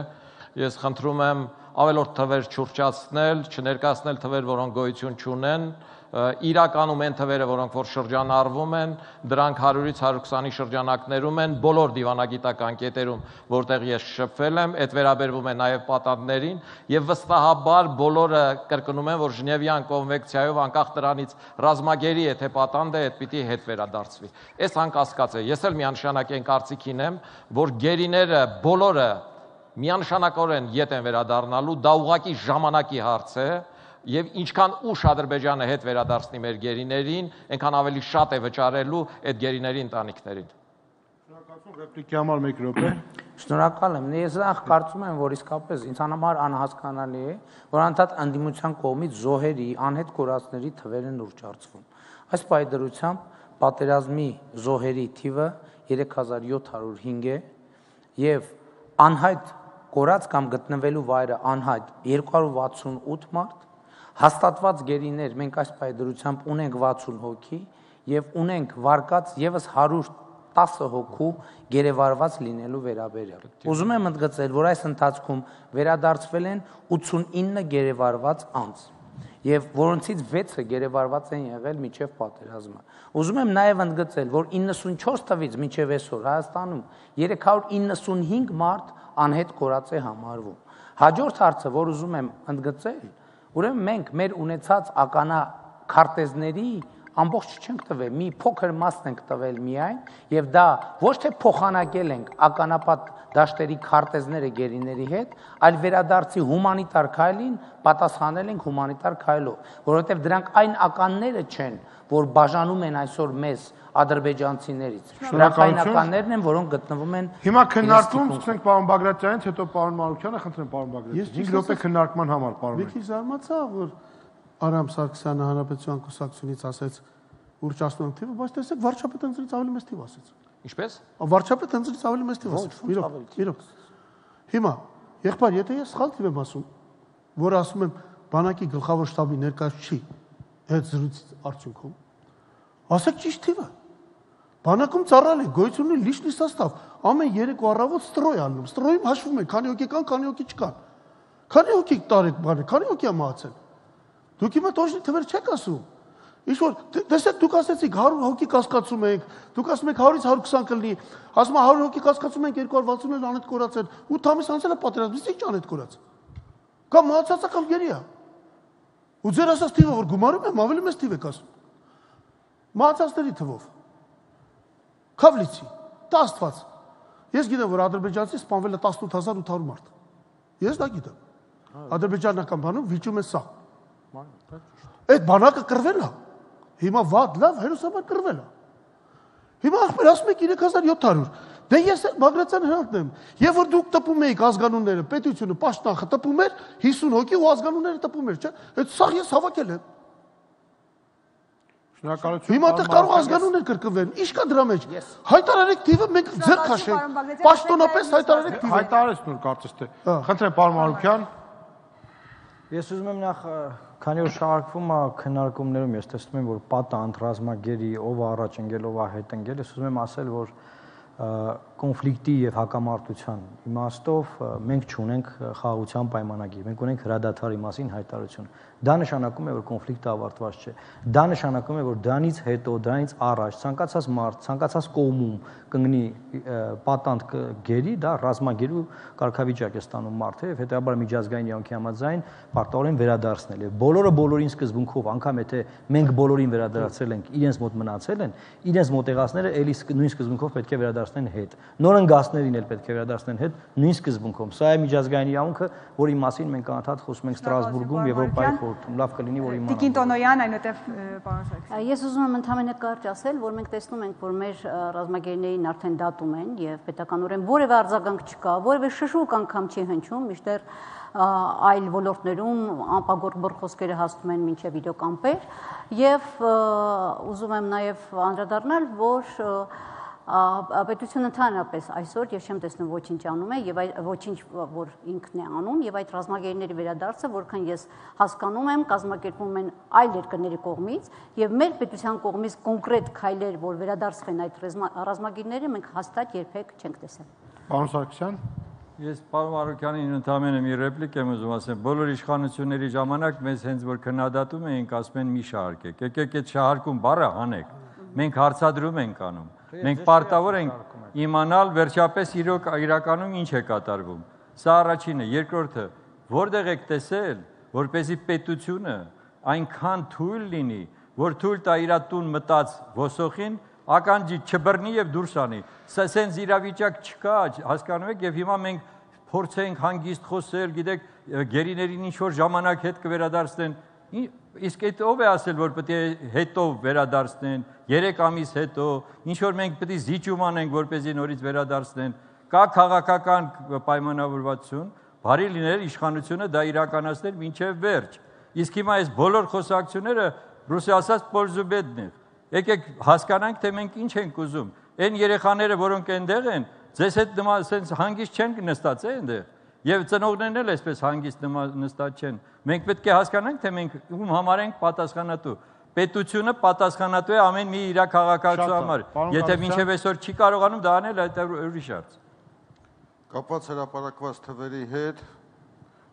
ես խնդրում եմ ավելորդ թվեր չուրճացնել, չներկայացնել թվեր, որոնք գոյություն չունեն, իրականում են թվերը, որոնք որ շրջանառվում են, դրանք հարյուրից հարյուր քսանի շրջանակներում են, բոլոր դիվանագիտական կետերում, որտեղ ես շփվել եմ, այդ վերաբերվում է նաև պատանդներին, եւ վստահաբար բոլորը կրկնում են, որ Ժնևյան կոնվենցիայով անկախ դրանից ռազմագերի է թե պատանդ է, այդ պիտի հետ վերադարձվի։ Այս անկասկած է, ես էլ միանշանակ այն կարծիքին եմ, որ գերիները բոլորը միանշանակորեն ետ են վերադառնալու, դա ուղղակի ժամանակի հարց է, եւ ինչքան ուշ Ադրբեջանը հետ վերադարձնի մեր գերիներին, այնքան ավելի շատ է վճարելու այդ գերիների ընտանիքներին։ Շնորհակալություն, ռեպլիկի համար մեկ րոպե։ Շնորհակալ եմ։ Ես նախ կարծում եմ, որ իսկապես ինձ համար անհասկանալի է, որ անդադ անդիմության կողմից զոհերի, անհետ կորածների թվերը նոր ճարծվում։ Այս պայդրությամբ պատերազմի զոհերի թիվը երեք հազար յոթ հարյուր հինգ է եւ անհայտ կորած կամ գտնվելու վայրը անհայտ երկու հարյուր վաթսունութ մարդ, հաստատված գերիներ մենք այս պայդրությամբ ունենք վաթսուն հոգի եւ ունենք վարկած եւս հարյուր տասը հոգու գերեվարված լինելու վերաբերյալ։ Ուզում եմ ընդգծել, որ այս ընթացքում վերադարձվել են ութսունինը գերեվարված անձ եւ որոնցից վեցը գերեվարված են եղել մինչեւ պատերազմը։ Ուզում եմ նաեւ ընդգծել, որ իննսունչորս թվից մինչեւ այսօր Հայաստանում երեք հարյուր իննսունհինգ մարդ անհետ կորած է համարվում։ Հաջորդ հարցը, որ ուզում եմ ընդգծել, ուրեմն մենք մեր ունեցած ականա քարտեզների ամբողջ չենք տվել, մի փոքր մասն ենք տվել միայն, եւ դա ոչ թե փոխանակել ենք ականապատ դաշտերի քարտեզները գերիների հետ, այլ վերադարձի հումանիտար քայլին պատասխանել ենք հումանիտար քայլով, որովհետեւ դրանք այն ականները չեն, որ բաժանում են այսօր մեզ ադրբեջանցիներից։ Դրանք այն ականներն են, որոնք գտնվում են։ Հիմա քննարկում, սկսենք պարոն Բագրատյանից, հետո պարոն Մարուկյանը, խնդրեմ պարոն Բագրատյան։ հինգ րոպե քննարկման համար, պարոն։ Մի քիչ զարմացա, որ Արամ Սարգսյանը Հանրապետության կուսակցությունից ասեց ուրճ ասում եմ թիվը, բայց տեսեք վարչապետը ընտրից ավելի մեծ թիվ ասեց։ Ինչպես։ Վարչապետը ընտրից ավելի մեծ թիվ ասեց։ Իրոք, իրոք։ Հիմա, եղբայր, եթե ես սխալ թիվ եմ ասում, որ ասում եմ բանակի գլխավոր շտաբի ներկայացուցիչ չի այդ զրույցի արդյունքում, ասեք ճիշտ թիվը։ Բանակում ծառայել է գոյություն ունի լիչնի սաստավ, ամեն երեկո առավոտ ստրոյ անում, ստրոյում հաշվում են, քանի հոգի կան, քանի հոգի չկան։ Քանի հոգի տարեք բանը, քանի հոգի է մահացել։ Դուք հիմա տոշնի թվեր չեք ասում։ Ինչ որ տեսեք դուք ասեցիք հարյուր հոգի կասկածում եք, դուք ասում եք հարյուրից հարյուր քսան կլինի, ասում եք հարյուր հոգի կասկածում ենք երկու հարյուր վաթսուն անհետ կորացել, ութ ամիս անցել է պատերազմից, ի՞նչ անհետ կորած։ Կամ մահացածա կամ գերի է։ Ու ձեր ասած թիվը որ գումարում եմ, ավելի մեծ թիվ եք ասում։ Մահացածների թվով։ Քավլիցի, դա Աստված։ Ես գիտեմ, որ ադրբեջանցի սպանվել է տասնութ հազար ութ հարյուր մարդ։ Ես դա գիտեմ։ Ադրբեջանական բանում վիճում է սա։ Այդ բանակը կռվել է։ Հիմա վատ լավ հերոսաբար կռվել է։ Հիմա ախպեր ասում եք երեք հազար յոթ հարյուր։ Դե ես Բագրատյան հրանտն եմ։ Եվ որ դուք տպում էիք ազգանունները, պետությունը, պաշտոնը տպում էր հիսուն հոգի ու ազգանունները տպում էր, չէ՞։ Այդ սաղ ես հավաքել եմ։ Շնորհակալություն։ Հիմա դեռ կարող ազգանուններ կրկնվեն։ Ինչ կա դրա մեջ։ Հայտարարեք թիվը մենք ձեռ քաշենք։ Պաշտոնապես հայտարարեք թիվը։ Հայտարարեց նոր կարծես թե։ Խնդրեմ պարոն Մարուկյան։ Ես ուզում եմ նախ քանի որ շարժվում է քննարկումներում ես տեսնում եմ որ պատը անդրազմագերի ով առաջ ընկել ով հետ ընկել ես ուզում եմ ասել որ կոնֆլիկտի եւ հակամարտության իմաստով մենք չունենք խաղաղության պայմանագիր մենք ունենք հրադադարի մասին հայտարարություն դա նշանակում է որ կոնֆլիկտը ավարտված չէ դա նշանակում է որ դրանից հետո դրանից առաջ ցանկացած մարդ ցանկացած կողմում կընկնի պատանդ գերի դա ռազմագերու կարգավիճակ է ստանում մարդը եւ հետեւաբար միջազգային իրավունքի համաձայն պարտավորեն վերադարձնել եւ բոլորը բոլորին սկզբունքով անգամ եթե մենք բոլորին վերադարձել ենք իրենց մոտ մնացել են իրենց մոտեղածները էլի նույն սկզբունքով պետք է վերադարձնեն հետ նոր ընկածներին էլ պետք է վերադարձնեն հետ նույն սկզբունքով սա է միջազգային իրավունքը որի մասին մենք անդադ խոսում ենք Ստրասբուրգում Եվրոպայի խորհրդում լավ կլինի որ իմանանք Տիկին Տոնոյան այնուհետև պարոն Սարգսյան Ես ուզում եմ ընդհանրապես կարճ ասել որ մենք տեսնում ենք որ մեր ռազմագերիներին արդեն դատում են եւ պետականորեն որևէ արձագանք չկա որևէ շշուկ անգամ չի հնչում միշտեր այլ ոլորտներում անպագորբոր խոսքերը հասնում են մինչև վիդեոկամպեր եւ ուզում եմ նաեւ անդրադառնալ որ պետությունը ընդհանրապես այսօր ես չեմ տեսնում ոչինչ անում է եւ ոչինչ որ ինքն է անում եւ այդ ռազմագերիների վերադարձը որքան ես հասկանում եմ կազմակերպվում են այլ երկրների կողմից եւ մեր պետության կողմից կոնկրետ քայլեր որ վերադարձվեն այդ ռազմագերիները մենք հաստատ երբեք չենք տեսել Պարոն Սարգսյան Ես պարոն Մարուկյանին ընդհանրապես մի ռեպլիկ եմ ուզում ասել բոլոր իշխանությունների ժամանակ մեզ հենց որ քննադատում էինք ասում են մի շահարկեք եկեք այդ շահարկում բառը հանեք մենք հարցադրում ենք անում Մենք պարտավոր ենք իմանալ վերջապես իրոք իրականում ինչ է կատարվում։ Սա առաջինը, երկրորդը, որտեղ եք տեսել, որպեսզի պետությունը այնքան թույլ լինի, որ թույլ տա իր տուն մտած ոսոխին, ականջի չբռնի եւ դուրս անի։ Սա սենց իրավիճակ չկա, հասկանում եք, եւ հիմա մենք փորձենք հանգիստ խոսել, գիտեք, գերիներին ինչ որ ժամանակ հետ կվերադարձնեն։ Իսկ այդ ով է ասել, որ պետք է հետո վերադարձնեն, երեք ամիս հետո, ինչ որ մենք պետք է զիջում անենք, որպեսզի նորից վերադարձնեն, կա քաղաքական պայմանավորվածություն, բարի լիներ իշխանությունը դա իրականացնել մինչև վերջ։ Իսկ հիմա այս բոլոր խոսակցությունները ռուսի ասած պոլզուբեդն է։ Եկեք հասկանանք, թե մենք ինչ ենք ուզում։ Այն երեխաները, որոնք այնտեղ են, ձեզ հետ նման հանգիստ չեն նստած է այնտեղ։ Եվ ծնողներն էլ այսպես հանգիստ նստած չեն։ Մենք պետք է հասկանանք, թե մենք ում համար ենք պատասխանատու։ Պետությունը պատասխանատու է ամեն մի իր քաղաքացու համար։ Եթե մինչև այսօր չի կարողանում դա անել, այդ ուրիշ հարց։ Կապված հրապարակված թվերի հետ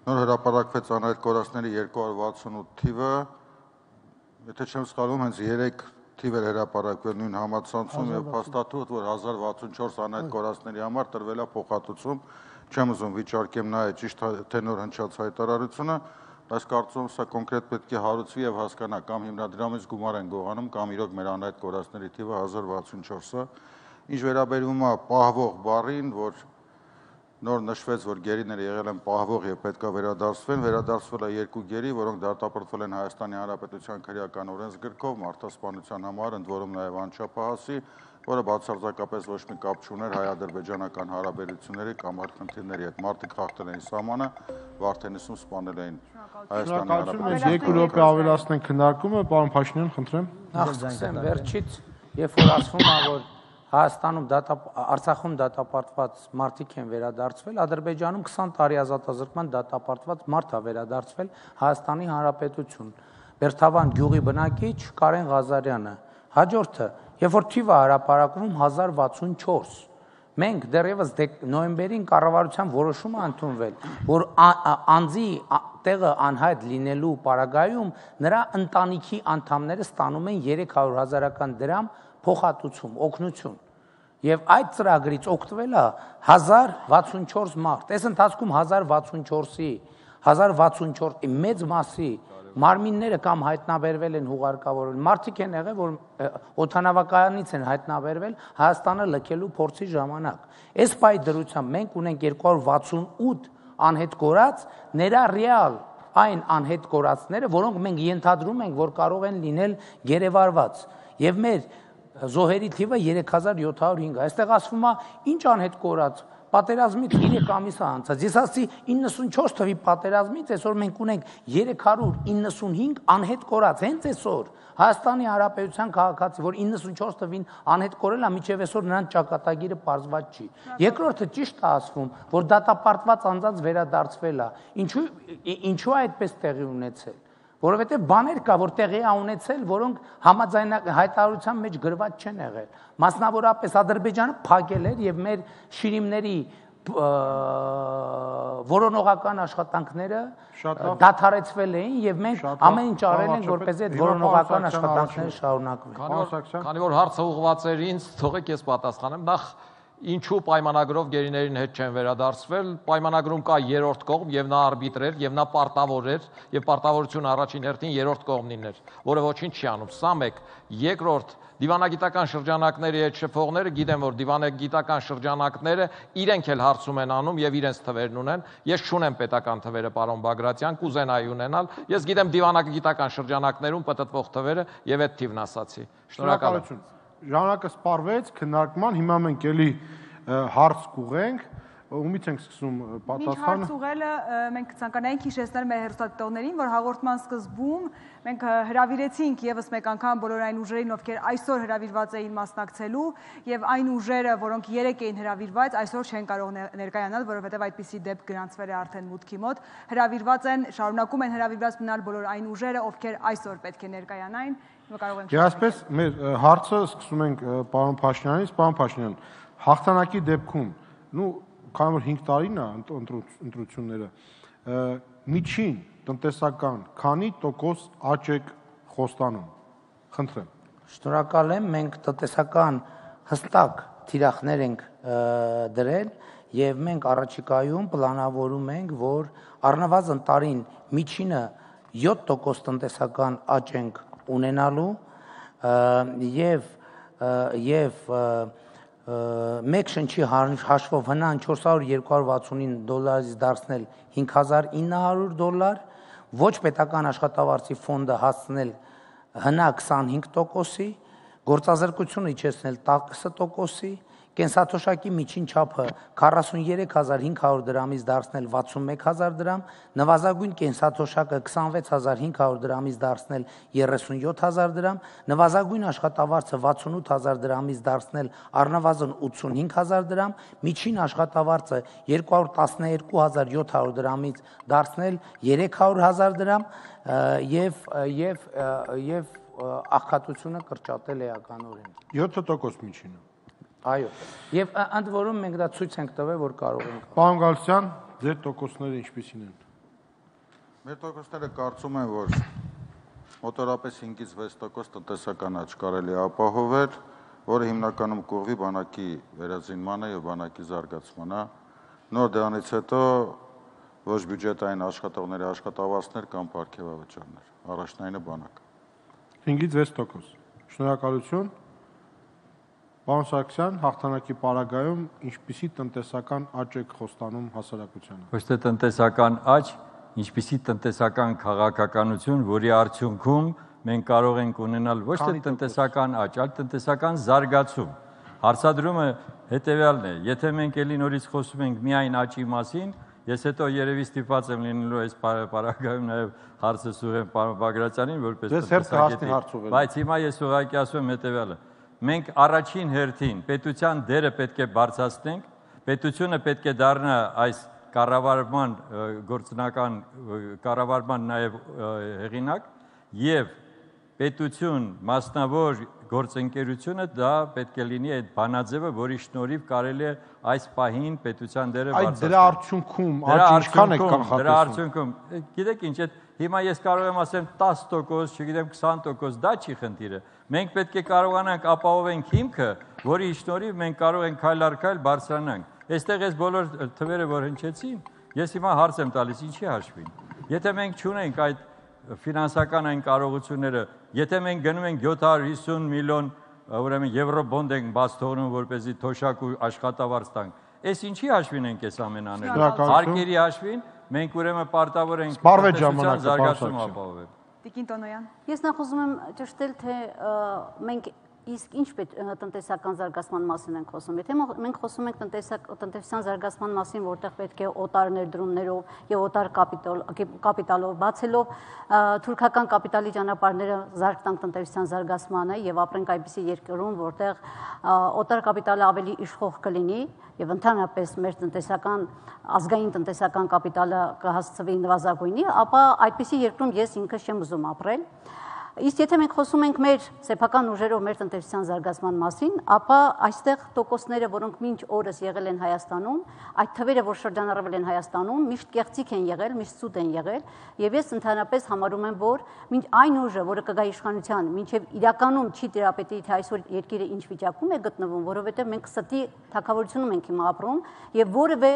նոր հրապարակվեց անհայտ կորածների երկու հարյուր վաթսունութ թիվը, եթե չեմ սխալվում, հենց երեք թիվ էր հրապարակվել նույն համացանցում եւ փաստաթուղթ, որ հազար վաթսունչորս անհայտ կորածների համար տրվել է փոխհատուցում, չեմ ուզում վիճարկեմ նայել ճիշտ թե նոր հնչած հայտարարությունը, բայց կարծում սա կոնկրետ պետք է հարուցվի եւ հասկանա կամ հիմնադրամից գումար են գողանում կամ իրոք մեր անհայտ կորածների թիվը հազար վաթսունչորսը։ Ինչ վերաբերում է պահվող բառին, որ նոր նշվեց, որ գերիները եղել են պահվող եւ պետքա վերադարձվեն, վերադարձվել է երկու գերի, որոնք դատապարտվել են Հայաստանի Հանրապետության քրեական օրենսգրքով մարդասպանության համար, ընդ որում նաեւ անչափահասի, որը բացարձակապես ոչ մի կապ չուներ հայ-ադրբեջանական հարաբերությունների կամ արքընթիրների հետ։ Մարդիկ խախտել էին սահմանը, Վարդենիսում սպանել էին Հայաստանի Հանրապետության։ Երկու րոպե ավելացնենք քննարկումը, պարոն Փաշինյան, խնդրեմ։ Նախ սկսեմ վերջից, երբ որ ասվում է, որ Հայաստանում Արցախում դատապարտված մարդիկ են վերադարձվել, Ադրբեջանում քսան տարի ազատազրկման դատապարտված մարդ է վերադարձվել Հայաստանի Հանրապետություն։ Բերթավան գյուղի բնակիչ Կարեն Ղազարյանը։ Հաջորդը, երբ որ թիվը հրապարակվում հազար վաթսունչորս, մենք դեռևս նոյեմբերին կառավարության որոշում է ընդունվել, որ անձի տեղը անհայտ լինելու պարագայում նրա ընտանիքի անդամները ստանում են երեք հարյուր հազարական դրամ փոխհատուցում, օգնություն։ Եվ այդ ծրագրից օգտվել է հազար վաթսունչորս մարդ։ Այս ընթացքում հազար վաթսունչորսի, հազար վաթսունչորսի մեծ մասի մարմինները կամ հայտնաբերվել են հուղարկավորվել, մարդիկ են եղել, որ օդանավակայանից են հայտնաբերվել Հայաստանը լքելու փորձի ժամանակ։ Այս պայի դրությամբ մենք ունենք երկու հարյուր վաթսունութ անհետ կորած, ներառյալ այն անհետ կորածները, որոնք մենք ենթադրում ենք, որ կարող են լինել գերեվարված։ Եվ մեր զոհերի թիվը երեք հազար յոթ հարյուր հինգ։ Այստեղ ասվում է, ինչ անհետ կորած, պատերազմից երեք ամիս է անցած։ Ես ասացի իննսունչորս թվի պատերազմից այսօր մենք ունենք երեք հարյուր իննսունհինգ անհետ կորած, հենց այսօր Հայաստանի Հանրապետության քաղաքացի, որ իննսունչորս թվին անհետ կորել է, մինչև այսօր նրանց ճակատագիրը պարզված չի։ Երկրորդը ճիշտ է ասվում, որ դատապարտված անձանց վերադարձվել է։ Ինչու ինչու է այդպես տեղի ունեցել։ Որովհետև բաներ կա, որ տեղի է ունեցել, որոնք համաձայն հայտարարության մեջ գրված չեն եղել։ Մասնավորապես Ադրբեջանը փակել էր եւ մեր շիրիմների որոնողական աշխատանքները դադարեցվել էին եւ մենք ամեն ինչ արել ենք, որպեսզի այդ որոնողական աշխատանքները շարունակվեն։ Քանի որ հարցը ուղղված էր ինձ, թողեք ես պատասխանեմ։ Նախ ինչու պայմանագրով գերիներին հետ չեն վերադարձվել, պայմանագրում կա երրորդ կողմ եւ նա արբիտր էր եւ նա պարտավոր էր եւ պարտավորությունը առաջին հերթին երրորդ կողմին էր, որը ոչինչ չի անում։ Սա մեկ, երկրորդ, դիվանագիտական շրջանակների հետ շփողները գիտեմ, որ դիվանագիտական շրջանակները իրենք էլ հարցում են անում եւ իրենց թվերն ունեն։ Ես չունեմ պետական թվերը, պարոն Բագրատյան, կուզենայի ունենալ։ Ես գիտեմ դիվանագիտական շրջանակներում պատտվող թվերը եւ այդ թիվն ասացի։ Շնորհակալություն։ Ժամանակը սպառվեց քննարկման, հիմա մենք էլի հարց կուղենք, ումից ենք սկսում պատասխանը։ Մինչ հարց ուղղելը մենք ցանկանայինք հիշեցնել մեր հեռուստադիտողներին, որ հաղորդման սկզբում մենք հրավիրեցինք եւս մեկ անգամ բոլոր այն ուժերին, ովքեր այսօր հրավիրված էին մասնակցելու, եւ այն ուժերը, որոնք երեք էին հրավիրված, այսօր չեն կարող ներկայանալ, որովհետեւ այդպիսի դեպք գրանցվել է արդեն մուտքի մոտ։ Հրավիրված են, շարունակում են հրավիրված մնալ բոլոր այն ուժերը, ովքեր այսօր պետք է ներկայանային։ Եվ այսպես մեր հարցը սկսում ենք պարոն Փաշինյանից, պարոն Փաշինյան, հաղթանակի դեպքում, նու քանի որ հինգ տարին է ընտրությունները, միջին տնտեսական քանի տոկոս աճ եք խոստանում։ Խնդրեմ։ Շնորհակալ եմ, մենք տնտեսական հստակ թիրախներ ենք դրել եւ մենք առաջիկայում պլանավորում ենք, որ առնվազն տարին միջինը յոթ տոկոս տնտեսական աճ ենք ունենալու եւ եւ մեկ շնչի հաշվով հնան չորս հարյուր երկու հարյուր վաթսունինը դոլարից դարձնել հինգ հազար ինը հարյուր դոլար, ոչ պետական աշխատավարձի ֆոնդը հասցնել հնա քսանհինգ տոկոսի, գործազրկությունը իջեցնել տասը տոկոսի, կենսաթոշակի միջին չափը քառասուններեք հազար հինգ հարյուր դրամից դարձնել վաթսունմեկ հազար դրամ, նվազագույն կենսաթոշակը քսանվեց հազար հինգ հարյուր դրամից դարձնել երեսունյոթ հազար դրամ, նվազագույն աշխատավարձը վաթսունութ հազար դրամից դարձնել առնվազն ութսունհինգ հազար դրամ, միջին աշխատավարձը երկու հարյուր տասներկու հազար յոթ հարյուր դրամից դարձնել երեք հարյուր հազար դրամ եւ եւ եւ աղքատությունը կրճատել էականորեն։ յոթ տոկոս միջինը։ Այո, եւ ընդ որում մենք դա ցույց ենք տվել, որ կարող ենք։ Պարոն Գալստյան, ձեր տոկոսները ինչպիսին են։ Մեր տոկոսները կարծում են, որ մոտորապես հինգից վեց տոկոս տնտեսական աճ կարելի է ապահովել, որը հիմնականում կուղղվի բանակի վերազինմանը եւ բանակի զարգացմանը։ Նոր դրանից հետո ոչ բյուջետային աշխատողների աշխատավարձներ կամ պարգևավճարներ, առաջնայինը բանակ։ հինգից վեց տոկոս։ Շնորհակալություն։ Պարոն Սարգսյան, հաղթանակի պարագայում ինչպիսի տնտեսական աճ եք խոստանում հասարակությանը։ Ոչ թե տնտեսական աճ, ինչպիսի տնտեսական քաղաքականություն, որի արդյունքում մենք կարող ենք ունենալ ոչ թե տնտեսական աճ, այլ տնտեսական զարգացում։ Հարցադրումը հետևյալն է. եթե մենք ելի նորից խոսում ենք միայն աճի մասին, ես հետո երևի ստիպված եմ լինելու այս պարագայում նաև հարցը ուղղեմ պարոն Բագրատյանին, որպես տնտեսագետի, բայց հիմա ես ուղղակի ասում եմ հետևյալը. մենք առաջին հերթին պետության դերը պետք է բարձրացնենք, պետությունը պետք է դառնա այս կառավարման գործնական կառավարման նաև հեղինակ եւ պետություն, մասնավոր գործընկերությունը դա պետք է լինի այդ բանաձևը, որի շնորհիվ կարելի է այս պահին պետության դերը բարձրացնել։ Այդ դրա արդյունքում աճ ինչքան է կանխատեսվում։ Դրա արդյունքում, գիտեք ինչ, հիմա ես կարող եմ ասեմ տասը տոկոս, չգիտեմ քսան տոկոս, դա չի խնդիրը։ Մենք պետք է կարողանանք ապահովենք հիմքը, որի շնորհիվ մենք կարող ենք քայլ առ քայլ բարձրանանք։ Այստեղ այս բոլոր թվերը, որ հնչեցին, ես հիմա հարց եմ տալիս, ինչի հաշվին։ Եթե մենք չունենք այդ ֆինանսական այն կարողությունները, եթե մենք գնում ենք յոթ հարյուր հիսուն միլիոն ուրեմն եվրոբոնդ ենք բաց թողնում, որպեսզի թոշակ ու աշխատավարձ տանք, այս ինչի հաշվին ենք այս ամեն անել։ Հարկերի հաշվին մենք ուրեմն պարտավոր ենք տնտեսության զարգացում ապահովել։ Տիկին Տոնոյան։ Ես նախ ուզում եմ ճշտել, թե մենք իսկ ինչ տնտեսական զարգացման մասին ենք խոսում։ Եթե մենք խոսում ենք տնտեսական զարգացման մասին, որտեղ պետք է օտար ներդրումներով եւ օտար կապիտալով բացելով թուրքական կապիտալի ճանապարհները զարգ տանք տնտեսական զարգացմանը եւ ապրենք այնպիսի երկրում, որտեղ օտար կապիտալը ավելի իշխող կլինի եւ ընդհանրապես մեր տնտեսական ազգային տնտեսական կապիտալը կհասցվի նվազագույնի, ապա այդպիսի երկրում ես ինքս չեմ ուզում ապրել։ Իսկ եթե մենք խոսում ենք մեր սեփական ուժերով մեր տնտեսության զարգացման մասին, ապա այստեղ տոկոսները, որոնք մինչ օրս եղել են Հայաստանում, այդ թվերը, որ շրջանառվել են Հայաստանում, միշտ կեղծիք են եղել, միշտ սուտ են եղել, եւ ես ընդհանրապես համարում եմ, որ մինչ այն ուժը, որը կգա իշխանության, մինչեւ իրականում չի տիրապետի, թե այսօր երկիրը ինչ վիճակում է գտնվում, որովհետեւ մենք ստի թակավորությունում ենք հիմա ապրում եւ որևէ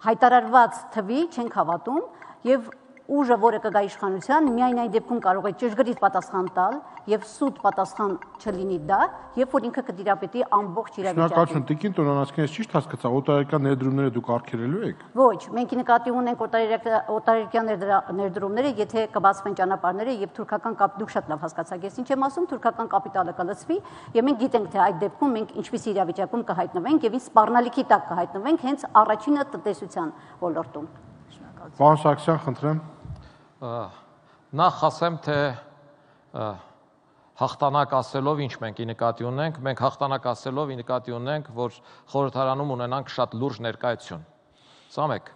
հայտարարված թվի չենք հավատում եւ ուժը, որը կգա իշխանության, միայն այն դեպքում կարող է ճշգրիտ պատասխան տալ եւ սուտ պատասխան չլինի դա, երբ որ ինքը կդիրապետի ամբողջ իրավիճակին։ Շնորհակալություն, տիկին Տոնոյան, ես ճիշտ հասկացա, օտարերկրյա ներդրումները դուք արգելելու եք։ Ոչ, մենք նկատի ունենք օտարերկրյա ներդրումները, եթե կբացվեն ճանապարհները եւ թուրքական կապ, դուք շատ լավ հասկացաք, ես ինչ եմ ասում, թուրքական կապիտալը կլցվի եւ մենք գիտենք, թե այդ դեպքում մենք ինչպիսի իրավիճակում կհայտնվենք եւ ինչ սպառնալիքի տակ կհայտնվենք հենց առաջինը տնտեսության ոլորտում։ Պարոն Սարգսյան, խնդրեմ։ Նախ ասեմ, թե հաղթանակ ասելով ինչ մենք ի նկատի ունենք, մենք հաղթանակ ասելով ի նկատի ունենք, որ խորհրդարանում ունենանք շատ լուրջ ներկայություն։ Սա մեկ։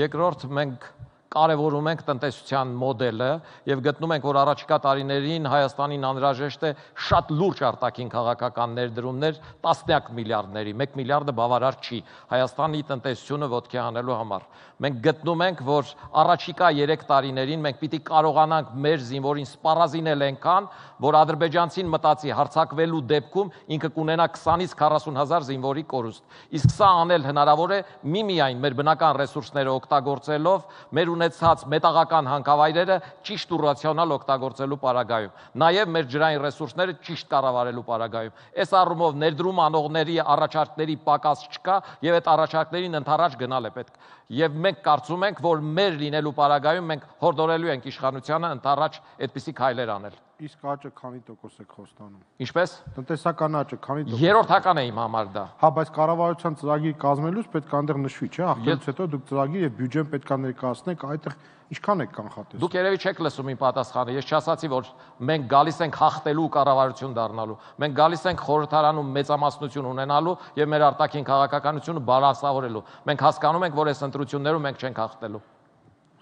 Երկրորդ, մենք կարևորում ենք տնտեսության մոդելը եւ գտնում ենք, որ առաջիկա տարիներին Հայաստանին անհրաժեշտ է շատ լուրջ արտաքին քաղաքական ներդրումներ, տասնյակ միլիարդների, մեկ միլիարդը բավարար չի Հայաստանի տնտեսությունը ոտքի հանելու համար։ Մենք գտնում ենք, որ առաջիկա երեք տարիներին մենք պիտի կարողանանք մեր զինվորին սպառազինել այնքան, որ ադրբեջանցին մտածի հարձակվելու դեպքում ինքը կունենա քսանից քառասուն հազար զինվորի կորուստ։ Իսկ սա անել հնարավոր է միմիայն մեր բնական ռեսուրսները օգտագործելով, մեր ունեցած մետաղական հանքավայրերը ճիշտ ու ռացիոնալ օգտագործելու պարագայում, նաև մեր ջրային ռեսուրսները ճիշտ կառավարելու պարագայում։ Այս առումով ներդրում անողների առաջարկների պակաս չկա եւ այդ առաջարկներին ընդառաջ գնալ է պետք։ Եվ մենք կարծում ենք, որ մեր լինելու պարագայում մենք հորդորելու ենք իշխանությանը ընդառաջ այդպիսի քայլեր անել։ Իսկ աճը քանի տոկոս եք խոստանում։ Ինչպես։ Տնտեսական աճը քանի տոկոս։ Երրորդական է իմ համար դա։ Հա, բայց կառավարության ծրագիր կազմելուց պետք է այնտեղ նշվի, չէ՞, ախտելուց հետո դուք ծրագիր եւ բյուջեն պետք է ներկայացնեք, այդտեղ ինչքան եք կանխատեսում։ Դուք երևի չեք լսում իմ պատասխանը։ Ես չասացի, որ մենք գալիս ենք հաղթելու կառավարություն դառնալու։ Մենք գալիս ենք խորհրդարանում մեծամասնություն ունենալու եւ մեր արտաքին քաղաքականությունը բալանսավորելու։ Մենք հասկանում ենք, որ այս ընտրություններում մենք չենք հաղթելու։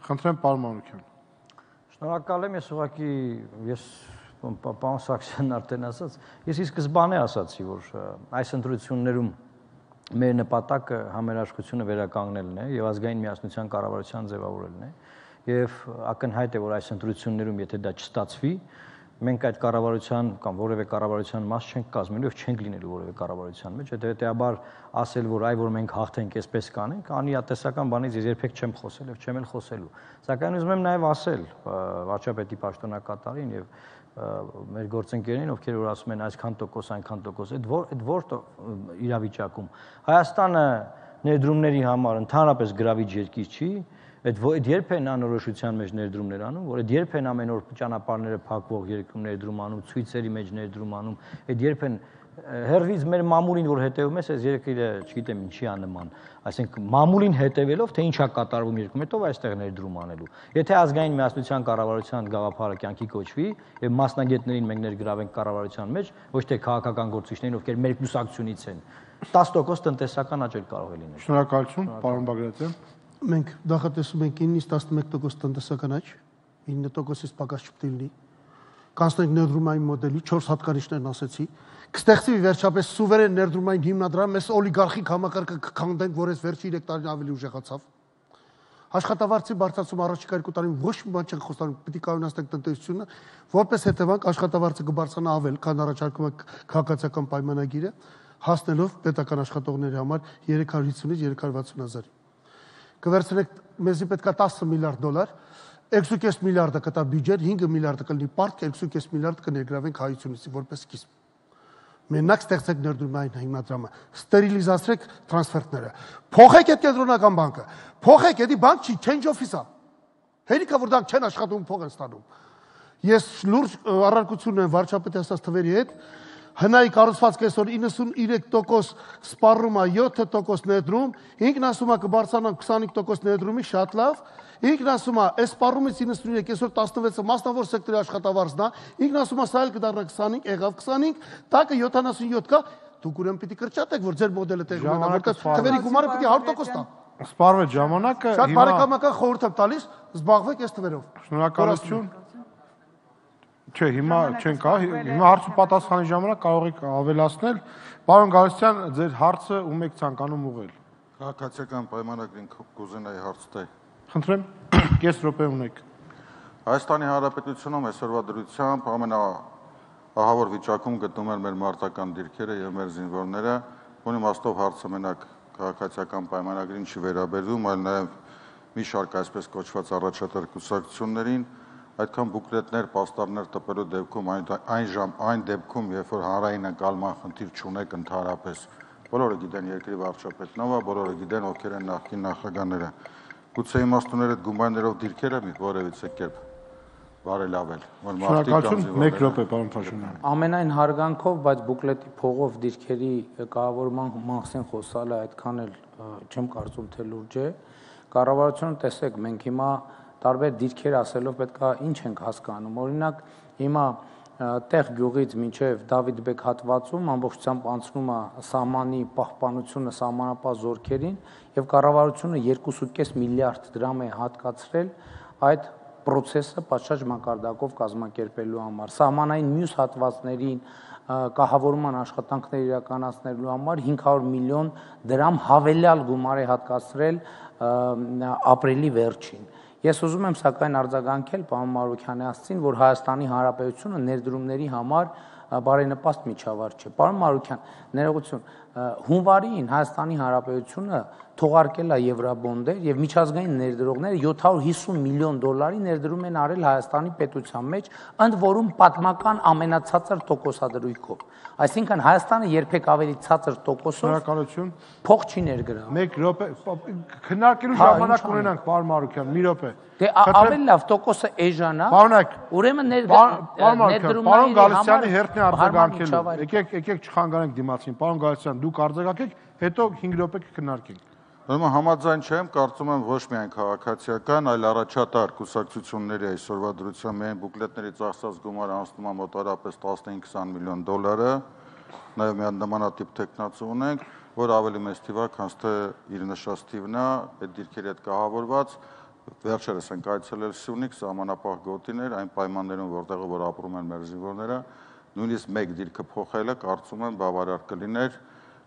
Խնդրեմ, պարոն Մանուկյան։ Շնորհակալ եմ, ես ուղղակի ես պարոն Սարգսյանն արդեն ասաց, ես ի սկզբանե ասացի, որ այս ընտրություններում մեր նպատակը համերաշխությունը վերականգնելն է եւ ազգային միասնության կառավարության ձևավորելն է եւ ակնհայտ է, որ այս ընտրություններում եթե դա չստացվի, մենք այդ կառավարության կամ որևէ կառավարության մաս չենք կազմելու եւ չենք լինելու որևէ կառավարության մեջ, հետեւաբար ասել, որ այ որ մենք հաղթենք, այսպես կանենք, անիատեսական բանից ես երբեք չեմ խոսել եւ չեմ էլ խոսելու։ Սակայն ուզում եմ նաեւ ասել վարչապետի պաշտոնակատարին եւ մեր գործընկերներին, ովքեր որ ասում են այսքան տոկոս, այնքան տոկոս, այդ որ այդ որ իրավիճակում Հայաստանը ներդրումների համար ընդհանրապես գրավիչ երկիր չի, այդ այդ երբ են անորոշության մեջ ներդրումներ անում, որ այդ երբ են ամեն օր ճանապարհները փակվող երկրում ներդրում անում, ցույցերի մեջ ներդրում անում, այդ երբ են հերվից մեր մամուլին որ հետևում ես, այս երկիրը, չգիտեմ ինչի է նման, այսինքն մամուլին հետևելով, թե ինչա կատարվում երկրում, հետո այստեղ ներդրում անելու։ Եթե ազգային միասնության կառավարության գաղափարը կյանքի կոչվի եւ մասնագետներին մենք ներգրավենք կառավարության մեջ, ոչ թե քաղաքական գործիչներին, ովքեր մեր կուսակցությունից են, տասը տոկոս տնտեսական աճ կարող է լինել։ Շնորհակալություն, պարոն Բագրատյան։ Մենք նախատեսում ենք ինից տասնմեկ տոկոս տնտեսական աճ, ինը տոկոսից պակաս չպետք է լինի։ Կանցնենք ներդրումային մոդելի, չորս հատկանիշներն ասեցի, կստեղծվի վերջապես սուվերեն ներդրումային հիմնադրամ, մեզ օլիգարխիկ համակարգը կքանդենք, որ այս վերջի երեք տարին ավելի ուժեղացավ։ Աշխատավարձի բարձրացում առաջիկա երկու տարին ոչ մի բան չենք խոստանում, պիտի կայունացնենք տնտեսությունը, որպես հետևանք աշխատավարձը կբարձրանա ավել, քան առաջարկում է քաղաքացիական պայմանագիրը, հասնելով պետական աշխատողների համար երեք հարյուր հիսունից երեք հարյուր վաթսուն հազարի։ Կվերցնենք, մեզի պետք է տասը միլիարդ դոլար, երկու կես միլիարդը կտա բյուջեն, հինգ միլիարդը կլինի պարտք, երկու կես միլիարդ կներգրավենք հայությունից որպես սկիզբ։ Մենակ ստեղծեք ներդրումային հիմնադրամը, ստերիլիզացրեք տրանսֆերտները, փոխեք այդ կենտրոնական բանկը, փոխեք, էդի բանկ չի, change office-ա։ Հերիքա որ դրանք չեն աշխատում, փող են ստանում։ Ես լուրջ առարկություն եմ վարչապետի ասած թվերի հետ, հնայի կառուցվածքը այսօր իննսունուերեք տոկոս սպառում է, յոթ տոկոս ներդրում, ինքն ասում է կբարձրանա քսանհինգ տոկոս ներդրումի, շատ լավ, ինքն ասում է այս սպառումից իննսունուերեք այսօր տասնվեցը մասնավոր սեկտորի աշխատավարձն է, ինքն ասում է սա էլ կդառնա քսանհինգ, եղավ քսանհինգ, տակը յոթանասունյոթ կա, դուք ուրեմն պիտի կրճատեք, որ ձեր մոդելը տեղի ունենա, որտեղ թվերի գումարը պիտի հարյուր տոկոս տա։ Սպառվեց ժամանակը, շատ բարեկամական խորհուրդ եմ տալիս, զբաղվեք այս թվերով։ Շնորհակալություն։ Չէ, հիմա չեն կա, հիմա հարց ու պատասխանի ժամանակ կարող եք ավելացնել։ Պարոն Գալստյան, ձեր հարցը ում եք ցանկանում ուղղել։ Քաղաքացիական պայմանագրին կուզենայի հարց տալ։ Խնդրեմ, կես րոպե ունեք։ Հայաստանի Հանրապետությունում այսօրվա դրությամբ ամենաահավոր վիճակում գտնվում են մեր մարտական դիրքերը եւ մեր զինվորները, որի իմաստով հարցը մենակ քաղաքացիական պայմանագրին չի վերաբերվում, այլ նաեւ մի շարք այսպես կոչված առաջատար կուսակցություններին, այդքան բուկլետներ, պաստառներ տպելու դեպքում այն ժամ այն դեպքում, երբ որ հանրային ընկալման խնդիր չունեք ընդհանրապես, բոլորը գիտեն երկրի վարչապետն ով է, բոլորը գիտեն ովքեր են նախկին նախագահները։ Գուցե իմաստունները գումարներով դիրքերը մի որևիցե կերպ բարելավել, որ մարդիկ մեկ րոպե, պարոն Փաշինյան։ Ամենայն հարգանքով, բայց բուկլետի փողով դիրքերի կառավարման մասին խոսալը այդքան էլ չեմ կարծում թե լուրջ է։ Կառավարությունը տեսեք, մենք հիմա տարբեր դիրքեր ասելով պետքա ինչ ենք հասկանում։ Օրինակ, հիմա տեղ գյուղից մինչև Դավիթ Բեկ հատվածում ամբողջությամբ անցնում է սահմանի պահպանությունը սահմանապահ զորքերին եւ կառավարությունը երկու կես միլիարդ դրամ է հատկացրել այդ process-ը պատշաճ մակարդակով կազմակերպելու համար։ Սահմանային մյուս հատվածներին կահավորման աշխատանքներ իրականացնելու համար հինգ հարյուր միլիոն դրամ հավելյալ գումար է հատկացրել ապրիլի վերջին։ Ես ուզում եմ սակայն արձագանքել պարոն Մարուքյանի ասացին, որ Հայաստանի Հանրապետությունը ներդրումների համար բարենպաստ միջավայր չէ։ Պարոն Մարուքյան, ներողություն, հունվարին Հայաստանի Հանրապետությունը թողարկել է եվրոբոնդեր եւ միջազգային ներդրողները յոթ հարյուր հիսուն միլիոն դոլարի ներդրում են արել Հայաստանի պետության մեջ, ընդ որում պատմական ամենացածր տոկոսադրույքով։ Այսինքն Հայաստանը երբեք ավելի ցածր տոկոսով փող չի ներգրավում։ մեկ րոպե քննարկելու ժամանակ ունենանք, պարոն Մարուկյան, մի րոպե։ Դե ավելի լավ տոկոսը էժանա։ Պարոնակ, ուրեմն ներդրումների պարոն Գալստյանի հերթն է արձագանքելու։ Եկեք, եկեք չխանգարենք դիմացին։ Պարոն Գալստյան, դուք արձագանքեք, հետո հինգ րոպե կքննարկենք։ Ուրեմն համաձայն չեմ, կարծում եմ ոչ միայն քաղաքացիական, այլ առաջատար կուսակցությունների այսօրվա դրությամբ միայն բուկլետների ծախսած գումարը անցնում է մոտավորապես տասնհինգ քսան միլիոն դոլարը, նաև մի նմանատիպ տեխնացու ունենք, որ ավելի մեծ թիվ է, քան թե իր նշած թիվն է, այդ դիրքերի հետ կահավորված, վերջերս ենք այցելել Սյունիք, սահմանապահ գոտիներ, այն պայմաններում, որտեղ որ ապրում են մեր զինվորները, նույնիսկ մեկ դիրքը փոխելը կարծում եմ բավարար կլիներ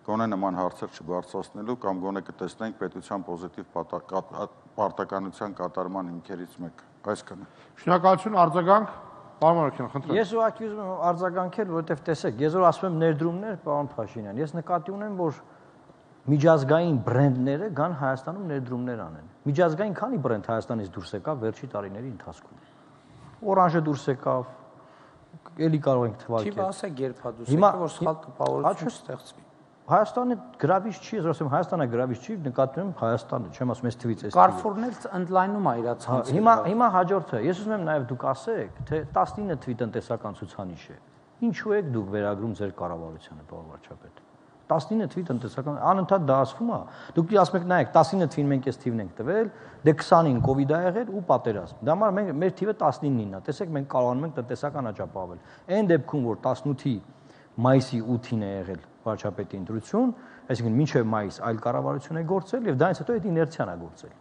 գոնե նման հարցեր չբարձրացնելու կամ գոնե կտեսնենք պետության պոզիտիվ պարտականության կատարման հիմքերից մեկ։ Այսքանը։ Շնորհակալություն, արձագանք, պարոն Մարուկյան, խնդրեմ։ Ես ուղղակի ուզում եմ արձագանքել, որովհետև տեսեք, ես որ ասում եմ ներդրումներ, պարոն Փաշինյան, ես նկատի ունեմ, որ միջազգային բրենդները գան Հայաստանում ներդրումներ անեն։ Միջազգային քանի բրենդ Հայաստանից դուրս եկավ վերջի տարիների ընթացքում։ Օրանժը դուրս եկավ, էլի կարող ենք թվարկել։ Չի ասեք երբադուս եկավ, որ սխալ տպավորություն ստեղծվի։ Հայաստանը գրավիչ չի, ես ասում Հայաստանը գրավիչ չի, նկատում եմ Հայաստանը, չեմ ասում այս թվից էս։ Կարֆուրն էլ ընդլայնում է իր ցանցը։ Հիմա հիմա հաջորդը, ես ուզում եմ նաև դուք ասեք, թե տասնինը թվի տնտեսական ցուցանիշ է։ Ինչու եք դուք վերագրում ձեր կառավարությանը, պարոն վարչապետ։ տասնինը թվի տնտեսական անընդհատ դա ասվում է։ Դուք ասում եք, նայեք, տասնինը թվին մենք այս թիվն ենք տվել, դե քսանին կովիդ ա եղել ու պատերազմ։ Դա համար մենք մեր թիվը տասնինն է։ Տեսեք, մենք կարողանում ենք տնտեսական աճապահել։ Այն դեպքում, որ տասնութի մայիսի ութին է եղել վարչապետի ընտրություն, այսինքն մինչև մայիս այլ կառավարություն է գործել եւ դրանից հետո այդ իներցիան է գործել։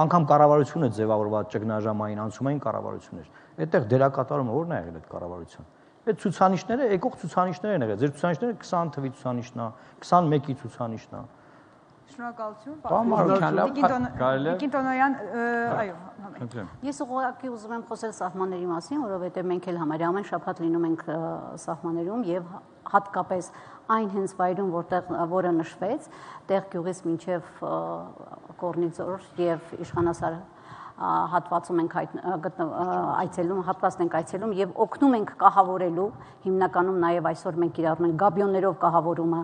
Անկամ կառավարությունը ձևավորված ճգնաժամային անցումային կառավարություններ։ Այդտեղ դերակատարումը ո՞րն է եղել այդ կառավարության։ Այդ ցուցանիշները, եկող ցուցանիշներ են եղել։ Ձեր ցուցանիշները քսան թվի ցուցանիշն է, քսանմեկի ցուցանիշն է։ Շնորհակալություն, պարոն Մարուկյան։ Տիկին Տոնոյան, այո, Ես ուղղակի ուզում եմ խոսել սահմանների մասին, որովհետև մենք էլ համարյա ամեն շաբաթ լինում ենք սահմաններում եւ հատկապես այն հենց վայրում, որտեղ որը նշվեց, տեղ գյուղից մինչև Կորնիձոր եւ Իշխանասար հատվածում ենք այցելում, հատվածն ենք այցելում եւ օգնում ենք կահավորելու, հիմնականում նաեւ այսօր մենք իրարում ենք գաբիոններով կահավորումը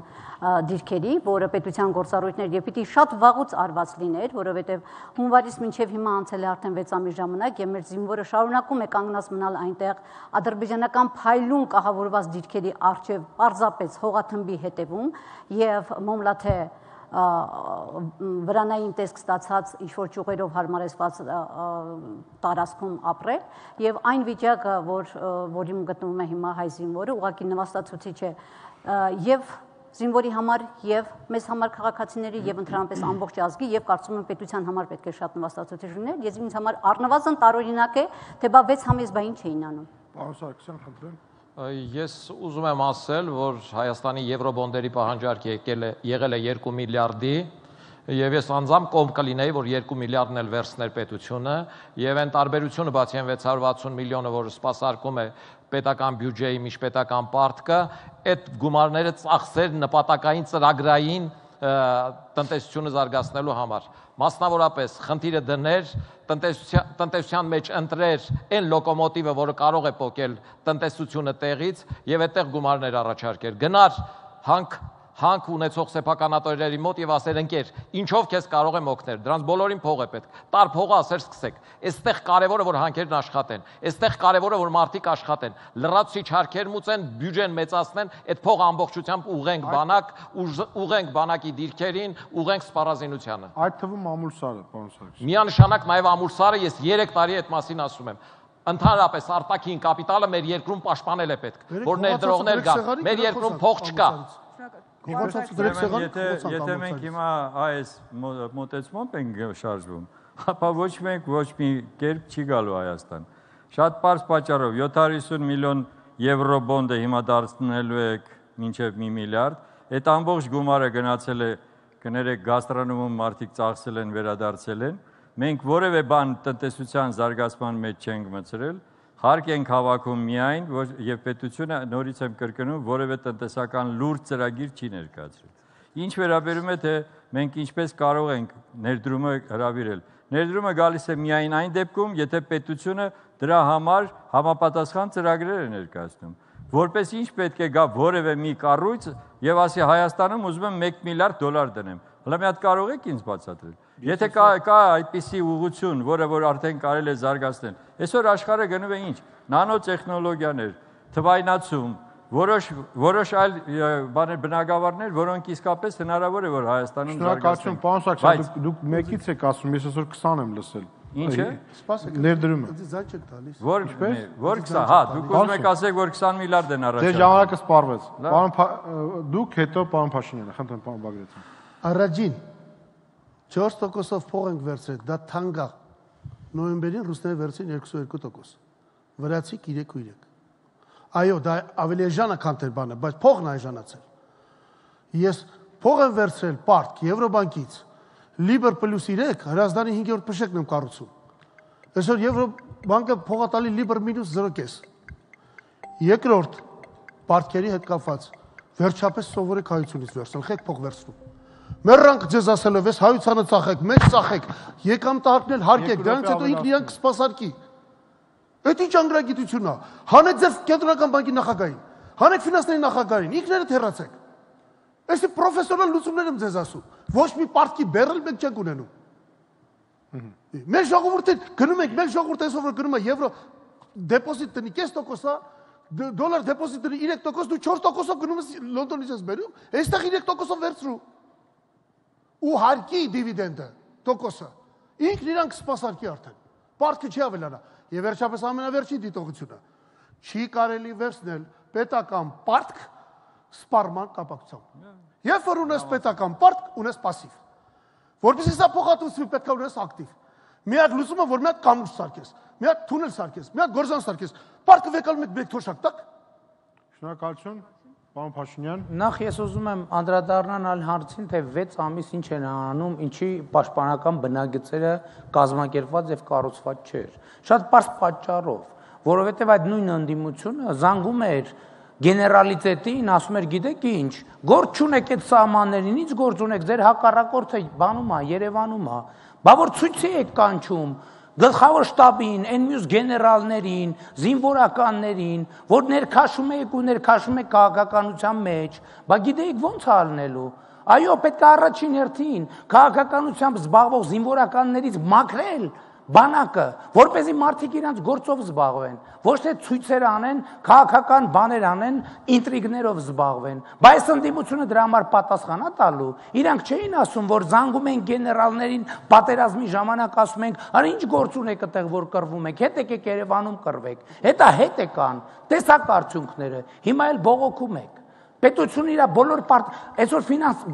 դիրքերի, որը պետության գործառույթներ եւ պիտի շատ վաղուց արված լիներ, որովհետեւ հունվարից մինչեւ հիմա անցել է արդեն վեց ամիս ժամանակ եւ մեր զինվորը շարունակում է կանգնած մնալ այնտեղ ադրբեջանական փայլուն կահավորված դիրքերի առջեւ պարզապես հողաթմբի հետևում եւ մոմլաթե վրանային տեսք ստացած ինչ-որ ճյուղերով հարմարեցված տարածքում ապրել եւ այն վիճակը, որ որին գտնվում է հիմա հայ զինվորը, ուղղակի նվաստացուցիչ է եւ զինվորի համար եւ մեզ համար քաղաքացիների եւ ընդհանրապես ամբողջ ազգի եւ կարծում եմ պետության համար պետք է շատ նվաստացուցիչ լիներ։ Ես ինձ համար առնվազն տարօրինակ է, թե բա վեց համես բա ինչ էին անում։ Պարոն Սարգսյան, խնդրեմ։ Ես ուզում եմ ասել, որ Հայաստանի եվրոբոնդերի պահանջարկը եկել է եղել է երկու միլիարդի եւ ես անձամբ կողմ կլինեի, որ երկու միլիարդն էլ վերցներ պետությունը եւ այն տարբերությունը բացի այն վեց հարյուր վաթսուն միլիոնը, որը սպասարկում է պետական բյուջեի միջպետական պարտքը, այդ գումարները ծախսեր նպատակային ծրագրային տնտեսությունը զարգացնելու համար։ Մասնավորապես խնդիրը դներ տնտեսության տնտեսության մեջ ընտրեր այն լոկոմոտիվը, որը կարող է փոկել տնտեսությունը տեղից եւ այդտեղ գումարներ առաջարկեր։ Գնար հանք հանք ունեցող սեփականատերերի մոտ եւ ասեր ընկեր, ինչով քեզ կարող եմ օգնել։ Դրանց բոլորին փող է պետք։ Տար փողը ասեր սկսեք։ Այստեղ կարևորը որ հանքերն աշխատեն։ Այստեղ կարևորը որ մարդիկ աշխատեն։ Լրացուցիչ հարքեր մուծեն, բյուջեն մեծացնեն, այդ փողը ամբողջությամբ ուղենք բանակ, ուղենք բանակի դիրքերին, ուղենք սպառազինությանը։ Այդ թվում ամուլսարը, պարոն Սարգսյան։ Միանշանակ նաեւ ամուլսարը ես երեք տարի այդ մասին ասում եմ։ Ընդհանրապես արտաքին կապիտալը մեր երկրում պաշտպանել է պետք, որ ներդրողներ կան։ Մեր երկրում փող չկա։ Եթե մենք հիմա այս մոտեցմամբ ենք շարժվում, ապա ոչ մենք ոչ մի կերպ չի գալու Հայաստան։ Շատ պարզ պատճառով յոթ հարյուր հիսուն միլիոն եվրո բոնդը հիմա դարձնելու եք մինչև մի միլիարդ, այդ ամբողջ գումարը գնացել է, կներեք գաստրոնոմում մարդիկ ծախսել են, վերադարձել են։ Մենք որևէ բան տնտեսության զարգացման մեջ չենք մտցրել, Հարկ ենք հավաքում միայն, եւ պետությունը նորից եմ կրկնում, որևէ տնտեսական լուրջ ծրագիր չի ներկայացրել։ Ինչ վերաբերում է թե մենք ինչպես կարող ենք ներդրումը հրավիրել։ Ներդրումը գալիս է միայն այն դեպքում, եթե պետությունը դրա համար համապատասխան ծրագրեր է ներկայացնում։ Որպես ինչ պետք է գա որևէ մի կառույց եւ ասի Հայաստանում ուզում եմ մեկ միլիարդ դոլար դնեմ։ Հələ մի հատ կարող եք ինձ բացատրել։ Եթե կա կա այդպիսի ուղղություն, որը որ արդեն կարելի է զարգացնել։ Այսօր աշխարհը գնում է ինչ։ Նանոտեխնոլոգիաներ, թվայնացում, որոշ որոշ այլ բաներ բնագավառներ, որոնք իսկապես հնարավոր է որ Հայաստանում զարգացնեն։ Շնորհակալություն, պարոն Սարգսյան, դուք մեկից եք ասում, ես այսօր քսան եմ լսել։ Ինչ է։ Սպասեք։ Ներդրումը։ Ձայն չեք տալիս։ Որ որ քսան, հա, դուք ուզում եք ասեք, որ քսան միլիարդ են առաջ։ Դե ժամանակը սպառվեց։ Պարոն դուք հետո պարոն Փաշինյանը, խնդրեմ պարոն Բագրատյան։ Առաջին չորս տոկոսով փող ենք վերցրել, դա թանկա։ Նոյեմբերին ռուսները վերցրին երկուսուերկու տոկոս։ Վրացիք երեք ու երեք։ Այո, դա ավելի էժան է, քան թե բանը, բայց փողն է էժանացել։ Ես փող եմ վերցրել պարտք Եվրոբանկից։ Լիբր պլյուս երեք, Հրազդանի հինգերորդ փշեկն եմ կառուցում։ Այսօր Եվրոբանկը փող է տալի լիբր մինուս զրո կես։ Երկրորդ, պարտքերի հետ կապված, վերջապես սովորեք հայությունից վերցնել, խեք փող վերցնում։ Մեռանք ձեզ ասելով, ես հայությանը ծախեք, մեծ ծախեք, եկամ տարկնել հարկեք, դրանից հետո ինքն իրանք կսպասարկի։ Այդ ինչ անգրագիտությունն է։ Հանեք ձեր կենտրոնական բանկի նախագահին, հանեք ֆինանսների նախագահին, ինքներդ հեռացեք։ Այսի պրոֆեսիոնալ լուծումներ եմ ձեզ ասում։ Ոչ մի պարտքի բերել մենք չենք ունենում։ Մեր ժողովուրդը գնում ենք, մեր ժողովուրդը այսօր գնում է եվրո դեպոզիտ տնի կես տոկոս է, դոլար դեպոզիտ տնի երեք տոկոս, դու չորս տոկոսով գնում ես Լոնդոնից ես բերում, այստեղ երեք տոկոսով վերցրու։ Ու հարկի դիվիդենդը տոկոսը ինքն իրանք սպասարկի արդեն։ Պարտքը չի ավելանա։ Եվ վերջապես ամենավերջին դիտողությունը չի կարելի վերցնել պետական պարտք սպառման կապակցությամբ։ Երբ որ ունես պետական պարտք, ունես пассив։ Որպեսզի սա փոխհատուցվի, պետք է ունես ակտիվ։ Մի հատ լուծումը, որ մի հատ կամուրջը սարքես, մի հատ թունել սարքես, մի հատ գործան սարքես, պարտքը վեկալում եք մեկ թոշակ տակ։ Շնորհակալություն, պարոն Փաշինյան։ Նախ ես ուզում եմ անդրադառնալ այլ հարցին, թե վեց ամիս ինչ են անում, ինչի պաշտպանական բնագծերը կազմակերպված եւ կառուցված չէր։ Շատ պարզ պատճառով, որովհետեւ այդ նույն ընդդիմությունը զանգում էր գեներալիտետին, ասում էր գիտեք ինչ, գործ չունեք այդ սահմաններին, ինչ գործ ունեք, ձեր հակառակորդը բանում է, Երևանում է, բա որ ցույցի եք կանչում գլխավոր շտաբին, այն մյուս գեներալներին, զինվորականներին, որ ներքաշում եք ու ներքաշում եք քաղաքականության մեջ, բա գիտեք ո՞նց է ալնելու։ Այո, պետք է առաջին հերթին քաղաքականությամբ զբաղվող զինվորականներից մաքրել բանակը, որպեսզի մարդիկ իրանց գործով զբաղվեն, ոչ թե ցույցեր անեն, քաղաքական բաներ անեն, ինտրիգներով զբաղվեն։ Բայց ընդդիմությունը դրա համար պատասխան է տալու։ Իրանք չէին ասում, որ զանգում են գեներալներին պատերազմի ժամանակ ասում ենք, «Արա ինչ գործ ունեք այդտեղ, որ կռվում եք, հետ եկեք Երևանում կռվեք»։ Հետա հետ եկան, տեսակ արդյունքները, հիմա էլ բողոքում եք։ Պետությունը իր բոլոր պարտ, այսօր ֆինանս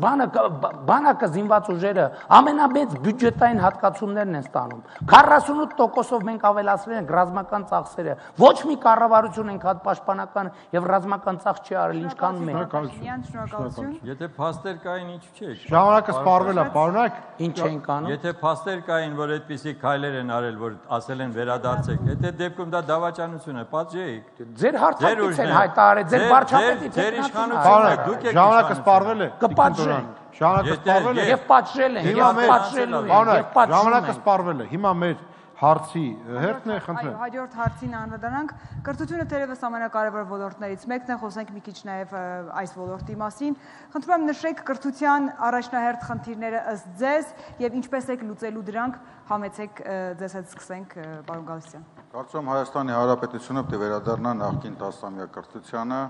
բանակը զինված ուժերը ամենամեծ բյուջետային հատկացումներն են ստանում։ քառասունութ տոկոսով մենք ավելացրել ենք ռազմական ծախսերը։ Ոչ մի կառավարություն ենք հատ պաշտպանական եւ ռազմական ծախս չի արել ինչքան մենք։ Շնորհակալություն։ Եթե փաստեր կային, ինչ չէ։ Ժամանակը սպառվել է, պարոնակ։ Ինչ ենք անում։ Եթե փաստեր կային, որ այդպիսի քայլեր են արել, որ ասել են վերադարձեք, եթե դեպքում դա դավաճանություն է, պատժեիք։ Ձեր հարցակից են հայտարարել, ձեր վարչապետից ձեր իշխանությունը Պարոնակ, ժամանակը սպառվել է։ կպատժեն։ Ժամանակը սպառվել է։ Եվ պատժել են, Հիմա եւ մեր պատժելու են, եւ պարոնակ, պատժում ժամանակը են։ սպառվել է։ Հիմա մեր հարցի հերթն է, Այո, խնդրեմ։ հաջորդ հարցին անդրադառնանք։ Կրթությունը թերևս ամենակարևոր ոլորտներից մեկն է, խոսենք մի քիչ նաև այս ոլորտի մասին։ Խնդրում եմ նշեք կրթության առաջնահերթ խնդիրները ըստ ձեզ եւ ինչպես եք լուծելու դրանք, համեցեք ձեզ հետ սկսենք, պարոն Գալստյան։ Կարծում եմ Հայաստանի Հանրապետությունը պետք է վերադառնա նախկին տասնամյա կրթությանը,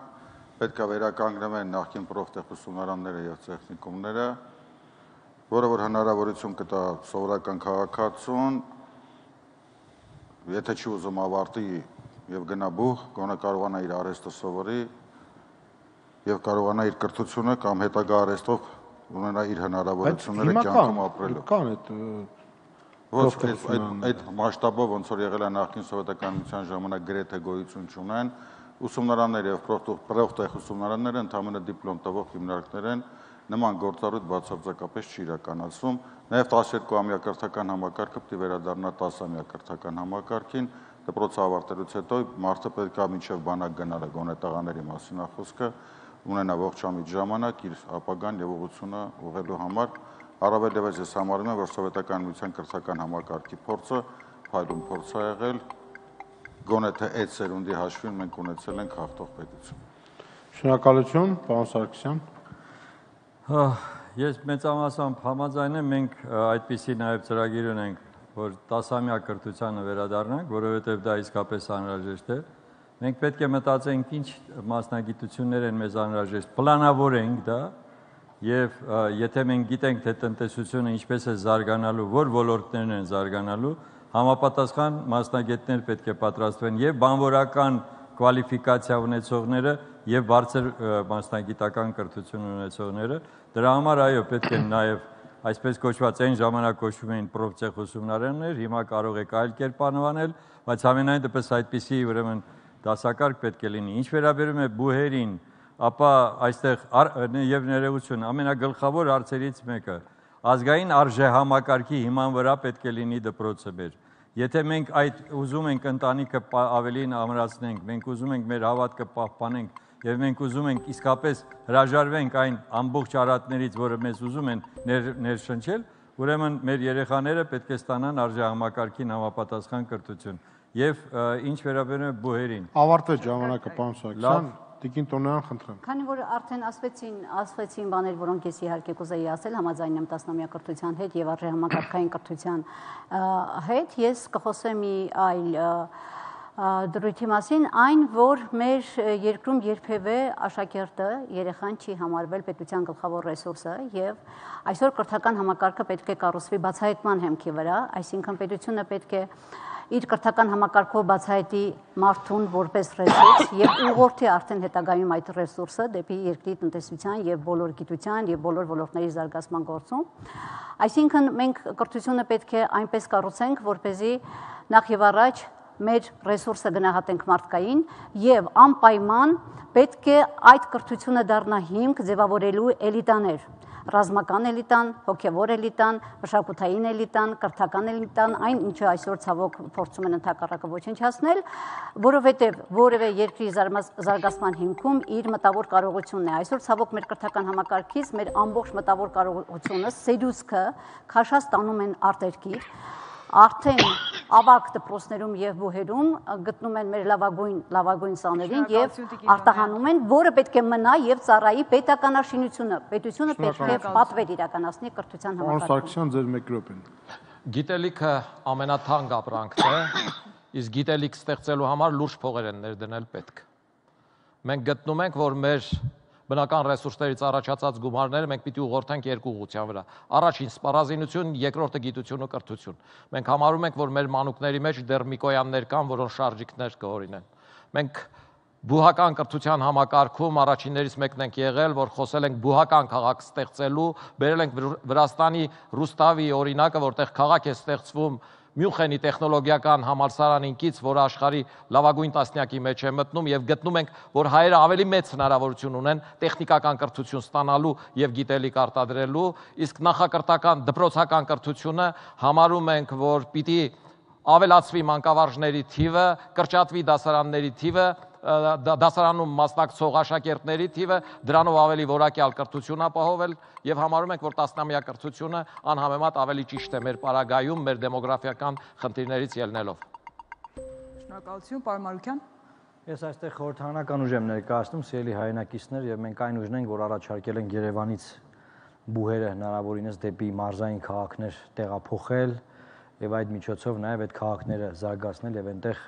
պետք է վերականգնվեն նախկին պրոֆտեխնիկումները եւ տեխնիկումները, որը որ հնարավորություն կտա սովորական քաղաքացուն, եթե չի ուզում ավարտի եւ գնա բուհ, գոնե կարողանա իր արհեստը սովորի եւ կարողանա իր կրթությունը կամ հետագա արհեստով ունենա իր հնարավորությունները կյանքում ապրելու։ Կան այդ Ոչ այդ այդ մասշտաբով ոնց որ եղել է նախկին սովետականության ժամանակ գրեթե գոյություն չունեն, ուսումնարանները եւ պրոֆտեխ ուսումնարանները ընդհանրապես դիպլոմ տվող հիմնարկներ են, նման գործառույթ բացարձակապես չի իրականացվում, նաեւ տասներկու ամյա կրթական համակարգը պետք է վերադառնա տասամյա կրթական համակարգին, դպրոցը ավարտելուց հետո մարդը պետք է մինչև բանակ գնալը գոնե տղաների մասին է խոսքը, ունենա ողջամիտ ժամանակ իր ապագան եւ ուղղությունը ուղղելու համար, առավել եւս ես համարում եմ, որ սովետական միության կրթական համակարգի փորձը փայլուն փորձ է եղել, գոնե թե այդ սերունդի հաշվին մենք ունեցել ենք հաղթող պետություն։ Շնորհակալություն, պարոն Սարգսյան։ Ես մեծամասամբ համաձայն եմ, մենք այդպիսի նաև ծրագիր ունենք, որ տասամյա կրթությանը վերադառնանք, որովհետև դա իսկապես անհրաժեշտ է։ Մենք պետք է մտածենք ինչ մասնագիտություններ են մեզ անհրաժեշտ, պլանավորենք դա, եւ եթե մենք գիտենք, թե տնտեսությունը ինչպես է զարգանալու, որ ոլորտներն են զարգանալու, համապատասխան մասնագետներ պետք է պատրաստվեն եւ բանվորական կվալիֆիկացիա ունեցողները եւ բարձր մասնագիտական կրթություն ունեցողները։ Դրա համար այո, պետք է նաեւ այսպես կոչված այն ժամանակ կոչվում էին պրոֆցեխ ուսումնարաններ, հիմա կարող եք այլ կերպ անվանել, բայց ամենայն դեպս այդպիսի ուրեմն դասակարգ պետք է լինի։ Ինչ վերաբերում է բուհերին, ապա այստեղ եւ ներողություն, ամենագլխավոր հարցերից մեկը ազգային արժեհամակարգի հիման վրա պետք է լինի դպրոցը մեր։ Եթե մենք այդ ուզում ենք ընտանիքը ավելին ամրացնենք, մենք ուզում ենք մեր հավատքը պահպանենք եւ մենք ուզում ենք իսկապես հրաժարվենք այն ամբողջ արատներից, որը մեզ ուզում են ներշնչել, ուրեմն մեր երեխաները պետք է ստանան արժեհամակարգին համապատասխան կրթություն։ Եվ ինչ վերաբերում է բուհերին։ Ավարտեց ժամանակը, պարոն Սարգսյան, Տիկին Տոնոյան, խնդրեմ։ Քանի որ արդեն ասվեցին, ասվեցին բաներ, որոնք ես իհարկե կուզեի ասել, համաձայն եմ տասնամյա կրթության հետ եւ արժեհամակարգային կրթության հետ, ես կխոսեմ մի այլ դրույթի մասին, այն, որ մեր երկրում երբևէ աշակերտը, երեխան չի համարվել պետության գլխավոր ռեսուրսը եւ այսօր կրթական համակարգը պետք է կառուցվի բացահայտման հեմքի վրա, այսինքն պետությունը պետք է իր կրթական համակարգով բացահայտի մարդուն որպես ռեսուրս եւ ուղղորդի արդեն հետագայում այդ ռեսուրսը դեպի երկրի տնտեսության եւ բոլոր գիտության եւ բոլոր ոլորտների զարգացման գործում։ Այսինքն մենք կրթությունը պետք է այնպես կառուցենք, որպեսզի նախ եւ առաջ մեր ռեսուրսը գնահատենք մարդկային եւ անպայման պետք է այդ կրթությունը դառնա հիմք ձևավորելու էլիտաներ, ռազմական էլիտան, հոգևոր էլիտան, մշակութային էլիտան, կրթական էլիտան, այն ինչը այսօր ցավոք փորձում են ընդհակառակը ոչնչացնել, որովհետև որևէ երկրի զարգացման հիմքում իր մտավոր կարողությունն է։ Այսօր ցավոք մեր կրթական համակարգից մեր ամբողջ մտավոր կարողությունը, սերուսքը քաշած տանում են արտերկիր, արդեն ավագ դպրոցներում եւ բուհերում գտնում են մեր լավագույն լավագույն սաներին եւ արտահանում են, որը պետք է մնա եւ ծառայի պետականաշինությունը։ Պետությունը պետք է պատվեր իրականացնի կրթության համակարգում։ Պարոն Սարգսյան, ձեր մեկ րոպեն։ Գիտելիքը ամենաթանկ ապրանքն է, իսկ գիտելիք ստեղծելու համար լուրջ փողեր են ներդնել պետք։ Մենք գտնում ենք, որ մեր բնական ռեսուրսներից առաջացած գումարները մենք պիտի ուղղորդենք երկու ուղղության վրա։ Առաջին սպառազինություն, երկրորդը գիտություն ու կրթություն։ Մենք համարում ենք, որ մեր մանուկների մեջ դեռ Միկոյաններ կան, որոնց շարժիկներ կհորինեն։ Մենք բուհական կրթության համակարգում առաջիններից մեկն ենք եղել, որ խոսել ենք բուհական քաղաք ստեղծելու, բերել ենք Վրաստանի Ռուստավի օրինակը, որտեղ քաղաք է ստեղծվում Մյունխենի տեխնոլոգիական համալսարանին կից, որը աշխարհի լավագույն տասնյակի մեջ է մտնում եւ գտնում ենք, որ հայերը ավելի մեծ հնարավորություն ունեն տեխնիկական կրթություն ստանալու եւ գիտելիք արտադրելու, իսկ նախակրթական դպրոցական կրթությունը համարում ենք, որ պիտի ավելացվի մանկավարժների թիվը, կրճատվի դասարանների թիվը, դասարանում մասնակցող աշակերտների թիվը, դրանով ավելի որակյալ կրթություն ապահովել եւ համարում ենք, որ տասնամյա կրթությունը անհամեմատ ավելի ճիշտ է մեր պարագայում, մեր դեմոգրաֆիական խնդիրներից ելնելով։ Շնորհակալություն, պարոն Մարուկյան։ Ես այստեղ խորհրդարանական ուժ եմ ներկայացնում, սիրելի հայրենակիցներ, եւ մենք այն ուժն ենք, որ առաջարկել ենք Երևանից բուհերը հնարավորինս դեպի մարզային քաղաքներ տեղափոխել եւ այդ միջոցով նաեւ այդ քաղաքները զարգացնել եւ այնտեղ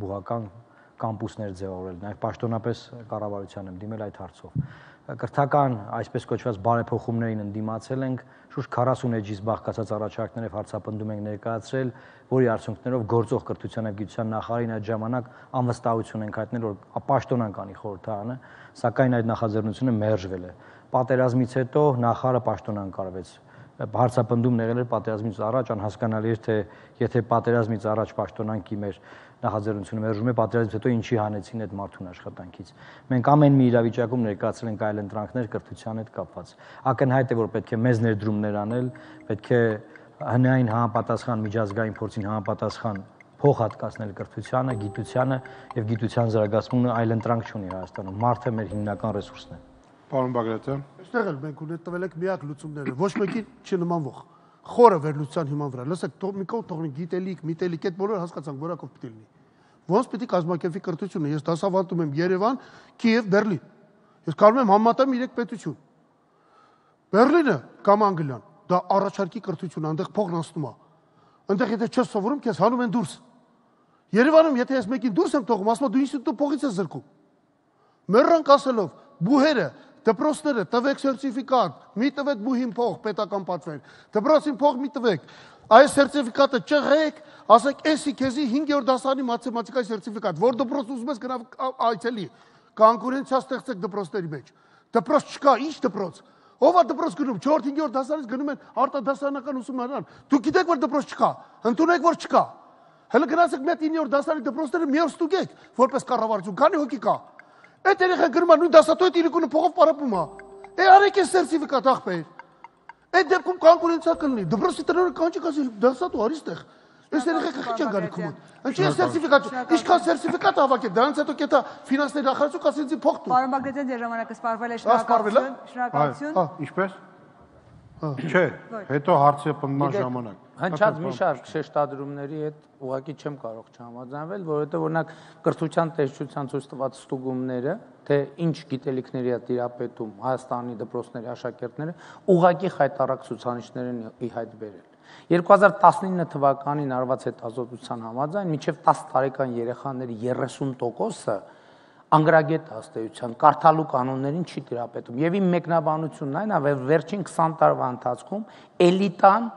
բուհական կամպուսներ ձևավորել, նաև պաշտոնապես կառավարության եմ դիմել այդ հարցով։ Կրթական, այսպես կոչված բարեփոխումներին ընդդիմացել ենք, շուրջ քառասուն էջից բաղկացած առաջարկներով հարցապնդում ենք ներկայացրել, որի արդյունքներով գործող կրթության եւ գիտության նախարարին այդ ժամանակ անվստահություն ենք հայտնել, որ պաշտոնանկանի խորհրդարանը, սակայն այդ նախաձեռնությունը մերժվել է։ Պատերազմից հետո նախարարը պաշտոնանկարվեց։ Հարցապնդումն եղել էր պատերազմից առաջ, անհասկանալի էր, թե եթե պատերազմից առաջ պաշտոնանկի մեր նախաձեռնությունը մերժում է, պատերազմից հետո ինչի հանեցին այդ մարդուն աշխատանքից։ Մենք ամեն մի իրավիճակում ներկայացրել ենք այլ ընտրանքներ կրթության հետ կապված։ Ակնհայտ է, որ պետք է մեծ ներդրումներ անել, պետք է հնային համապատասխան միջազգային փորձին համապատասխան փող հատկացնել կրթությանը, գիտությանը եւ գիտության զարգացմանը այլ ընտրանք չունի Հայաստանում։ Մարդը մեր հիմնական ռեսուրսն է։ Պարոն Բագրատյան։ Այստեղ էլ մենք ունենք տվել ենք միակ լուծումները, ոչ մեկին չնմանվող։ Խորը վերլուծության հիման վրա։ Լսեք, մի կողմ թողնի գիտելիք, միտելիք, այդ բոլորը հասկացանք, որակով պիտի լինի։ Ոնց պիտի կազմակերպվի կրթությունը։ Ես դասավանդում եմ Երևան, Կիև, Բերլին։ Ես կարող եմ համատեմ երեք պետություն։ Բերլինը կամ Անգլիան, դա առաջարկի կրթություն, այնտեղ փողն անցնում է։ Այնտեղ եթե չես սովորում, քեզ հանում են դուրս։ Երևանում եթե ես մեկին դուրս եմ թողում, ասում դու ինստիտուտը փողից ես զրկում։ Մեռանք ասելով, բուհերը, դպրոցները տվեք սերտիֆիկատ, մի տվեք բուհին փող, պետական պատվեր։ Դպրոցին փող մի տվեք։ Այս սերտիֆիկատը չղեք, ասեք, էսի քեզի հինգերորդ դասարանի մաթեմատիկայի սերտիֆիկատ, որ դպրոց ուզում ես գնա այցելի, կոնկուրենցիա ստեղծեք դպրոցների մեջ։ Դպրոց չկա, ինչ դպրոց։ Ով է դպրոց գնում, չորրորդ հինգերորդ դասարից գնում են արտադասարանական ուսումնարան։ Դուք գիտեք, որ դպրոց չկա, ընդունեք, որ չկա։ Հələ գնացեք մեկ իններորդ դասարանի դպրոցները մի օր ստուգեք, որպես կառավարություն, քանի հոգի կա։ Այդ երեխան գրում է նույն դասատու այդ իրիկունը փողով պարապում է։ Է արեք այս սերտիֆիկատ ախպեր։ Այդ դեպքում կոնկուրենցիա կլինի։ Դպրոցի տնօրենը կան չի ասի դասատու արի ստեղ։ Այս երեխեքը քիչ են գալի քումոտ։ Ինչի է սերտիֆիկատ։ Ինչքան սերտիֆիկատ հավաքեք, դրանից հետո կետա ֆինանսների նախարարություն կասի ինձ փող տու։ Պարոն Բագրատյան, ձեր ժամանակը սպառվել է, շնորհակալություն։ Շնորհակալություն։ Հա, ինչպես։ Չէ, հետո հարցի պնդման ժամանակ։ Հնչած մի շարք շեշտադրումների հետ ուղղակի չեմ կարող չհամաձայնվել, որովհետև օրինակ կրթության տեսչության ցույց տված ստուգումները, թե ինչ գիտելիքների է տիրապետում Հայաստանի դպրոցների աշակերտները, ուղղակի խայտառակ ցուցանիշներ են ի հայտ բերել։ երկու հազար տասնինը թվականին արված հետազոտության համաձայն մինչև տաս տարեկան երեխաների երեսուն տոկոսը անգրագետ հաստատության կարդալու կանոններին չի տիրապետում։ Եվ իմ մեկնաբանությունն այն է, որ վերջին քսան տարվա ընթացքում էլիտան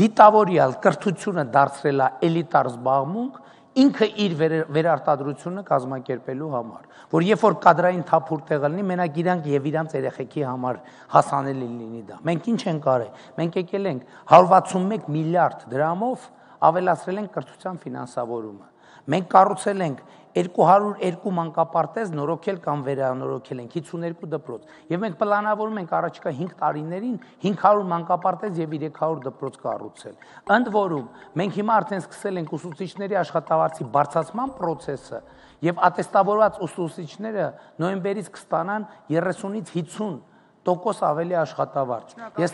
դիտավորյալ կրթությունը դարձրել է էլիտար զբաղմունք ինքը իր վերարտադրությունը կազմակերպելու համար, որ երբ որ կադրային թափուր տեղը լինի, մենակ իրանք եւ իրանք երեխեքի համար հասանելի լինի դա։ Մենք ինչ ենք արել։ Մենք եկել ենք հարյուր վաթսունմեկ միլիարդ դրամով ավելացրել ենք կրթության ֆինանսավորումը։ Մենք կառուցել ենք երկու հարյուր երկու մանկապարտեզ նորոգել կամ վերանորոգել ենք հիսունհինգ դպրոց եւ մենք պլանավորում ենք առաջիկա հինգ տարիներին հինգ հարյուր մանկապարտեզ եւ երեք հարյուր դպրոց կառուցել։ Ընդ որում մենք հիմա արդեն սկսել ենք ուսուցիչների աշխատավարձի բարձրացման process-ը եւ ատեստավորված ուսուցիչները նոյեմբերից կստանան երեսունից հիսուն տոկոս ավելի աշխատավարձ։ Ես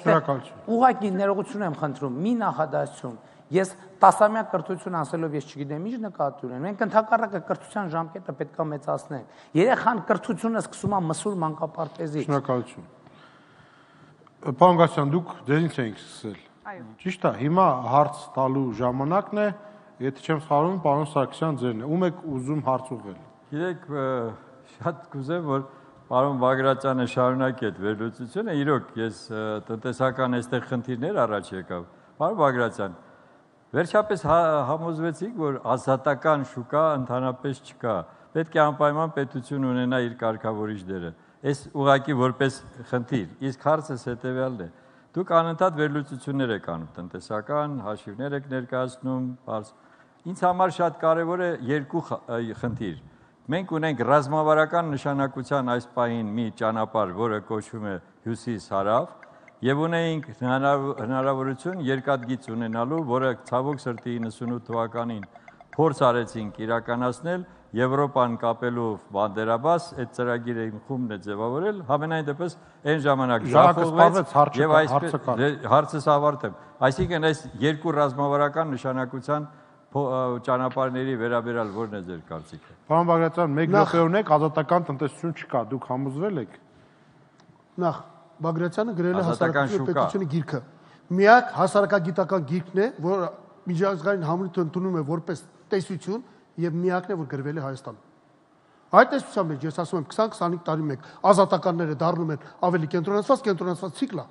ուղղակի ներողություն եմ խնդրում, մի նախադասություն։ Ես տասամյա կրթություն ասելով ես չգիտեմ ինչ նկատի ունեմ։ Մենք ընդհակառակը կրթության ժամկետը պետք է մեծացնենք։ Երեխան կրթությունը սկսում է մսուր մանկապարտեզից։ Շնորհակալություն։ Պարոն Գասյան, դուք ձեզնից էինք սկսել։ Այո։ Ճիշտ է, հիմա հարց տալու ժամանակն է, եթե չեմ սխալվում, պարոն Սարգսյան ձերն է։ Ում եք ուզում հարց ուղղել։ Գիտեք, շատ կուզեմ, որ պարոն Բագրատյանը շարունակի այդ վերլուծությունը, իրոք ես տնտեսական այստեղ խնդիրներ առաջ եկավ։ Պարոն Բագրատյան, վերջապես համոզվեցիք, որ ազատական շուկա ընդհանրապես չկա։ Պետք է անպայման պետություն ունենա իր կարգավորիչ դերը։ Այս ուղղակի որպես խնդիր, իսկ հարցս հետևյալն է։ Դուք անընդհատ վերլուծություններ եք անում, տնտեսական հաշիվներ եք ներկայացնում, բարձ։ Ինձ համար շատ կարևոր է երկու խնդիր։ Մենք ունենք ռազմավարական նշանակության այս պահին մի ճանապարհ, որը կոչվում է Հյուսիս-Հարավ, եւ ունեինք հնարավորություն երկաթգիծ ունենալու, որը ցավոք սրտի իննսունութ թվականին փորձ արեցինք իրականացնել Եվրոպան կապելու բանդերաբաս, այդ ծրագիրը իմ խումբն է ձևավորել, համենայն դեպս այն ժամանակ շահվեց եւ այսպես հարցս ավարտեմ։ Այսինքն այս երկու ռազմավարական նշանակության ճանապարհների վերաբերյալ ո՞րն է ձեր կարծիքը։ Պարոն Բագրատյան, մեկ րոպեորն եք, ազատական տնտեսություն չկա, դուք համոզվել եք։ Նախ Բագրատյանը գրել է հասարակական պետությունը գիրքը։ Միակ հասարակագիտական գիրքն է, որ միջազգային համույթը ընդունում է որպես տեսություն եւ միակն է, որ գրվել է Հայաստանում։ Այդ տեսության մեջ ես ասում եմ քսան քսանհինգ տարի մեկ ազատականները դառնում են ավելի կենտրոնացված, կենտրոնացված ցիկլա։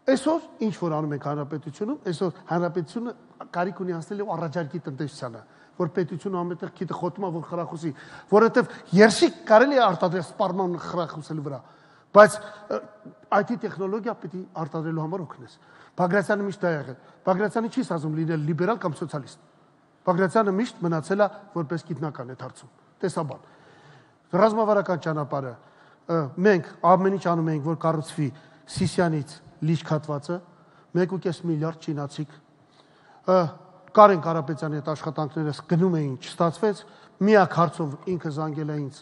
Այսօր ինչ որ անում ենք հանրապետությունում, այսօր հանրապետությունը կարիք ունի անցնել եւ առաջարկի տնտեսությանը, որ պետությունը ամենտեղ քիթը խոթում է, որ խրախուսի, որովհետեւ երշիկ կարելի է արտադրել սպառման խրախուսելու վրա։ Բայց այ թի տեխնոլոգիա պիտի արտադրելու համար օգնես։ Բագրատյանը միշտ դա եղել։ Բագրատյանը չի ասում լինել լիբերալ կամ սոցիալիստ։ Բագրատյանը միշտ մնացել է որպես գիտնական այդ հարցում։ Տեսաբան։ Ռազմավարական ճանապարհը մենք ամեն ինչ անում ենք, որ կառուցվի Սիսյանից լիճ քատվածը, մեկ ու կես միլիարդ չինացիք։ Կարեն Կարապետյանի հետ աշխատանքներս գնում էին, չստացվեց, միակ հարցով ինքը զանգել է ինձ,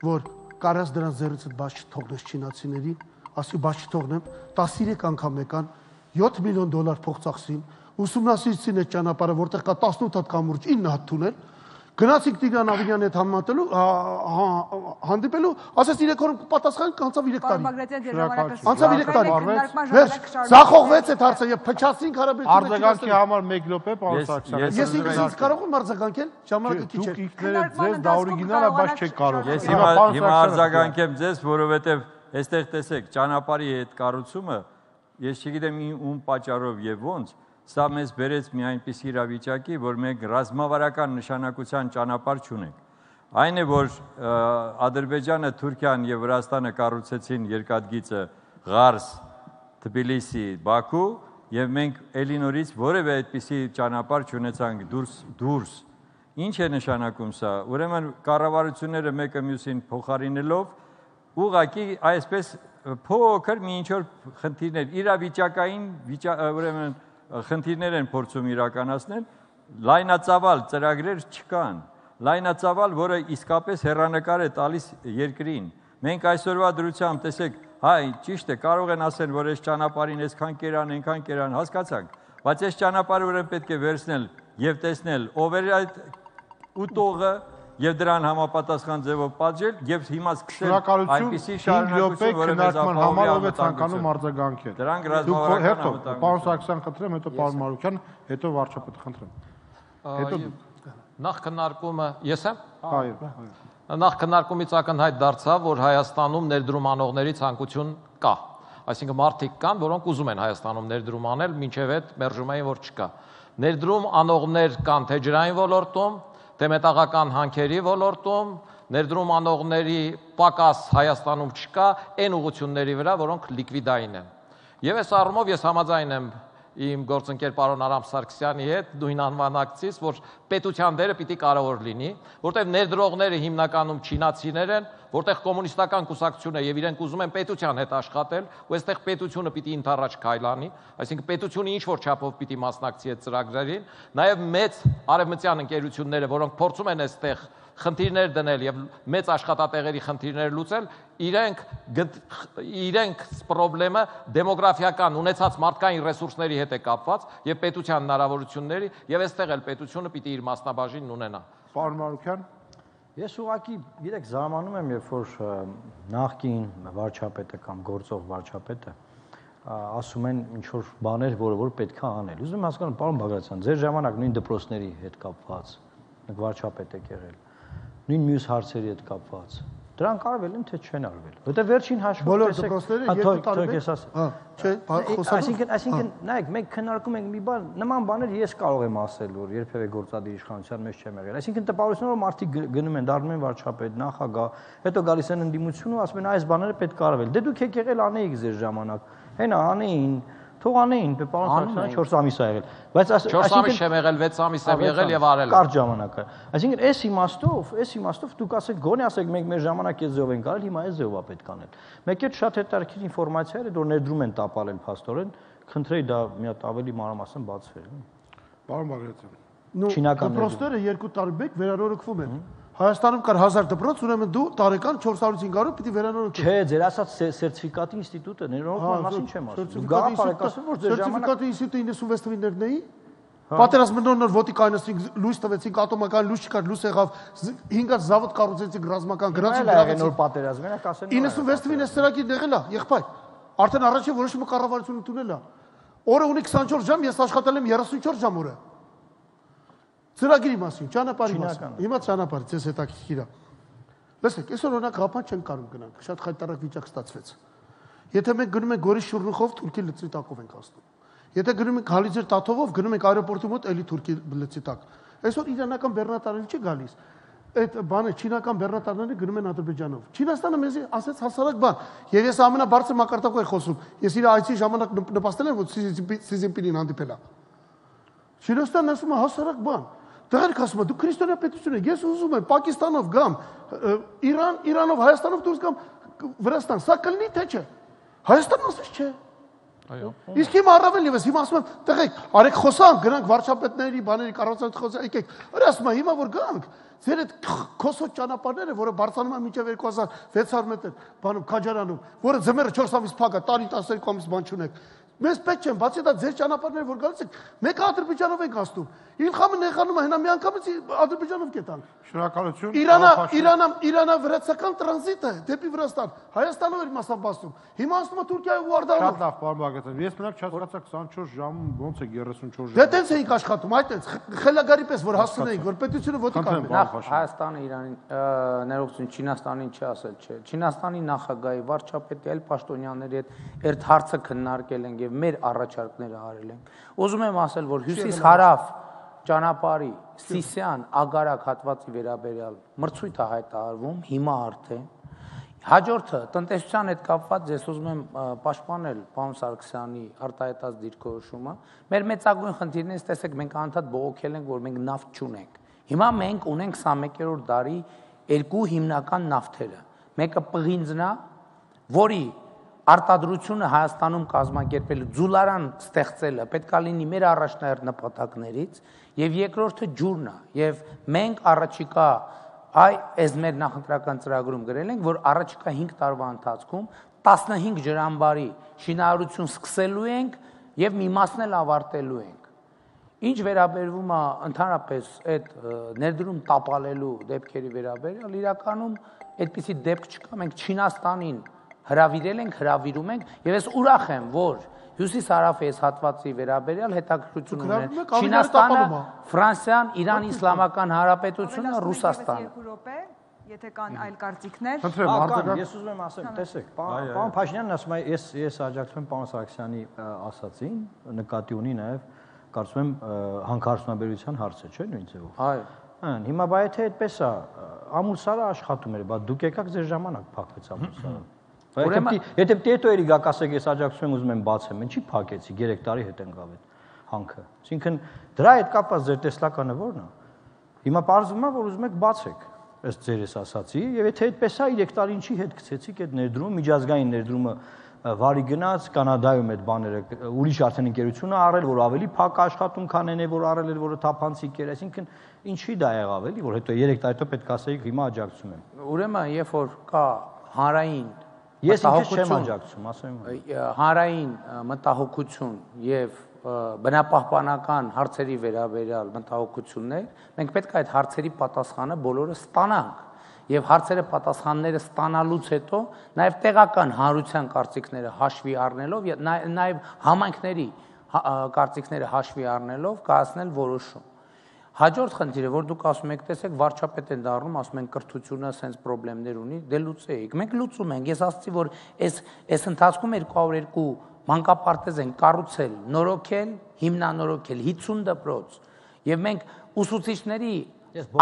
որ կարաս դրանց ձեռիցդ բաց չթողնես չինացիներին, ասի բաց չթողնեմ, տասնյոթ անգամ եկան, յոթ միլիոն դոլար փող ծախսին, ուսումնասիրեցին այդ ճանապարհը, որտեղ կա տասնութ հատ կամուրջ, ինը հատ թունել, գնացինք Տիգրան Ավինյանի հետ համատելու, հանդիպելու, ասես երեք օր պատասխան կանցավ երեք տարի։ Անցավ երեք տարի։ Զախողվեց այդ հարցը եւ փչացրինք հարաբերությունները։ Արձագանքի համար մեկ րոպե, պարոն Սարգսյան։ Ես ինքս կարող եմ արձագանքել, ժամանակը քիչ է։ Դուք ինքներդ ձեզ դա օրիգինալ է, բայց չեք կարող։ Ես հիմա հիմա արձագանքեմ ձեզ, որովհետեւ այստեղ տեսեք, ճանապարհի այդ կառուցումը, ես չգիտեմ ում պատճառով եւ ոնց, սա մեզ բերեց մի այնպիսի իրավիճակի, որ մենք ռազմավարական նշանակության ճանապարհ չունենք։ Այն է, որ Ադրբեջանը, Թուրքիան եւ Վրաստանը կառուցեցին երկաթգիծը Ղարս, Թբիլիսի, Բաքու, եւ մենք էլի նորից որևէ այդպիսի ճանապարհ չունեցանք դուրս դուրս։ Ինչ է նշանակում սա։ Ուրեմն կառավարությունները մեկը մյուսին փոխարինելով ուղղակի այսպես փոքր մի ինչ որ խնդիրներ, իրավիճակային ուրեմն խնդիրներ են փորձում իրականացնել, լայնածավալ ծրագրեր չկան, լայնածավալ, որը իսկապես հեռանկար է տալիս երկրին։ Մենք այսօրվա դրությամբ տեսեք, հայ, ճիշտ է, կարող են ասել, որ այս ճանապարհին այսքան կերան, այնքան կերան, հասկացանք, բայց այս ճանապարհը ուրեմն պետք է վերցնել եւ տեսնել ով է այդ ուտողը եւ դրան համապատասխան ձևով պատժել եւ հիմա սկսել այնպիսի շարունակություն, որը մեզ համար ով է ցանկանում արձագանքել։ Դրանք ռազմավարական անվտանգություն։ Պարոն Սարգսյան խնդրեմ, հետո պարոն Մարուկյան, հետո վարչապետը խնդրեմ։ Հետո նախ քննարկումը ես եմ։ Այո, այո։ Նախ քննարկումից ակնհայտ դարձավ, որ Հայաստանում ներդրում անողների ցանկություն կա։ Այսինքն մարդիկ կան, որոնք ուզում են Հայաստանում ներդրում անել, մինչև այդ մերժում էին, որ չկա։ Ներդրում անողներ կան թե ջրային ոլորտում, թե մետաղական հանքերի ոլորտում, ներդրում անողների պակաս Հայաստանում չկա, այն ուղղությունների վրա, որոնք լիկվիդային են։ Եվ այս առումով ես համաձայն եմ իմ գործընկեր պարոն Արամ Սարգսյանի հետ նույն անվանակցից, որ պետության դերը պիտի կարևոր լինի, որտեղ ներդրողները հիմնականում չինացիներ են, որտեղ կոմունիստական կուսակցությունը եւ իրենք ուզում են պետության հետ աշխատել, ու այստեղ պետությունը պիտի ընթառաջ քայլանի, այսինքն պետությունը ինչ որ չափով պիտի մասնակցի այդ ծրագրերին, նաեւ մեծ արևմտյան ընկերությունները, որոնք փորձում են այստեղ խնդիրներ դնել եւ մեծ աշխատատեղերի խնդիրներ լուծել, իրենք իրենք խնդրեմը դեմոգրաֆիական ունեցած մարդկային ռեսուրսների հետ է կապված եւ պետության հնարավորությունների եւ այստեղ էլ պետությունը պիտի իր մասնաբաժինն ունենա։ Պարոն Մարուկյան, ես ուղղակի գիտեք զարմանում եմ, երբ որ նախկին վարչապետը կամ գործող վարչապետը ասում են ինչ որ բաներ, որը որ պետք է անել։ Ուզում եմ հասկանալ, պարոն Բագրատյան, ձեր ժամանակ նույն դպրոցների հետ կապված, եք վարչապետ եք եղել, նույն մյուս հարցերի հետ կապված, դրանք արվել են թե չեն արվել։ Որտեղ վերջին հաշվով բոլոր դպրոցները երկու տարի հա, չէ, խոսալու։ Այսինքն, այսինքն, նայեք, մենք քննարկում ենք մի բան, նման բաներ ես կարող եմ ասել, որ երբևէ գործադիր իշխանության մեջ չեմ եղել։ Այսինքն տպավորությունով մարդիկ գնում են, դառնում են վարչապետ, նախագահ, հետո գալիս են ընդդիմություն ու ասում են այս բաները պետք է արվել։ Դե դուք եք եղել անեիք ձեր ժամանակ։ Հենա անեին, թող անեին, պարոն Սարգսյան չորս ամիս է եղել։ Բայց չորս ամիս չեմ եղել, վեց ամիս եմ եղել եւ արել եմ։ Կարճ ժամանակ է։ Այսինքն այս իմաստով, այս իմաստով դուք ասեք, գոնե ասեք մենք մեր ժամանակ այս ձևով ենք արել, հիմա այս ձևով է պետք անել։ Մեկ էլ շատ հետաքրքիր ինֆորմացիա էր, որ ներդրում են տապալել փաստորեն, խնդրեի դա մի հատ ավելի մանրամասն բացվեր։ Պարոն Բագրատյան։ Դպրոցները երկու տարի մեկ վերանորոգվում են։ Հայաստանում կար հազար դպրոց, ուրեմն դու տարեկան չորս հարյուր հինգ հարյուր պիտի վերանորոգես։ Չէ, ձեր ասած սերտիֆիկատի ինստիտուտը ներողության մասին չեմ ասում։ Գաղափարակասում որ ձեր ժամանակ սերտիֆիկատի ինստիտուտը իննսունվեց թվականներն էի։ Պատերազմը նոր-նոր ոտի կայնացրինք, լույս տվեցինք, ատոմական լույս չկար, լույս եղավ, հինգ հատ զավոդ կառուցեցինք ռազմական գրանցի դրավեցինք։ Նոր պատերազմ էր, կասեն։ իննսունվեց թվականին այս ծրագիրն եղել է, եղբայր։ Արդեն առաջին որոշումը կառավարությունը տունել է։ Օրը ունի քսանչորս ժամ, ես աշխատել եմ երեսունչորս ժամ օրը։ Ծրագրի մասին, ճանապարհի մասին։ Հիմա ճանապարհը ձեզ հետաքրքիր է։ Լսեք, այսօր օրինակ Ղափան չեն կարող գնանք, շատ խայտարակ վիճակ ստացվեց։ Եթե մենք գնում ենք Գորիս Շուռնուխով, Թուրքի լծի տակով ենք հասնում։ Եթե գնում ենք Հալիձեր Տաթովով, գնում ենք аэроպորտի մոտ, էլի Թուրքի լծի տակ։ Այսօր իրանական բեռնատարները չի գալիս։ Այդ բանը չինական բեռնատարները գնում են Ադրբեջանով։ Չինաստանը մեզի ասեց հասարակ բան։ Եվ ես ամենաբարձր մակարդակով եմ խոսում։ Ես իր այցի ժամանակ նպաստել եմ, որ Սի Ցզինպինին հանդիպել է։ Չինաստանն ասում է հասարակ բան։ Դեռ ասում եմ, դու քրիստոնյա պետություն ես, ես ուզում եմ Պակիստանով գամ, Իրան, Իրանով, Հայաստանով դուրս գամ Վրաստան, սա կլինի թե չէ։ Հայաստանն ասես չէ։ Իսկ հիմա առավել եւս հիմա ասում եմ, տղեկ, արեք խոսանք, գնանք վարչապետների, բաների կառավարության խոսանք, եկեք։ Որ ասում եմ, հիմա որ գանք, ձեր այդ քոսոտ ճանապարհները, որը բարձրանում են մինչև երկու հազար վեց հարյուր մետր, բանում Քաջարանում, որը ձմեռը չորս ամիս փակ է, տարին տասներկու ամիս բան չունեք։ Մեզ պետք չեն, բացի դա ձեր ճանապարհները որ գալիս եք, մեկը Ադրբեջանով ենք ասում։ Իլխամը նեղանում է, հենա մի անգամից Ադրբեջանով կետանք։ Շնորհակալություն։ Իրանա, Իրանա, Իրանա-վրացական տրանզիտը դեպի Վրաստան, Հայաստանով էր մասամբ ասում։ Հիմա ասում է Թուրքիայով ու Արդարով։ Շատ լավ, պարոն Բաղդասարյան։ Ես մենակ չհասկացա քսանչորս ժամ ոնց է երեսունչորս ժամ։ Դե տենց էինք աշխատում, այդտենց խելագարի պես որ հասցնեինք, որ պետությունը ոտի կան։ Նախ Հայաստանը Իրանին ներողություն Չինաստանին չի ասել, չէ։ Չինաստանի նախագահի վարչապետի այլ պաշտոնյաների հետ այդ հարցը քննարկել ենք եւ մեր առաջարկները արել ենք։ Ուզում եմ ասել, որ հյուսիս-հարավ ճանապարհի Սիսիան ագարակ հատվածի վերաբերյալ մրցույթ է հայտարարվում հիմա արդեն։ Հաջորդը տնտեսության հետ կապված ես ուզում եմ պաշտպանել պարոն Սարգսյանի արտահայտած դիրքորոշումը։ Մեր մեծագույն խնդիրներից տեսեք մենք անդադ բողոքել ենք, որ մենք նավթ չունենք։ Հիմա մենք ունենք քսանմեկերորդ դարի երկու հիմնական նավթերը։ Մեկը պղինձն է, որի արտադրությունը Հայաստանում կազմակերպել ձուլարան ստեղծելը պետք է լինի մեր առաջնահերթ նպատակներից, եւ երկրորդը ջուրն է, եւ մենք առաջիկա այ այս մեր նախընտրական ծրագրում գրել ենք, որ առաջիկա հինգ տարվա ընթացքում տասնհինգ ջրամբարի շինարարություն սկսելու ենք եւ մի մասն էլ ավարտելու ենք։ Ինչ վերաբերվում է ընդհանրապես այդ ներդրում տապալելու դեպքերի վերաբերյալ, իրականում այդպիսի դեպք չկա, մենք Չինաստանին հրավիրել ենք, հրավիրում ենք եւ ես ուրախ եմ, որ հյուսիս-հարավ այս հատվածի վերաբերյալ հետաքրքրություն ունեն Չինաստանը, Ֆրանսիան, Իրան Իսլամական Հանրապետությունը, Ռուսաստանը։ Եթե կան այլ կարծիքներ։ Ես ուզում եմ ասել, տեսեք, պարոն Փաշինյանն ասում է, ես ես աջակցում եմ պարոն Սարգսյանի ասացին, նկատի ունի նաեւ կարծում եմ հանքարդյունաբերության հարցը, չէ՞ նույն ձևով։ Այո։ Ան, հիմա բայ եթե այդպես է, ամուսարը աշխատում էր, բա դուք եկաք ձեր ժամանակ փակվեց ամուսարը։ Ուրեմն եթե տետոյերի գաք ասեք, ես աջակցում եմ, ուզում եմ բացեմ, ինչի փակեցի, երեք տարի հետ ենք գավ այդ հանքը։ Այսինքն դրա հետ կապված ձեր տեսլականը ո՞րն է։ Հիմա պարզվում է, որ ուզում եք բացեք, ըստ ձերս ասացի, եւ եթե այդպես է, երեք տարի ինչի հետ գցեցիք այդ ներդրումը, միջազգային ներդրումը վարի գնաց, Կանադայում այդ բաները ուրիշ արդեն ընկերություն է առել, որ ավելի փակ աշխատում քան այն է, որ առել էր, որը թափանցիկ էր, այսինքն ինչի դա եղավ էլի, որ հետո երեք տարի հետո պետք է ասեիք հիմա աջակցում եմ։ Ուրեմն, երբ որ կա հանրային Ես ինքս չեմ աջակցում, ասեմ։ Հանրային մտահոգություն եւ բնապահպանական հարցերի վերաբերյալ մտահոգություններ, մենք պետք է այդ հարցերի պատասխանը բոլորը ստանանք եւ հարցերը պատասխանները ստանալուց հետո նաեւ տեղական հանրության կարծիքները հաշվի առնելով եւ նաեւ համայնքների կարծիքները հաշվի առնելով կայացնել որոշում։ Հաջորդ խնդիրը, որ դուք ասում եք, տեսեք, վարչապետ են դառնում, ասում են կրթությունը սենց խնդիրներ ունի, դե լուծեիք։ Մենք լուծում ենք։ Ես ասացի, որ այս այս ընթացքում երկու հարյուր երկու մանկապարտեզ են կառուցել, նորոգել, հիմնանորոգել հինգ դպրոց։ Եվ մենք ուսուցիչների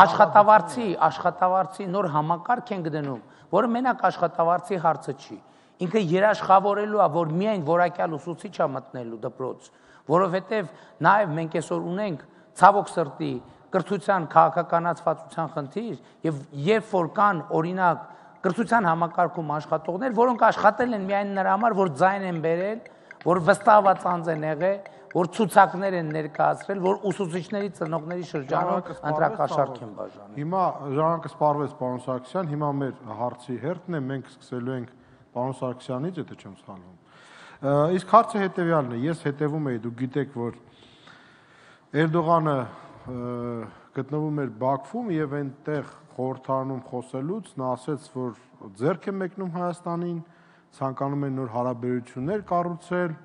աշխատավարձի, աշխատավարձի նոր համակարգ ենք դնում, որը մենակ աշխատավարձի հարցը չի։ Ինքը երաշխավորելու է, որ միայն որակյալ ուսուցիչ է մտնելու դպրոց, որովհետև նաև մենք այսօր ունենք ցավոք սրտի կրթության քաղաքականացվածության խնդիր եւ երբ որ կան օրինակ կրթության համակարգում աշխատողներ, որոնք աշխատել են միայն նրա համար, որ ձայն են բերել, որ վստահված անձ են եղել, որ ցուցակներ են ներկայացրել, որ ուսուցիչների ծնողների շրջանում ընտրակաշառք են բաժանել։ Հիմա ժամանակը սպառվեց պարոն Սարգսյան, հիմա մեր հարցի հերթն է, մենք սկսելու ենք պարոն Սարգսյանից, եթե չեմ սխալվում։ Իսկ հարցը հետեւյալն է, ես հետևում եի, դուք գիտեք, որ Էրդողանը գտնվում էր Բաքվում եւ այնտեղ խորհրդարանում խոսելուց նա ասաց, որ ձեռք է մեկնում Հայաստանին, ցանկանում են նոր հարաբերություններ կառուցել,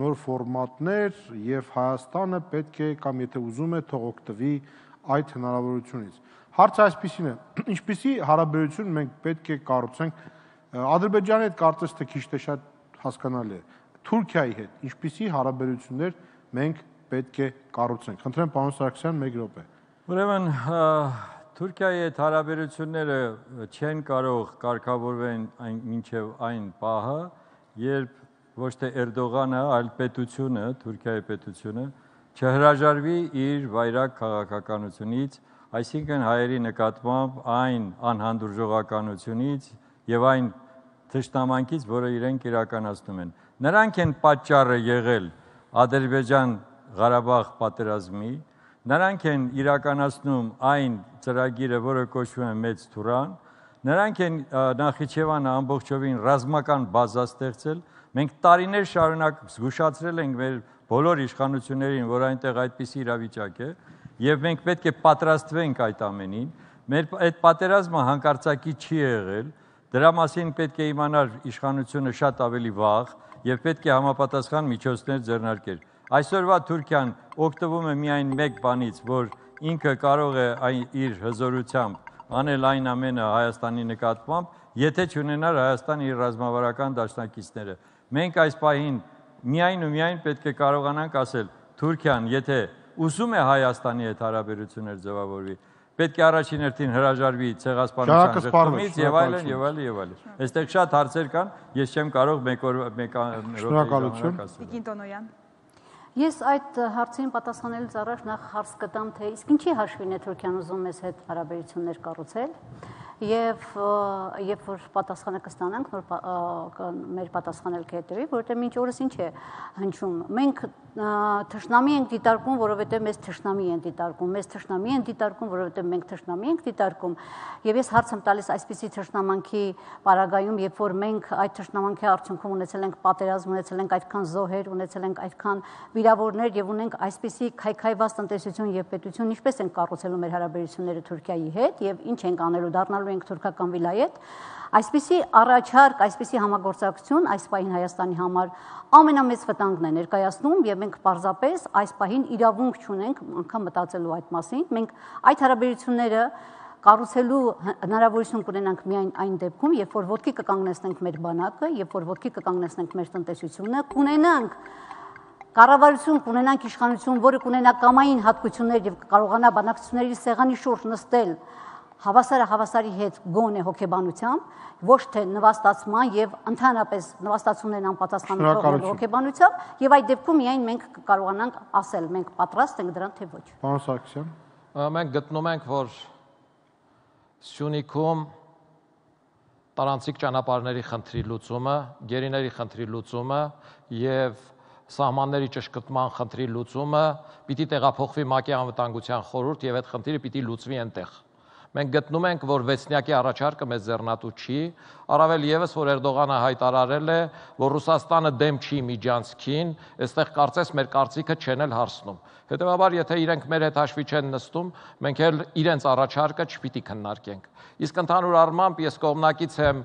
նոր ֆորմատներ եւ Հայաստանը պետք է կամ եթե ուզում է թող օգտվի այդ հնարավորությունից։ Հարցը այսպեսին է. ինչպիսի հարաբերություն մենք պետք է կառուցենք Ադրբեջանի հետ, կարծես թե քիչ թե շատ հասկանալի է, Թուրքիայի հետ, ինչպիսի հարաբերություններ մենք պետք է կառուցենք։ Խնդրեմ պարոն Սարգսյան, մեկ րոպե։ Ուրեմն Թուրքիայի հետ հարաբերությունները չեն կարող կարգավորվել մինչև այն պահը, երբ ոչ թե Էրդողանը, այլ պետությունը, Թուրքիայի պետությունը չհրաժարվի իր վայրագ քաղաքականությունից, այսինքն հայերի նկատմամբ այն անհանդուրժողականությունից եւ այն թշնամանքից, որը իրենք իրականացնում են։ նրանք են պատճառը եղել Ադրբեջան-Ղարաբաղ պատերազմի, նրանք են իրականացնում այն ծրագիրը, որը կոչվում է Մեծ Թուրան, նրանք են Նախիջևանը ամբողջովին ռազմական բազա ստեղծել, մենք տարիներ շարունակ զգուշացրել ենք մեր բոլոր իշխանություններին, որ այնտեղ այդպիսի իրավիճակ է, եւ մենք պետք է պատրաստվենք այդ ամենին, մեր այդ պատերազմը հանկարծակի չի եղել, դրա մասին պետք է իմանար իշխանությունը շատ ավելի վաղ եւ պետք է համապատասխան միջոցներ ձեռնարկել։ Այսօրվա Թուրքիան օգտվում է միայն մեկ բանից, որ ինքը կարող է իր հզորությամբ անել այն ամենը Հայաստանի նկատմամբ, եթե չունենար Հայաստան իր ռազմավարական դաշնակիցները։ Մենք այս պահին միայն ու միայն պետք է կարողանանք ասել, Թուրքիան, եթե ուզում է Հայաստանի հետ հարաբերություններ ձևավորվի, պետք է առաջին հերթին հրաժարվի ցեղասպանության ժխտումից եւ այլն եւ այլն եւ այլն։ Այստեղ շատ հարցեր կան, ես չեմ կարող մեկ օր մեկ Շնորհակալություն։ Տիկին Տոնոյան։ Ես այդ հարցին պատասխանելուց առաջ նախ հարց կտամ, թե իսկ ինչի հաշվին է Թուրքիան ուզում մեզ հետ հարաբերություններ կառուցել եւ երբ որ պատասխանը կստանանք, նոր մեր պատասխանել կհետևի, որովհետեւ մինչ օրս ինչ է հնչում։ Մենք թշնամի ենք դիտարկում, որովհետեւ մեզ թշնամի են դիտարկում, մեզ թշնամի են դիտարկում, որովհետեւ մենք թշնամի ենք դիտարկում։ Եվ ես հարց եմ տալիս այսպիսի թշնամանքի պարագայում, երբ որ մենք այդ թշնամանքի արդյունքում ունեցել ենք պատերազմ, ունեցել ենք այդքան զոհեր, ունեցել ենք այդքան վիրավորներ եւ ունենք այսպիսի քայքայված տնտեսություն եւ պետություն, ինչպես են կառուցելու մեր հարաբերությունները Թուրքիայի հետ եւ ինչ ենք անելու, դառնալու ենք թուրքական վիլայետ, այսպիսի առաջարկ, այսպիսի համագործակցություն այս պահին Հայաստանի համար ամենամեծ վտանգն է ներկայացնում եւ մենք պարզապես այս պահին իրավունք չունենք անգամ մտածելու այդ մասին։ Մենք այդ հարաբերությունները կառուցելու հնարավորություն կունենանք միայն այն դեպքում, երբ որ ոտքի կկանգնեցնենք մեր բանակը, երբ որ ոտքի կկանգնեցնենք մեր տնտեսությունը, կունենանք կառավարություն, կունենանք իշխանություն, որը կունենա կամային հատկություններ եւ կարողանա բանակցությունների սեղանի շուրջ նստել հավասարը հավասարի հետ գոնե հոգեբանությամբ, ոչ թե նվաստացման եւ ընդհանրապես նվաստացումներն անպատասխան թողնելու հոգեբանությամբ եւ այդ դեպքում միայն մենք կարողանանք ասել, մենք պատրաստ ենք դրան թե ոչ։ Պարոն Սարգսյան, մենք գտնում ենք, որ Սյունիքում տարանցիկ ճանապարհների խնդրի լուծումը, գերիների խնդրի լուծումը եւ սահմանների ճշգրտման խնդրի լուծումը պիտի տեղափոխվի ՄԱԿ-ի անվտանգության խորհուրդ եւ այդ խնդիրը պիտի լուծվի այնտեղ։ Մենք գտնում ենք, որ վեցնյակի առաջարկը մեզ ձեռնատու չի, առավել եւս, որ Էրդողանը հայտարարել է, որ Ռուսաստանը դեմ չի միջանցքին, այստեղ կարծես մեր կարծիքը չեն էլ հարցնում։ Հետևաբար, եթե իրենք մեր հետ հաշվի չեն նստում, մենք էլ իրենց առաջարկը չպիտի քննարկենք։ Իսկ ընդհանուր առմամբ ես կողմնակից եմ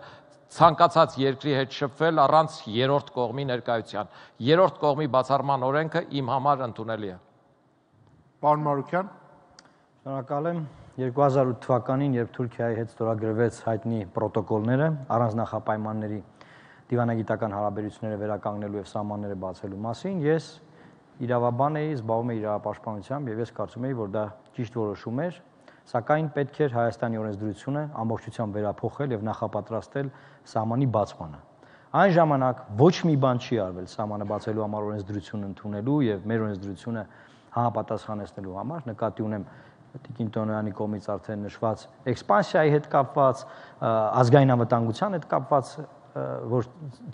ցանկացած երկրի հետ շփվել առանց երրորդ կողմի ներկայության։ Երրորդ կողմի բացառման օրենքը իմ համար ընդունելի է։ Պարոն Մարուկյան, շնորհակալ եմ։ երկու հազար ութ թվականին, երբ Թուրքիայի հետ ստորագրվեց հայտնի պրոտոկոլները առանց նախապայմանների դիվանագիտական հարաբերությունները վերականգնելու եւ սահմանները բացելու մասին, ես իրավաբան էի, զբաղվում էի իրավապաշտպանությամբ եւ ես կարծում էի, որ դա ճիշտ որոշում էր, սակայն պետք էր Հայաստանի օրենսդրությունը ամբողջությամբ վերափոխել եւ նախապատրաստել սահմանի բացմանը։ Այն ժամանակ ոչ մի բան չի արվել սահմանը բացելու համար օրենսդրությունը ընդունելու եւ մեր օրենսդրությունը համապատասխանեցնելու համար, նկատի ունեմ Տիկին Տոնոյանի կողմից արդեն նշված էքսպանսիայի հետ կապված, ազգային անվտանգության հետ կապված, որ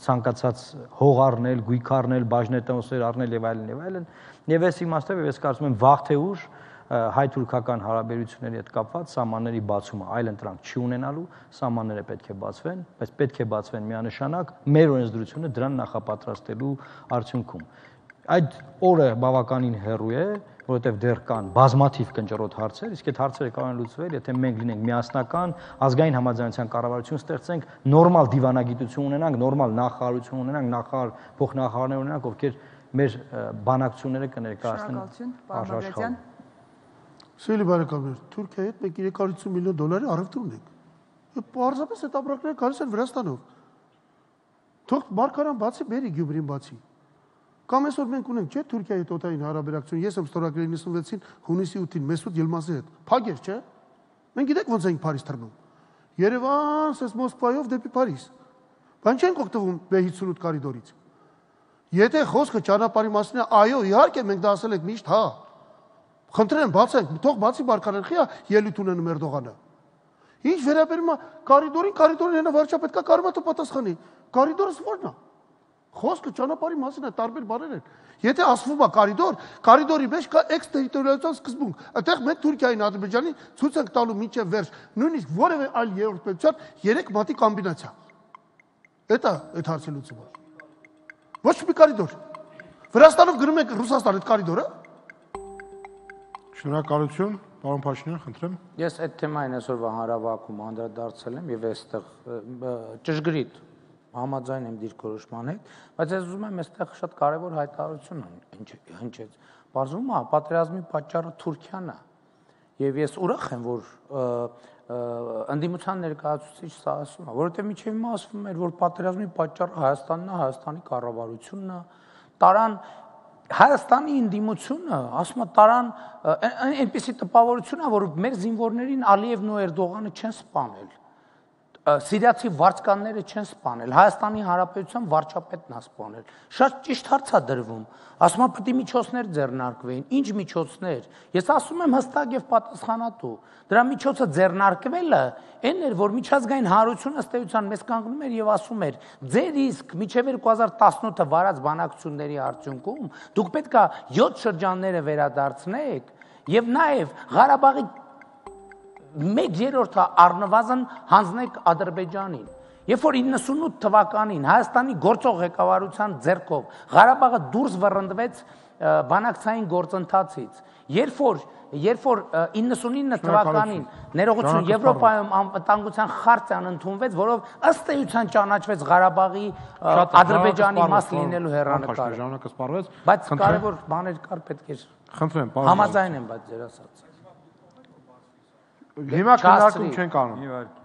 ցանկացած հող առնել, գույք առնել, բաժնետոմսեր առնել եւ այլն եւ այլն, եւ այս իմաստով ես կարծում եմ վաղ թե ուշ հայ-թուրքական հարաբերությունների հետ կապված սահմանների բացումը այլ ընտրանք չի ունենալու, սահմանները պետք է բացվեն, բայց պետք է բացվեն միանշանակ մեր օրենսդրությունը դրան նախապատրաստելու արդյունքում։ Այդ օրը բավականին հեռու է, որովհետև դեռ կան բազմաթիվ կնճռոտ հարցեր, իսկ այդ հարցերը կարող են լուծվել, եթե մենք լինենք միասնական, ազգային համաձայնության կառավարություն ստեղծենք, նորմալ դիվանագիտություն ունենանք, նորմալ նախարարություն ունենանք, նախարար, փոխնախարարներ ունենանք, ովքեր մեր բանակցությունները կներկայացնեն աշխարհում։ Սիրելի բարեկամներ, Թուրքիայի հետ մենք երեք հարյուր ութ միլիոն դոլարի առևտուր ունենք։ Պարզապես այդ ապրանքները գալիս են Վրաստանով։ Թող Մարգարան բացի, բերի Գյումրին բացի։ Կամ այսօր մենք ունենք, չէ՞, Թուրքիայի հետ օտային հարաբերակցություն, ես եմ ստորագրել նվեցին հունիսի ութին Մեսուդ Ելմազի հետ։ Փագեր, չէ՞։ Մենք գիտենք ոնց ենք Փարիզ թռնում։ Երևան, սես Մոսկվայով դեպի Փարիզ։ Բան չենք օգտվում B հիսունութ կորիդորից։ Եթե խոսքը ճանապարհի մասին է, այո, իհարկե մենք դա ասել ենք միշտ, հա։ Խնդրեմ, բացենք, թող բացի Մարգարան խիա ելույթ ունենում Էրդողանը։ Ինչ վերաբերում է կորիդորին, կորիդորին հենա վարչապետկա կարող է պատասխանի։ Կորիդորը ո՞րն է։ Խոսքը ճանապարհի մասին է, տարբեր բաներ են։ Եթե ասվում է կորիդոր, կորիդորի մեջ կա էքստերիտորիալության սկզբունք։ Այդտեղ մենք Թուրքիային, Ադրբեջանին ցույց ենք տալու մինչև վերջ, նույնիսկ որևէ այլ երրորդ պետության երեք մատի կոմբինացիա։ Դա այդ հարցի լուծումը։ Ոչ մի կորիդոր։ Վրաստանով գնում ենք Ռուսաստան այդ կորիդորը։ Շնորհակալություն, պարոն Փաշինյան, խնդրեմ։ Ես այդ թեմային այսօրվա հանրավակում անդրադարձել եմ եւ այստեղ ճշգրիտ համաձայն եմ դիրքորոշման հետ, բայց ես ուզում եմ այստեղ շատ կարևոր հայտարարություն հնչեց։ Բարձվում է պատերազմի պատճառը Թուրքիան է։ Եվ ես ուրախ եմ, որ ընդդիմության ներկայացուցիչ սա ասում է, որովհետև միջև հիմա ասվում էր, որ պատերազմի պատճառը Հայաստանն է, Հայաստանի կառավարությունն է, տարան Հայաստանի ընդդիմությունը, ասում է, տարան այնպիսի տպավորություն է, որ մեր զինվորներին Ալիևն ու Էրդողանը չեն սպանել, սիրիացի վարձկանները չեն սպանել, Հայաստանի Հանրապետության վարչապետն է սպանել։ Շատ ճիշտ հարց է դրվում։ Ասում է, պետք է միջոցներ ձեռնարկվեին։ Ինչ միջոցներ։ Ես ասում եմ հստակ եւ պատասխանատու։ Դրա միջոցը ձեռնարկվելը այն էր, որ միջազգային հանրությունը ըստ էության մեզ կանգնում էր եւ ասում էր. ձեր իսկ միջև երկու հազար տասնութը վարած բանակցությունների արդյունքում դուք պետք է յոթ շրջանները վերադարձնեք եւ նաեւ Ղարաբաղի մեկ երրորդը առնվազն հանձնեք Ադրբեջանին։ Երբ որ իննսունութ թվականին Հայաստանի գործող ղեկավարության ձեռքով Ղարաբաղը դուրս վռնդվեց բանակցային գործընթացից, երբ որ երբ որ իննսունինը թվականին ներողություն Եվրոպայում անվտանգության խարտիան ընդունվեց, որով ըստ էության ճանաչվեց Ղարաբաղի Ադրբեջանի մաս լինելու հեռանկարը։ Ժամանակը սպառվեց, բայց կարևոր բաներ կար, պետք էր։ Խնդրեմ, համաձայն եմ, բայց ձեր ասած։ Հիմա քննարկում չենք անում։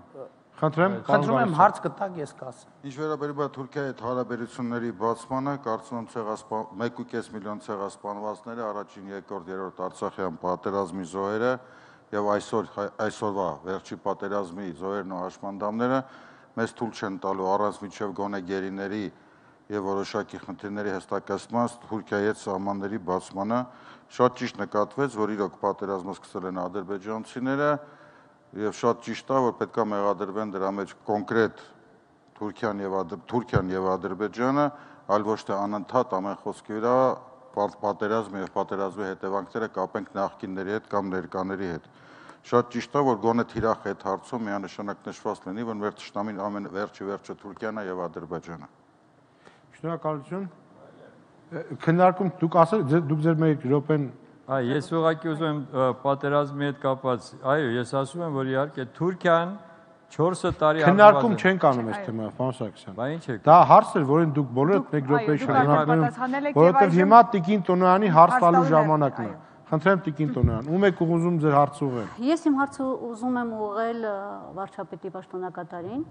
Խնդրեմ, խնդրում եմ հարց կտակ, ես կասեմ։ Ինչ վերաբերում է Թուրքիայի հետ հարաբերությունների բացմանը, կարծում եմ ցեղասպան մեկ ու կես միլիոն ցեղասպանվածները, առաջին, երկրորդ, երրորդ Արցախյան պատերազմի զոհերը եւ այսօր այսօրվա վերջի պատերազմի զոհերն ու հաշմանդամները մեզ թույլ չեն տալու առանց միջև գոնե գերիների եւ որոշակի խնդիրների հստակեցման Թուրքիայի հետ սահմանների բացմանը։ Շատ ճիշտ նկատվեց, որ իրոք պատերազմը սկսել են ադրբեջանցիները եւ շատ ճիշտ է, որ պետք է մեղադրվեն դրա մեջ կոնկրետ Թուրքիան եւ Թուրքիան եւ Ադրբեջանը, այլ ոչ թե անընդհատ ամեն խոսքի վրա պատերազմը եւ պատերազմի հետևանքները կապենք նախկինների հետ կամ ներկաների հետ։ Շատ ճիշտ է, որ գոնե թիրախ այդ հարցում միանշանակ նշված լինի, որ մեր ճշտամին ամեն վերջի վերջը Թուրքիան է եւ Ադրբեջանը։ Շնորհակալություն։ Քննարկում դուք ասել դուք ձեր մեկ րոպեն Այ ես ուղղակի ուզում եմ պատերազմի հետ կապված, այո, ես ասում եմ, որ իհարկե Թուրքիան չորս տարի քննարկում չենք անում այս թեմայով, պարոն Սարգսյան։ Բա ինչ է։ Դա հարց էր, որին դուք բոլորդ մեկ րոպե շրջանում, որովհետև հիմա Տիկին Տոնոյանի հարց տալու ժամանակն է։ Խնդրեմ Տիկին Տոնոյան, ում եք ուզում ձեր հարցը ուղղել։ Ես իմ հարցը ուզում եմ ուղղել վարչապետի պաշտոնակատարին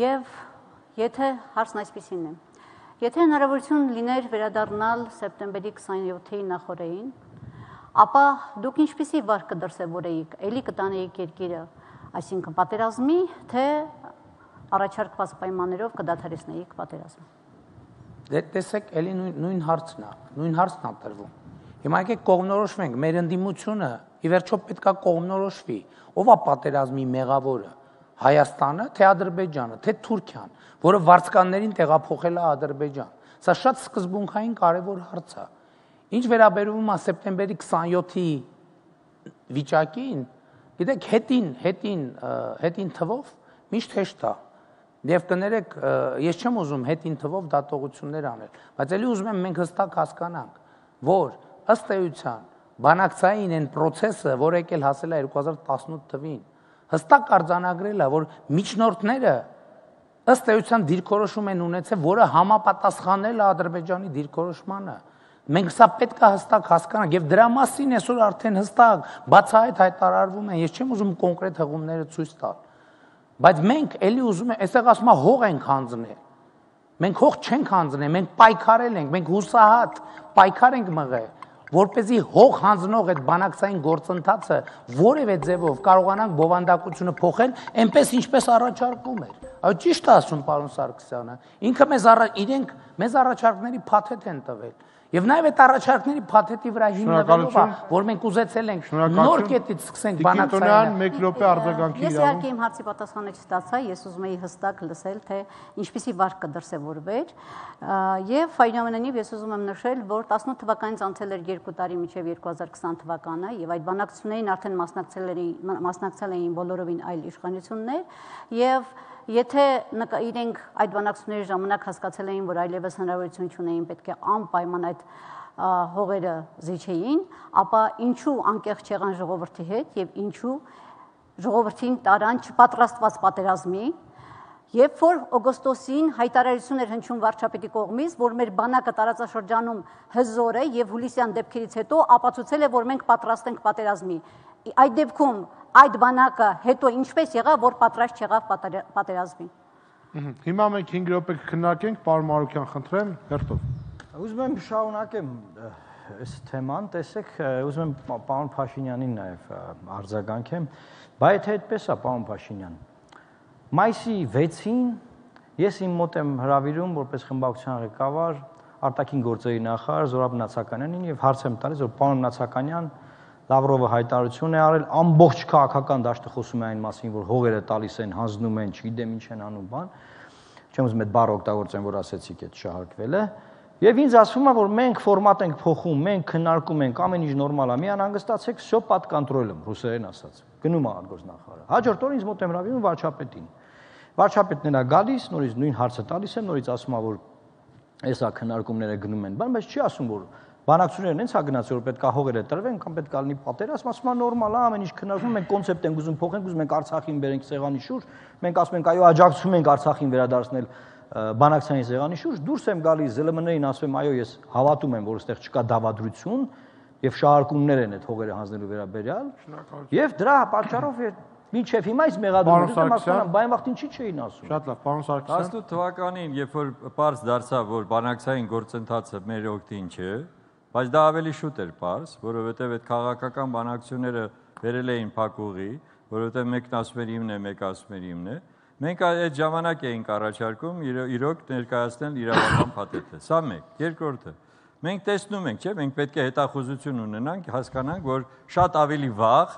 եւ եթե հարցն այսպեսին է։ Եթե հնարավորություն լիներ վերադառնալ սեպտեմբերի քսաներկուի նախօրեին, ապա դուք ինչպիսի վարք կդրսևորեիք, էլի կտանեիք երկիրը, այսինքն պատերազմի, թե առաջարկված պայմաններով կդադարեցնեիք պատերազմը։ Դե տեսեք, էլի նույն հարցն է, նույն հարցն է տրվում։ Հիմա եկեք կողմնորոշվենք, մեր ընդդիմությունը ի վերջո պետք է կողմնորոշվի, ով է պատերազմի մեղավորը, Հայաստանը, թե Ադրբեջանը, թե Թուրքիան, որը վարձկաններին տեղափոխել է Ադրբեջան։ Սա շատ սկզբունքային կարևոր հարց է։ Ինչ վերաբերում է սեպտեմբերի քսաներկուի վիճակին, գիտեք, հետին, հետին, հետին թվով միշտ հեշտ է։ Եվ կներեք, ես չեմ ուզում հետին թվով դատողություններ անել, բայց ելի ուզում եմ մենք հստակ հասկանանք, որ ըստ էության բանակցային այն process-ը, որ եկել հասել է երկու հազար տասնութ թվին, հստակ արձանագրել է, որ միջնորդները ըստ էության դիրքորոշում են ունեցել, որը համապատասխանել է Ադրբեջանի դիրքորոշմանը։ Մենք սա պետք է հստակ հասկանանք եւ դրա մասին այսօր արդեն հստակ բացահայտ հայտարարվում են, ես չեմ ուզում կոնկրետ հղումները ցույց տալ, բայց մենք էլի ուզում ենք, այստեղ ասում է հող ենք հանձնել։ Մենք հող չենք հանձնել, մենք պայքարել ենք, մենք հուսահատ պայքար ենք մղել, որպեսզի հող հանձնող այդ բանակցային գործընթացը որևէ ձևով կարողանանք բովանդակությունը փոխել, այնպես ինչպես առաջարկում էր։ Այո, ճիշտ է ասում պարոն Սարգսյանը։ Ինքը մեզ իրենք մեզ առաջարկների փաթեթ են տվել։ Եվ նաև այդ առաջարկների փաթեթի վրա հիմնվելով է, որ մենք ուզեցել ենք նոր կետից սկսենք բանակցայինը։ մեկ րոպե արձագանքի Ես իհարկե իմ հարցի պատասխանը չստացա, ես ուզում էի հստակ լսել, թե ինչպիսի վարք կդրսևորվեր, եւ այնուամենայնիվ ես ուզում եմ նշել, որ տասնութ թվականից անցել էր երկու տարի մինչև երկու հազար քսան թվականը եւ այդ բանակցություններին արդեն մասնակցել էին բոլորովին այլ իշխանություններ եւ Եթե իրենք այդ բանակցությունների ժամանակ հասկացել էին, որ այլևս հնարավորություն չունեին, պետք է անպայման այդ հողերը զիջեին, ապա ինչու անկեղծ չեղան ժողովրդի հետ եւ ինչու ժողովրդին տարան չպատրաստված պատերազմի, երբ որ օգոստոսին հայտարարություն էր հնչում վարչապետի կողմից, որ մեր բանակը տարածաշրջանում հզոր է եւ հուլիսյան դեպքերից հետո ապացուցել է, որ մենք պատրաստ ենք պատերազմի։ Այդ դեպքում այդ բանակը հետո ինչպես եղավ, որ պատրաստ չեղավ պատերազմի։ Հիմա մենք հինգ րոպե կքննարկենք, պարոն Մարուկյան, խնդրեմ, հերթով։ Ուզում եմ շարունակեմ այս թեման, տեսեք, ուզում եմ պարոն Փաշինյանին նաև արձագանքեմ, բայց եթե այդպես է, պարոն Փաշինյան, մայիսի վեցին ես իմ մոտ եմ հրավիրում որպես խմբակցության ղեկավար արտաքին գործերի նախարար Զորաբ Նացականյանին եւ հարց եմ տալիս, որ պարոն Նացականյան Լավրովը հայտարարություն է արել, ամբողջ քաղաքական դաշտը խոսում է այն մասին, որ հողերը տալիս են, հանձնում են, չգիտեմ ինչ են անում, բան։ Չեմ ուզում այդ բառը օգտագործեմ, որ ասեցիք այդ շահարկվել է։ Եվ ինձ ասվում է, որ մենք ֆորմատ ենք փոխում, մենք քննարկում ենք, ամեն ինչ նորմալ է, մի անհանգստացեք, всё под контролем, ռուսերեն ասած։ Գնում է արտգործնախարարը։ Հաջորդ օր ինձ մոտ եմ հրավիրում վարչապետին։ Վարչապետն է գալիս, նորից նույն հարցը տալիս եմ, նորից ասում է, որ էսա քննարկումները գնում են, բան, բայց չի ասում, որ բանակցություններն հենց հա գնաց, որ պետք է հողերը տրվեն կամ պետք է լինի պատերազմ, ասում է նորմալ է, ամեն ինչ քննարկում, մենք կոնցեպտ ենք ուզում փոխենք, ուզում ենք Արցախին բերենք սեղանի շուրջ, մենք ասում ենք այո, աջակցում ենք Արցախին վերադարձնել բանակցային սեղանի շուրջ, դուրս եմ գալիս ԶԼՄ-ներին ասում եմ, այո, ես հավատում եմ, որ այստեղ չկա դավադրություն եւ շահարկումներ են այդ հողերը հանձնելու վերաբերյալ, եւ դրա պատճառով մինչև հիմա այս մեղադրումները մասնական բան վաղտ ինչի չէին ասում։ Շատ լավ, պարոն Սարգսյան։ տասնութ թվականին, երբ որ պարզ դարձավ, որ բանակցային գործընթացը մեր օգտին չէ, բայց դա ավելի շուտ էր պարզ, որովհետև այդ քաղաքական բանակցությունները վերել էին փակուղի, որովհետև մեկն ասում էր իմն է, մեկը ասում էր իմն է։ Մենք այդ ժամանակ էինք առաջարկում իրոք ներկայացնել իրավական փաթեթը։ Սա մեկ, երկրորդը։ Մենք տեսնում ենք, չէ՞, մենք պետք է հետախուզություն ունենանք, հասկանանք, որ շատ ավելի վաղ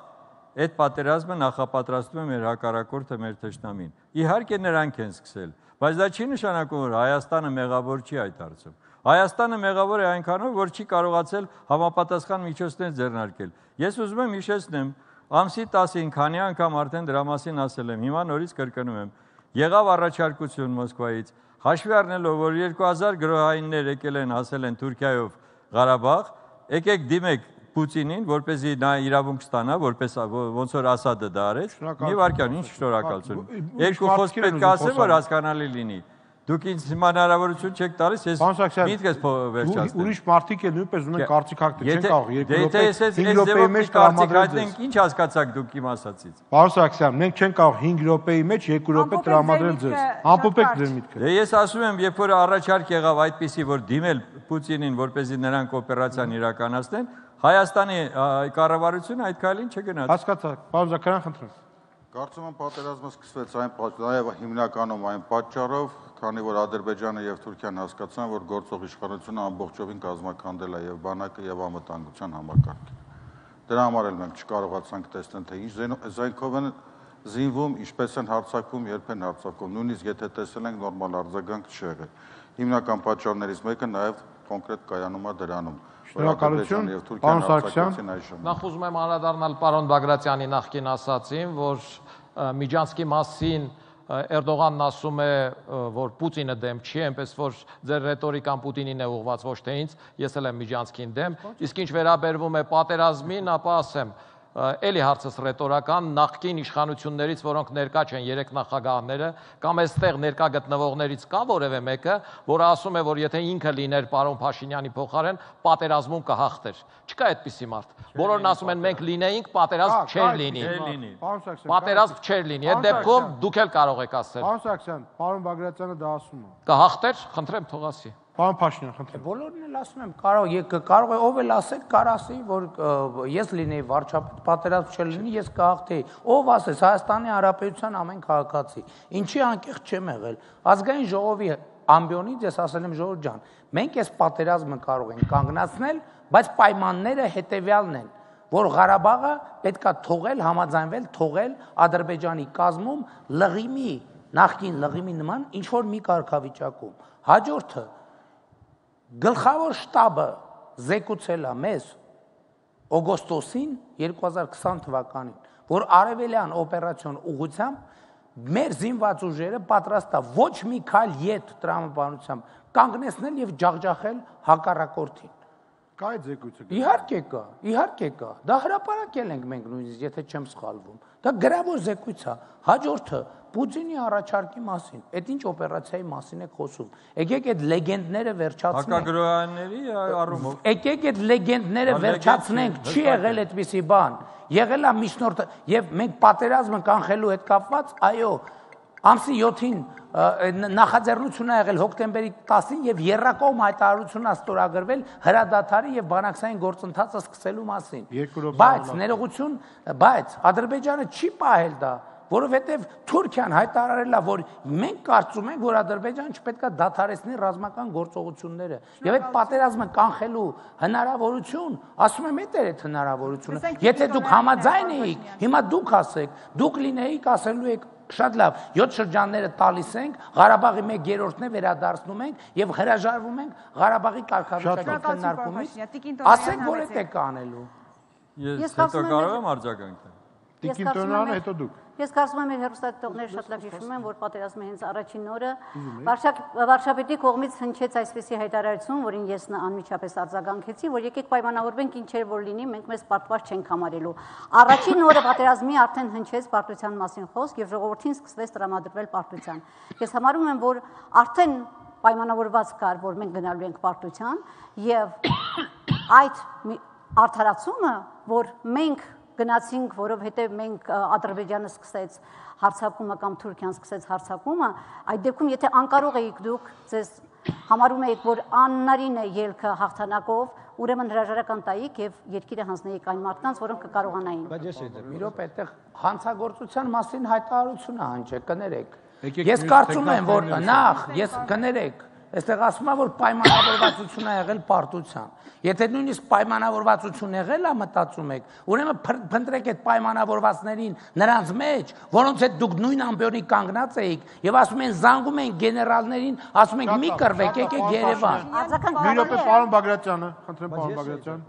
այդ պատերազմը նախապատրաստում է մեր հակառակորդը, մեր թշնամին։ Իհարկե նրանք են սկսել, բայց դա չի նշանակում, որ Հայաստանը մեղավոր չի այդ հարցում։ Հայաստանը մեղավոր է այնքանով, որ չի կարողացել համապատասխան միջոցներ ձեռնարկել։ Ես ուզում եմ հիշեցնեմ, ամսի տասին քանի անգամ արդեն դրա մասին ասել եմ, հիմա նորից կրկնում եմ։ Եղավ առաջարկություն Մոսկվայից, հաշվի առնելով, որ երկու հազար գրոհայիններ եկել են, ասել են Թուրքիայով Ղարաբաղ, եկեք դիմեք Պուտինին, որպեսզի նա իրավունք ստանա, որպես ոնց որ Ասադը դա արեց։ Մի վարքյան, ինչ շնորհակալություն։ Երկու խոսք պետք է ասեմ, որ հասկանալի լինի։ Դուք ինձ հիմա հնարավորություն չեք տալիս, ես միտքս վերջացնեմ։ Ուրիշ մարդիկ էլ նույնպես ունեն կարծիք հաղթել, չեն կարող երկու րոպե, հինգ րոպեի մեջ կարծիք ինչ հասկացաք դուք իմ ասածից։ Պարոն Սարգսյան, մենք չենք կարող հինգ րոպեի մեջ երկու րոպե տրամադրել ձեզ։ Ամփոփեք ձեր միտքը։ Դե ես ասում եմ, երբ որ առաջարկ եղավ այդպիսի, որ դիմել Պուտինին, որպեսզի նրանք օպերացիան իրականացնեն, Հայաստանի կառավարությունը այդ քայլին չգնաց։ Հասկացա, պարոն Զաքարյան, խնդրեմ։ Կարծում եմ պատերազմը սկսվեց այն նաև հիմնականում այն պատճառով, քանի որ Ադրբեջանը եւ Թուրքիան հասկացան, որ գործող իշխանությունը ամբողջովին կազմակերպել է եւ բանակը եւ անվտանգության համակարգը։ Դրա համար էլ մենք չկարողացանք տեսնել, թե ինչ զենքով են զինվում, ինչպես են հարձակվում, երբ են հարձակվում, նույնիսկ եթե տեսել ենք նորմալ արձագանք չի եղել։ Հիմնական պատճառներից մեկը նաև կոնկրետ կայանում է դրանում։ Շնորհակալություն, պարոն Սարգսյան։ Նախ ուզում եմ անդրադառնալ պարոն Բագրատյանի նախկին ասացին, որ Միջանցքի մասին Էրդողանն ասում է, որ Պուտինը դեմ չի, այնպես որ ձեր ռետորիկան Պուտինին է ուղղված, ոչ թե ինձ, ես էլ եմ Միջանցքին դեմ, իսկ ինչ վերաբերվում է պատերազմին, ապա ասեմ, էլի հարցս ռետորական նախկին իշխանություններից, որոնք ներկա չեն երեք նախագահները, կամ այստեղ ներկա գտնվողներից կա որևէ մեկը, որը ասում է, որ եթե ինքը լիներ պարոն Փաշինյանի փոխարեն, պատերազմում կհաղթեր։ Չկա այդպիսի մարդ։ Բոլորն ասում են մենք լինեինք, պատերազմ չէր լինի։ Պատերազմ չէր լինի։ Այդ դեպքում դուք էլ կարող եք ասել։ Պարոն Սարգսյան, պարոն Բագրատյանը դա ասում է։ Կհաղթեր, խնդրեմ թող ասի։ Պարոն Փաշինյան, խնդրեմ։ Բոլորն էլ ասում եմ, կարող եք կարող է ով էլ ասել, կար ասի, որ ես լինեի վարչապետ, պատերազմ չլինի, ես կհաղթեի։ Ով ասես Հայաստանի Հանրապետության ամեն քաղաքացի։ Ինչի անկեղծ չեմ եղել։ Ազգային ժողովի ամբիոնից ես ասել եմ ժողովուրդ ջան, մենք այս պատերազմը կարող ենք կանգնացնել, բայց պայմանները հետևյալն են, որ Ղարաբաղը պետքա թողել, համաձայնվել, թողել Ադրբեջանի կազմում լղիմի, նախկին լղիմի նման ինչ որ մի կարգավիճակում։ Հաջորդը գլխավոր շտաբը զեկուցել է մեզ օգոստոսին երկու հազար քսան թվականին, որ արևելյան օպերացիոն ուղղությամբ մեր զինված ուժերը պատրաստ է ոչ մի քայլ ետ տրամաբանությամբ կանգնեցնել եւ ջախջախել հակառակորդին։ Կա այդ զեկույցը։ Իհարկե կա, իհարկե կա։ Դա հրապարակել ենք մենք նույնիսկ, եթե չեմ սխալվում։ Դա գրավոր զեկույց է։ Հաջորդը Պուտինի առաջարկի մասին։ Այդ ինչ օպերացիայի մասին եք խոսում։ Եկեք այդ լեգենդները վերջացնենք։ Հակագրոյանների առումով։ Եկեք այդ լեգենդները վերջացնենք, չի եղել այդպիսի բան։ Եղել է միջնորդ եւ մենք պատերազմը կանխելու հետ կապված, այո, ամսի յոթին նախաձեռնություն է եղել հոկտեմբերի տասին եւ երրակողմ հայտարարություն է ստորագրվել հրադադարի եւ բանակցային գործընթացը սկսելու մասին։ Բայց ներողություն, բայց Ադրբեջանը չի պահել դա, որովհետեւ Թուրքիան հայտարարել է, որ մենք կարծում ենք, որ Ադրբեջանը չպետք է դադարեցնի ռազմական գործողությունները եւ այդ պատերազմը կանխելու հնարավորություն, ասում եմ, այդ էր այդ հնարավորությունը։ Եթե դուք համաձայն էիք, հիմա դուք ասեք, դուք լինեիք, ասելու եք շատ լավ, յոթ շրջանները տալիս ենք, Ղարաբաղի մեկ երրորդն է վերադարձնում ենք եւ հրաժարվում ենք Ղարաբաղի կարգավիճակի քննարկումից։ Ասեք, որ այդ եք անելու։ Ես հետո կարող եմ արձագանքել։ Տիկին Տոնյանը, հետո դուք։ Ես կարծում եմ, մեր հեռուստադիտողները շատ լավ հիշում են, որ պատերազմի հենց առաջին օրը վարչապետի կողմից հնչեց այսպիսի հայտարարություն, որին ես անմիջապես արձագանքեցի, որ եկեք պայմանավորվենք ինչեր որ լինի, մենք մեզ պարտված չենք համարելու։ Առաջին օրը պատերազմի արդեն հնչեց պարտության մասին խոսք եւ ժողովրդին սկսվեց տրամադրվել պարտության։ Ես համարում եմ, որ արդեն պայմանավորված կար, որ մենք գնալու ենք պարտության եւ այդ արդարացումը, որ մենք գնացինք, որովհետև մենք Ադրբեջանը սկսեց հարձակումը կամ Թուրքիան սկսեց հարձակումը, այդ դեպքում եթե անկարող էիք դուք, ձեզ համարում էիք, որ աննարին է ելքը հաղթանակով, ուրեմն հրաժարական տայիք եւ երկիրը հանձնեիք այն մարդկանց, որոնք կկարողանային։ Բայց ես մի րոպե այդտեղ հանցագործության մասին հայտարարություն է հնչել, կներեք։ Ես կարծում եմ, որ նախ ես կներեք Այստեղ ասում է, որ պայմանավորվածություն է եղել պարտության։ Եթե նույնիսկ պայմանավորվածություն եղել է, մտածում եք, ուրեմն փնտրեք այդ պայմանավորվածներին նրանց մեջ, որոնց հետ դուք նույն ամբիոնի կանգնած էիք, եւ ասում են զանգում են գեներալներին, ասում են մի կռվեք, եկեք Երևան։ Մի րոպե, պարոն Բագրատյանը, խնդրեմ պարոն Բագրատյան։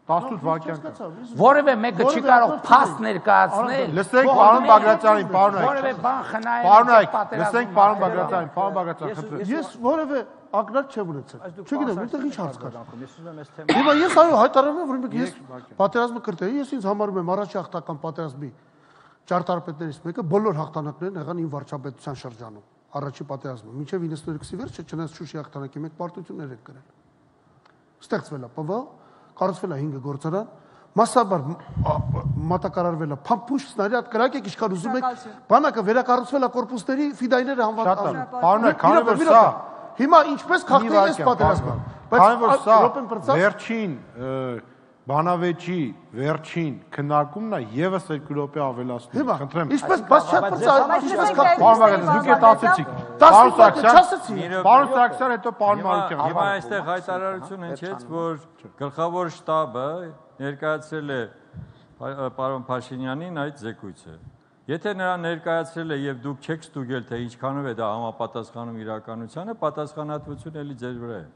տասնութ վայրկյան կա։ Որևէ մեկը չի կարող փաստ ներկայացնել։ Լսենք պարոն Բագրատյանին, պարոն Այք։ Որևէ բան խնայել։ Պարոն Այք, լսենք պարոն Բագրատյանին, պարոն Բագրատյան, խնդրեմ։ Ես որևէ ակնարկ չեմ ունեցել։ Չգիտեմ, որտեղ ինչ հարց կա։ Հիմա ես այո հայտարարում եմ, որ ես պատերազմը կրտեի, ես ինձ համարում եմ առաջի հաղթական պատերազմի ճարտարապետներից մեկը, բոլոր հաղթանակներն եղան իմ վարչապետության շրջանում, առաջի պատերազմը։ Մինչև իննսուներեքսի վերջը, չնայած Շուշի հաղթանակի մեկ պարտություններ են կրել։ Ստեղծվել է Պ V, կառուցվել է հինգ գործարան, մասսաբար մատակարարվել է փամփուշ սնարյադ կրակեք ինչքան ուզում եք, բանակը վերակառուցվել է կորպուսների ֆիդայները հանված։ Պարոն Այք, քանի որ սա հիմա ինչպես խախտել ես պատերազմը, քանի որ սա վերջին բանավեճի վերջին քննարկումն է եւս երկու րոպե ավելացնում, խնդրեմ։ Ինչպես բաց չեք բացառում, ինչպես խախտել։ Պարոն Բագրատյան, դուք եք ասեցիք։ Պարոն Սարգսյան, պարոն Սարգսյան, հետո պարոն Մանուկյան։ Հիմա այստեղ հայտարարություն հնչեց, որ գլխավոր շտաբը ներկայացրել է պարոն Փաշինյանին այդ զեկույցը։ Եթե նրան ներկայացրել է եւ դուք չեք ստուգել, թե ինչքանով է դա համապատասխանում իրականությանը, պատասխանատվությունը էլի ձեր վրա է։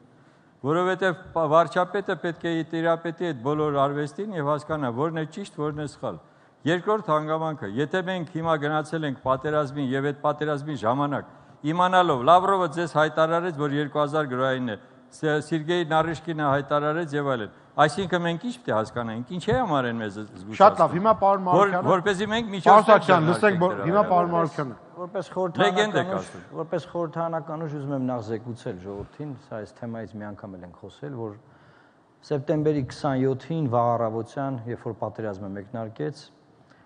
Որովհետև վարչապետը պետք է տիրապետի այդ բոլոր արվեստին եւ հասկանա, որն է ճիշտ, որն է սխալ։ Երկրորդ հանգամանքը, եթե մենք հիմա գնացել ենք պատերազմին եւ այդ պատերազմի ժամանակ իմանալով Լավրովը ձեզ հայտարարեց, որ երկու հազար գրոյին է, Սերգեյ Նարիշկինը հայտարարեց եւ այլն։ Այսինքն մենք ինչ պետք է հասկանանք, ինչի համար են մեզ զգուշացնում։ Շատ լավ, հիմա պարոն Մանուկյանը։ Որպեսզի մենք միջոցներ լսենք, հիմա պարոն Մանուկյանը։ Որպես խորհրդանական, որպես խորհրդանական ուժ ուզում եմ նախ զեկուցել ժողովրդին, սա այս թեմայից մի անգամ էլ ենք խոսել, որ սեպտեմբերի քսանյոթին վաղ առավոտյան, երբ որ պատերազմը մեկնարկեց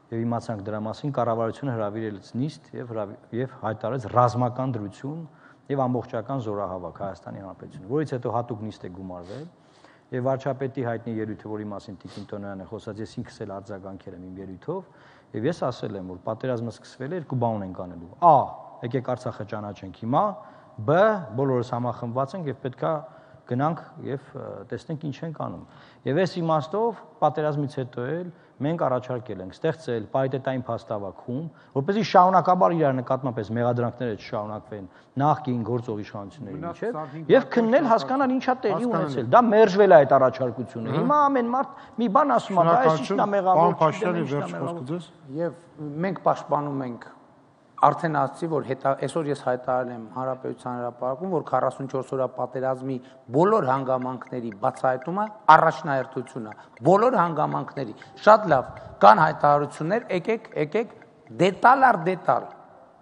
եւ իմացանք դրա մասին, կառավարությունը հրավիրեց նիստ եւ եւ հայտարարեց ռազմական դրություն եւ ամբողջական զորահավաք Հայաստանի Հանրապետությունում, որից հետո հատուկ նիստ է գումարվել եւ վարչապետի հայտնի ելույթը, որի մասին Տիկին Տոնյանը խոսած, ես ինքս էլ արձագանքել եմ իմ ելույթով եւ ես ասել եմ, որ պատերազմը սկսվել է, երկու բան ենք անելու։ Ա. Եկեք Արցախը ճանաչենք հիմա B բոլորս համախմբված ենք եւ պետքա գնանք եւ տեսնենք ինչ ենք անում։ Եվ այս իմաստով պատերազմից հետո էլ մենք առաջարկել ենք ստեղծել պարիտետային փաստավախում, որպեսզի շարունակաբար իրար նկատմամբ այս մեղադրանքները չշարունակվեն նախկին գործող իշխանությունների միջև եւ քննել հասկանալ ինչա տեղի ունեցել։ Դա մերժվել է այդ առաջարկությունը։ Հիմա ամեն մարդ մի բան ասում է, դա այս ինչն է մեղավոր, Փաշինյանի վերջ խոսքը ձեզ։ Եվ մենք պաշտպանում ենք արդեն ասացի, որ հետա այսօր ես հայտարարել եմ Հանրապետության հրապարակում, որ քառասունչորս օրյա պատերազմի բոլոր հանգամանքների բացահայտումը առաջնահերթություն է, բոլոր հանգամանքների։ Շատ լավ, կան հայտարարություններ, եկեք, եկեք, դետալ առ դետալ։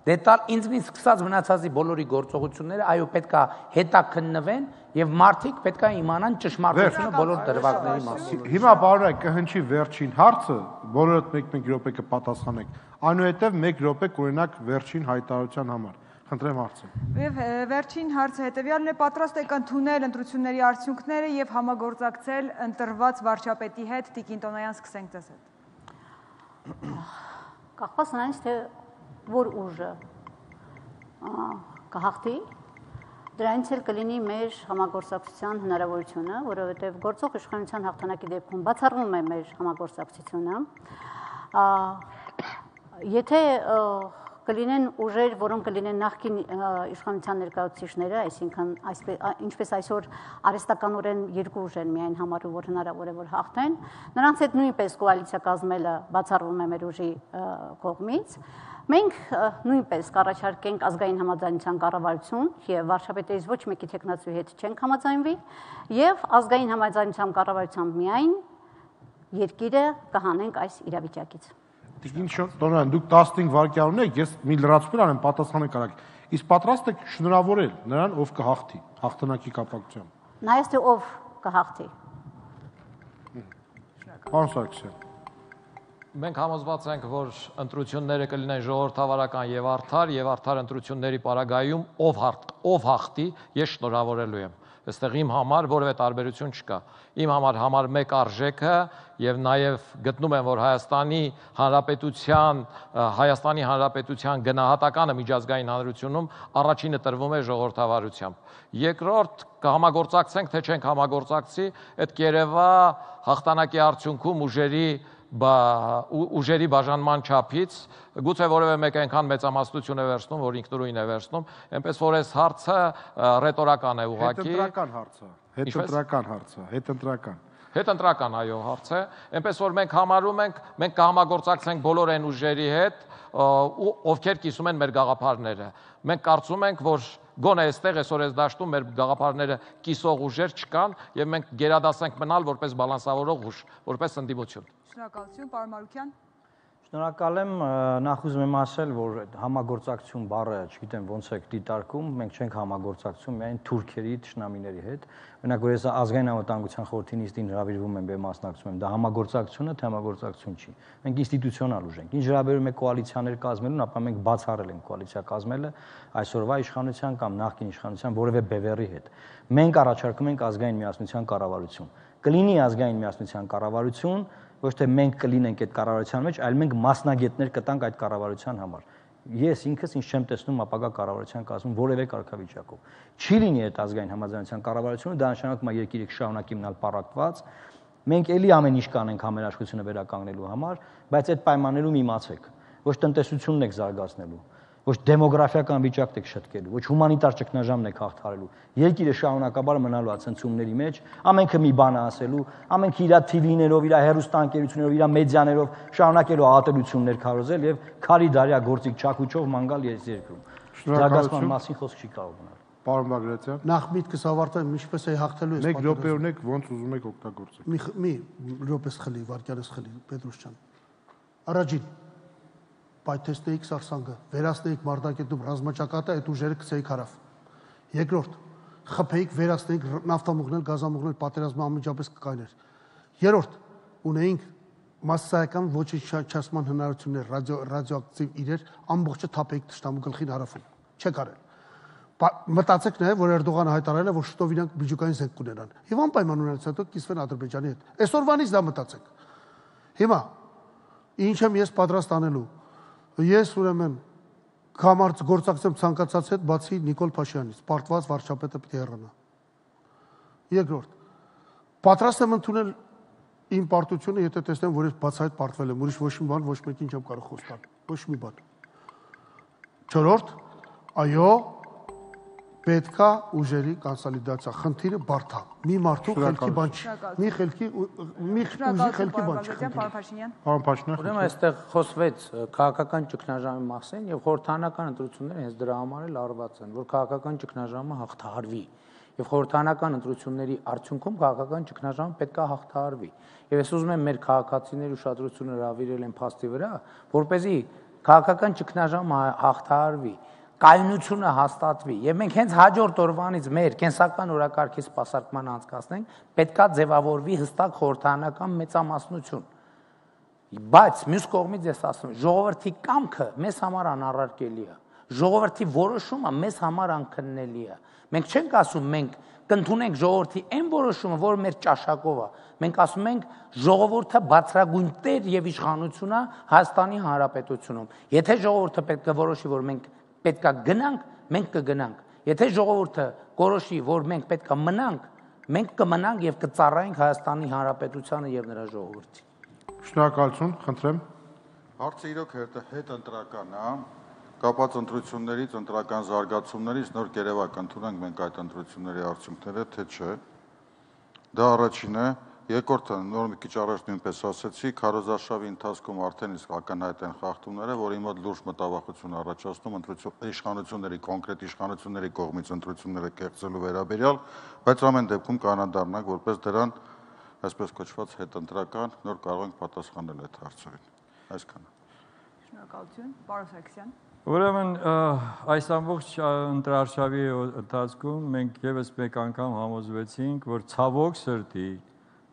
Դետալ ինձնից սկսած մնացածի բոլորի գործողությունները, այո, պետքա հետաքննվեն եւ մարդիկ պետքա իմանան ճշմարտությունը բոլոր դրվագների մասին։ Հիմա բարոյ կհնչի վերջին հարցը, բոլորդ մեկ-մեկ րոպե կպատասխանեք։ Այնուհետև մեկ րոպե կօրինակ վերջին հայտարարության համար։ Խնդրեմ հարցը։ Եվ վերջին հարցը հետևյալն է, պատրաստ եք ընդունել ընտրությունների արդյունքները եւ համագործակցել ընտրված վարչապետի հետ, Տիկին Տոնոյան, սկսենք ձեզ հետ։ Կախված նրանից, թե որ ուժը կհաղթի, դրանից էլ կլինի մեր համագործակցության հնարավորությունը, որովհետև գործող իշխանության հաղթանակի դեպքում բացառվում է մեր համագործակցությունը։ Եթե կլինեն ուժեր, որոնք կլինեն նախկին իշխանության ներկայացուցիչները, այսինքն ինչպես այսօր արհեստականորեն երկու ուժ են միայն համարում, որ հնարավոր է որ հաղթեն, նրանց հետ նույնպես կոալիցիա կազմելը բացառվում է մեր ուժի կողմից։ Մենք նույնպես կառաջարկենք ազգային համաձայնության կառավարություն եւ վարչապետերից ոչ մեկի տեխնացուի հետ չենք համաձայնվի եւ ազգային համաձայնության կառավարությամբ միայն երկիրը կհանենք այս իրավիճակից։ Տիկին Տոնոյան, դուք տասնհինգ վայրկյան ունեք, ես մի լրացուցիչ անեմ, պատասխանեք արագ։ Իսկ պատրաստ եք շնորհավորել նրան, ով կհաղթի հաղթանակի կապակցությամբ։ Նայած թե ով կհաղթի։ Պարոն Սարգսյան։ Մենք համոզված ենք, որ ընտրությունները կլինեն ժողովրդավարական եւ արդար, եւ արդար ընտրությունների պարագայում ով ով հաղթի, ես շնորհավորելու եմ։ Այստեղ իմ համար որևէ տարբերություն չկա։ Իմ համար համար մեկ արժեքը եւ նաեւ գտնում եմ, որ Հայաստանի Հանրապետության Հայաստանի Հանրապետության գնահատականը միջազգային հանրությունում առաջինը տրվում է ժողովրդավարությամբ։ Երկրորդ կհամագործակցենք, թե չենք համագործակցի, այդ կերևա հաղթանակի արդյունքում ուժերի ուժերի բաժանման չափից, գուցե որևէ մեկ այնքան մեծամասնություն է վերցնում, որ ինքնուրույն է վերցնում, այնպես որ այս հարցը ռետորական է ուղղակի։ Հետընտրական հարցը, հետընտրական հարցը, հետընտրական։ Հետընտրական, այո, հարց է, այնպես որ մենք համարում ենք, մենք կհամագործակցենք բոլոր այն ուժերի հետ, ովքեր կիսում են մեր գաղափարները։ Մենք կարծում ենք, որ գոնե այստեղ այսօր այս դաշտում մեր գաղափարները կիսող ուժեր չկան եւ մենք գերադասենք մնալ որպես բալանսավորող ուժ, որպես ընդդիմություն։ Շնորհակալություն, պարոն Մարուկյան։ Շնորհակալ եմ, նախ ուզում եմ ասել, որ համագործակցություն բառը, չգիտեմ ոնց եք դիտարկում, մենք չենք համագործակցում միայն թուրքերի, թշնամիների հետ։ Օրինակ, որ ես ազգային անվտանգության խորհրդի նիստին հրավիրվում եմ եւ մասնակցում եմ, դա համագործակցություն է, թե համագործակցություն չի։ Մենք ինստիտուցիոնալ ուժ ենք։ Ինչ հրավիրում է կոալիցիաներ կազմելուն, ապա մենք բացառել ենք կոալիցիա կազմելը այսօրվա իշխանության կամ նախկին իշխանության որևէ բևեռի հետ։ Մենք առաջարկում ենք ազգային միասնության կառավարություն։ Կլինի ազգային միասնության կառավարություն, ոչ թե մենք կլինենք այդ կառավարության մեջ, այլ մենք մասնագետներ կտանք այդ կառավարության համար։ Ես ինքս ինձ չեմ տեսնում ապագա կառավարության կազմում որևէ կարգավիճակով։ Չի լինի այդ ազգային համաձայնության կառավարությունը, դա նշանակում է երկիրը շարունակի մնալ պառակված։ Մենք էլի ամեն ինչ կանենք համերաշխությունը վերականգնելու համար, բայց այդ պայմաններում իմացեք, ոչ տնտեսությունն եք զարգացնելու, ոչ դեմոգրաֆիական վիճակն եք շտկելու, ոչ հումանիտար ճգնաժամն եք հաղթարելու։ Երկիրը շարունակաբար մնալու է ցնցումների մեջ, ամենքը մի բան ասելու, ամենքը իր թիվիներով, իր հեռուստաընկերություններով, իր մեդիաներով շարունակելու ատելություններ քարոզել եւ քարի դարյա գործիկ չակուչով մանգալ ես երկրում։ Զարգացման մասին խոսք չի կարող մնալ։ Պարոն Բագրատյան, նախ միտքս ավարտեմ, ինչպես է հաղթելու այս մեկ րոպե ունեք, ոնց ուզում եք օգտագործեք։ Մի մի րոպես խլի, վարկյանս խլի, Պետրոս ջան։ Առաջին պայթեցնեիք Սարսանգը, վերացնեիք Մարտակերտում ռազմաճակատը, այդ ուժերը գցեիք հարավ։ Երկրորդ, խփեիք, վերացնեիք նավթամուղնել, գազամուղնել, պատերազմը անմիջապես կկայներ։ Երրորդ, ունեինք մասսայական ոչնչացման հնարավորություններ, ռադիո ռադիոակտիվ իրեր, ամբողջը թափեիք թշնամու գլխին հարավում։ Չեք արել։ Մտածեք նաև, որ Էրդողանը հայտարարել է, որ շուտով իրանք միջուկային զենք կունենան։ Եվ անպայման ունենալուց հետո կիսվեն Ադրբեջանի հետ։ Այսօրվանից դա մտածեք։ Հիմա ինչ եմ ես պատրաստ անելու։ Ես ուրեմն Կամարց գործակցեմ ցանկացած հետ, բացի Նիկոլ Փաշյանից, պարտված վարչապետը պետք է հեռանա։ Երկրորդ, պատրաստ եմ ընդունել իմ պարտությունը, եթե տեսնեմ, որ ես բացահայտ պարտվել եմ, ուրիշ ոչ մի բան, ոչ մեկին չեմ կարող խոստալ, ոչ մի բան։ Չորրորդ, այո, պետքա ուժերի կոնսոլիդացիա, խնդիրը բարդ է։ Մի մարդու խելքի բան չի։ Մի խելքի մի ուժի խելքի բան չի։ Պարոն Փաշինյան։ Պարոն Փաշինյան։ Ուրեմն այստեղ խոսվեց քաղաքական ճգնաժամի մասին եւ խորհրդանական ընտրությունները հենց դրա համար էլ արված են, որ քաղաքական ճգնաժամը հաղթահարվի։ Եվ խորհրդանական ընտրությունների արդյունքում քաղաքական ճգնաժամը պետք է հաղթահարվի։ Եվ ես ուզում եմ մեր քաղաքացիների ուշադրությունը հրավիրել են փաստի վրա, որպեսզի քաղաքական ճգնաժամը հաղթահարվի, կայունությունը հաստատվի եւ մենք հենց հաջորդ օրվանից մեր կենսական օրակարգի սպասարկման անցկացնենք, պետքա ձևավորվի հստակ խորհրդանական մեծամասնություն։ Բայց մյուս կողմից ես ասում եմ, ժողովրդի կամքը մեզ համար անառարկելի է։ Ժողովրդի որոշումը մեզ համար անքննելի է։ Մենք չենք ասում մենք կընդունենք ժողովրդի այն որոշումը, որ մեր ճաշակով է։ Մենք ասում ենք ժողովուրդը բացրագույն տեր եւ իշխանություն է Հայաստանի Հանրապետությունում։ Եթե ժողովուրդը պետք է որոշի, որ մենք պետք է գնանք, մենք կգնանք։ Եթե ժողովուրդը որոշի, որ մենք պետք է մնանք, մենք կմնանք եւ կծառայենք Հայաստանի Հանրապետությանը եւ նրա ժողովրդին։ Շնորհակալություն, խնդրեմ։ Հարցը իրոք հետ ընտրական է, կապած ընտրություններից, ընտրական զարգացումներից նոր գերեվակ ընդունենք մենք այդ ընտրությունների արդյունքները, թե չէ։ Դա առաջինն է, երկրորդը նոր մի քիչ առաջ նույնպես ասեցի, քարոզարշավի ընթացքում արդեն իսկ ակնհայտ են խախտումները, որի մոտ լուրջ մտավախություն առաջացնում իշխանությունների, կոնկրետ իշխանությունների կողմից ընտրությունները կեղծելու վերաբերյալ, բայց ամեն դեպքում կանադառնանք, որպես դրան այսպես կոչված հետընտրական նոր կարող ենք պատասխանել այդ հարցերին։ Այսքանը։ Շնորհակալություն, պարոն Սարգսյան։ Ուրեմն այս ամբողջ ընտրարշավի ընթացքում մենք եւս մեկ անգամ համոզվեցինք, որ ցավոք սրտի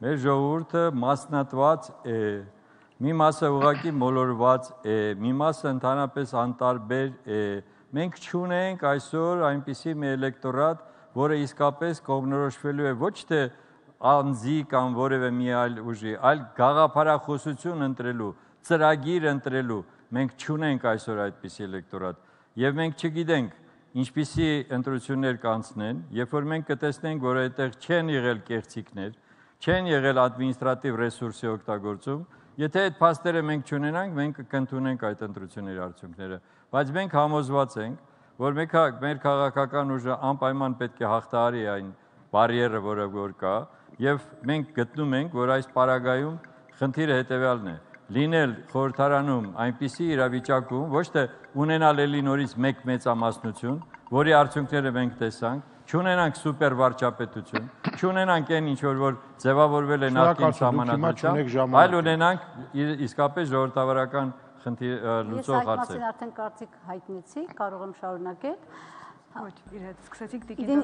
մեր ժողովուրդը մասնատված է, մի մասը ուղղակի մոլորված է, մի մասը ընդհանրապես անտարբեր է։ Մենք չունենք այսօր այնպիսի մի էլեկտորատ, որը իսկապես կողմնորոշվելու է ոչ թե անձի կամ որևէ մի այլ ուժի, այլ գաղափարախոսություն ընտրելու, ծրագիր ընտրելու։ Մենք չունենք այսօր այդպիսի էլեկտորատ եւ մենք չգիտենք ինչպիսի ընտրություններ կանցնեն, երբ որ մենք կտեսնենք, որ այդտեղ չեն եղել կեղծիքներ, չեն եղել ադմինիստրատիվ ռեսուրսի օգտագործում, եթե այդ փաստերը մենք չունենանք, մենք կընդունենք այդ ընտրությունների արդյունքները, բայց մենք համոզված ենք, որ մեր քաղաքական ուժը անպայման պետք է հաղթահարի այն բարիերը, որը որ կա, եւ մենք գտնում ենք, որ այս պարագայում խնդիրը հետեւյալն է. լինել խորհրդարանում այնպիսի իրավիճակում, ոչ թե ունենալ էլի նորից մեկ մեծամասնություն, որի արդյունքները մենք տեսանք, չունենանք սուպեր վարչապետություն, չունենանք այն ինչ որ ձևավորվել է նախկին սահմանադրությամբ, այլ ունենանք իսկապես ժողովրդավարական խնդիր լուծող հարցեր։ Ես այդ մասին արդեն կարծիք հայտնեցի, կարող եմ շարունակել։ Ոչ, իր հետ սկսեցինք տիկին։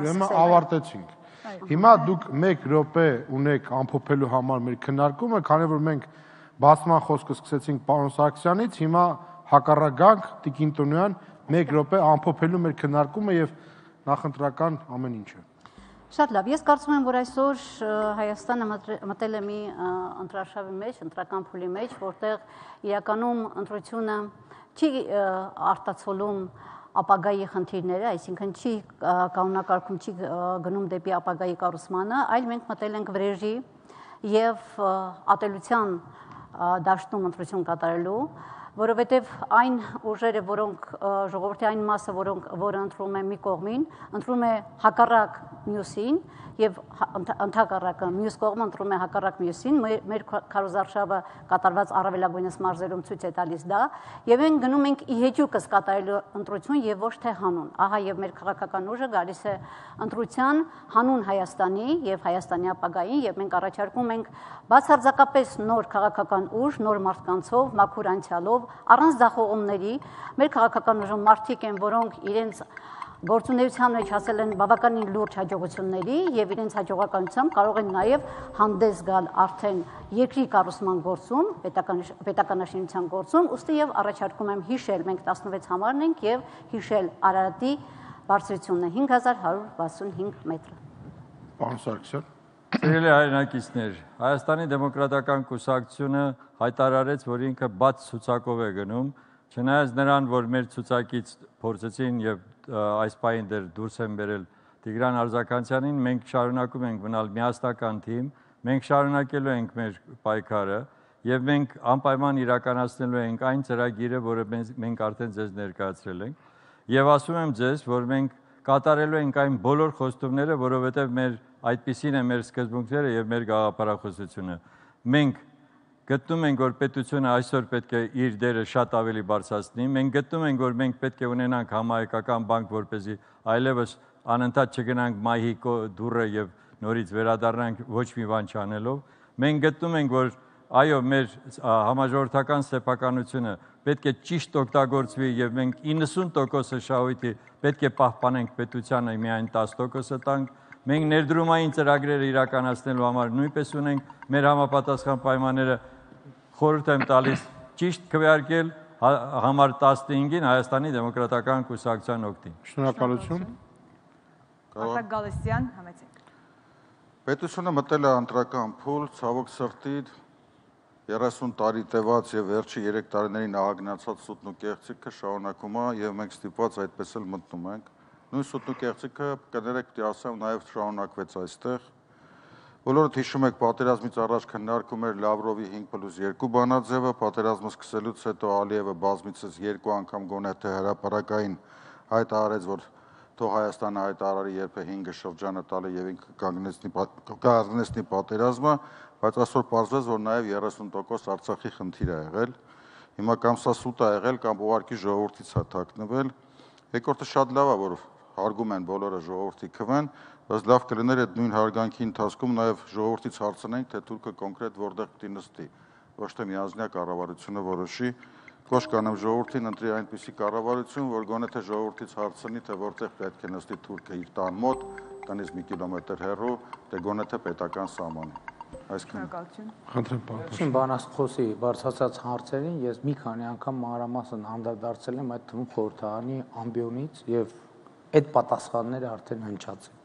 Ուրեմն ավարտեցինք։ Հիմա դուք մեկ րոպե ունեք ամփոփելու համար մեր քննարկումը, քանի որ մենք բացման խոսքը սկսեցինք պարոն Սարգսյանից, հիմա հակառակ տիկին Տոնյան մեկ րոպե ամփոփելու մեր քննարկումը եւ նախընտրական ամեն ինչը։ Շատ լավ, ես կարծում եմ, որ այսօր Հայաստանը մտել է մի ընտրարշավի մեջ, ընտրական փուլի մեջ, որտեղ իրականում ընտրությունը չի արտացոլում ապագայի խնդիրները, այսինքն չի կանոնակարգում, չի գնում դեպի ապագայի կառուցմանը, այլ մենք մտել ենք վրեժի եւ ատելության դաշտում ընտրություն կատարելու, որովհետև այն ուժերը, որոնք ժողովրդի այն մասը, որոնք որը ընտրում է մի կողմին, ընտրում է հակառակ մյուսին եւ ընդհակառակը մյուս կողմը ընտրում է հակառակ մյուսին, մեր քարոզարշավը կատարված առավելագույնս մարզերում ցույց է տալիս դա, եւ մենք գնում ենք ի հեճուկս կատարելու ընտրություն եւ ոչ թե հանուն։ Ահա եւ մեր քաղաքական ուժը գալիս է ընտրության հանուն Հայաստանի եւ Հայաստանի ապագային, եւ մենք առաջարկում ենք բացարձակապես նոր քաղաքական ուժ, նոր մարդկանցով, մաքուր անցյալով, առանց ձախողումների։ Մեր քաղաքական ուժում մարդիկ են, որոնք իրենց գործունեության մեջ հասել են բավականին լուրջ հաջողությունների եւ իրենց հաջողականությամբ կարող են նաեւ հանդես գալ արդեն երկրի կառուցման գործում, պետականաշինության գործում, ուստի եւ առաջարկում եմ հիշել, մենք տասնվեց համարն ենք եւ հիշել Արարատի բարձրությունը հինգ հազար հարյուր վաթսունհինգ մետր։ Պարոն Սարգսյան։ Սիրելի հայրենակիցներ, Հայաստանի դեմոկրատական կուսակցությունը հայտարարեց, որ ինքը բաց ցուցակով է գնում Չնայած նրան, որ մեր ցուցակից փորձեցին եւ այս պահին դեռ դուրս են բերել Տիգրան Արձականյանին, մենք շարունակում ենք մնալ միասնական թիմ, մենք շարունակելու ենք մեր պայքարը եւ մենք անպայման իրականացնելու ենք այն ծրագիրը, որը մենք արդեն ձեզ ներկայացրել ենք եւ ասում եմ ձեզ, որ մենք կատարելու ենք այն բոլոր խոստումները, որովհետեւ մեր այդպիսին է մեր սկզբունքները եւ մեր գաղափարախոսությունը։ Մենք գտնում ենք, որ պետությունը այսօր պետք է իր դերը շատ ավելի բարձրացնի։ Մենք գտնում ենք, որ մենք պետք է ունենանք համահայկական բանկ, որպեսզի այլևս անընդհատ չգնանք մայհի դուռը եւ նորից վերադառնանք ոչ մի բան չանելով։ Մենք գտնում ենք, որ այո, մեր համաժողովրդական սեփականությունը պետք է ճիշտ օգտագործվի եւ մենք իննսուն տոկոս շահույթի պետք է պահպանենք պետությանը միայն տասը տոկոս տանք։ Մենք ներդրումային ծրագրերը իրականացնելու համար նույնպես ունենք մեր համապատասխան պայմանները խորհուրդ եմ տալիս ճիշտ քվեարկել համար տասնհինգին Հայաստանի դեմոկրատական կուսակցության օգտին։ Շնորհակալություն։ Արտակ Գալստյան, համեցեք։ Պետությունը մտել է ընտրական փուլ, ցավոք սրտի երեսուն տարի տևած եւ վերջի երեք տարիներին ահագնացած սուտն ու կեղծիքը շարունակում է եւ մենք ստիպված այդպես էլ մտնում ենք։ Նույն սուտն ու կեղծիքը կներեք պիտի ասեմ նաեւ շարունակվեց այստեղ։ Բոլորդ հիշում եք պատերազմից առաջ քննարկում էր Լավրովի հինգ պլյուս երկու բանաձևը, պատերազմը սկսելուց հետո Ալիևը բազմիցս երկու անգամ գոնե թե հրապարակային հայտարարեց, որ թող Հայաստանը հայտարարի երբ է հինգը շրջանը տալը եւ ինքը կանգնեցնի պատերազմը, բայց այսօր պարզվեց, որ նաեւ երեսուն տոկոս Արցախի խնդիր է եղել։ Հիմա կամ սա սուտ է եղել, կամ ուղղակի ժողովրդից է թաքնվել։ Երկրորդը շատ լավ է, որ հարգում են բոլորը ժողովրդի քվեն, բայց լավ կլիներ այդ նույն հարգանքի ընթացքում նաև ժողովրդից հարցնենք, թե թուրքը կոնկրետ որտեղ պիտի նստի, ոչ թե միանձնյա կառավարությունը որոշի։ Կոչ կանեմ ժողովրդին ընտրի այնպիսի կառավարություն, որ գոնե թե ժողովրդից հարցնի, թե որտեղ պետք է նստի թուրքը իր տան մոտ, տնից մի կիլոմետր հեռու, թե գոնե թե պետական սահմանի։ Շնորհակալություն։ Խնդրեմ պարոն։ Շին բանաստխոսի բարձրացած հարցերին ես մի քանի անգամ մանրամասն անդրադարձել եմ այդ թվում խորհրդարանի ամբիոնից եւ այդ պատասխանները արդեն հնչած են։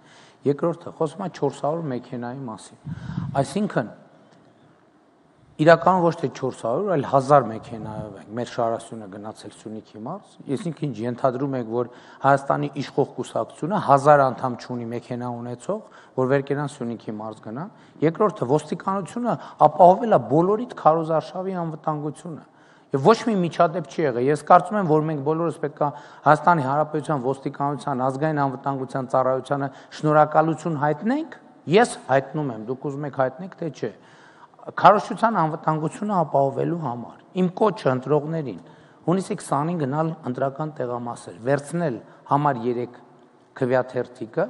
Երկրորդը խոսում է չորս հարյուր մեքենայի մասին։ Այսինքն իրական ոչ թե չորս հարյուր, այլ հազար մեքենայով ենք մեր շարասյունը գնացել Սյունիքի մարզ։ Այսինքն ենթադրում եք, որ Հայաստանի իշխող կուսակցությունը հազար անդամ չունի մեքենա ունեցող, որ վերկենան Սյունիքի մարզ գնան։ Երկրորդը ոստիկանությունը ապահովել է բոլորիդ քարոզարշավի անվտանգությունը։ Եվ ոչ մի միջադեպ չի եղել։ Ես կարծում եմ, որ մենք բոլորս պետք է Հայաստանի Հանրապետության ոստիկանության, ազգային անվտանգության ծառայությանը շնորհակալություն հայտնենք։ Ես հայտնում եմ, դուք ուզում եք հայտնեք, թե չէ։ Քարոզչության անվտանգությունը ապահովելու համար իմ կոչը ընտրողներին հունիսի քսանին գնալ ընտրական տեղամասեր, վերցնել համար երեք քվեաթերթիկը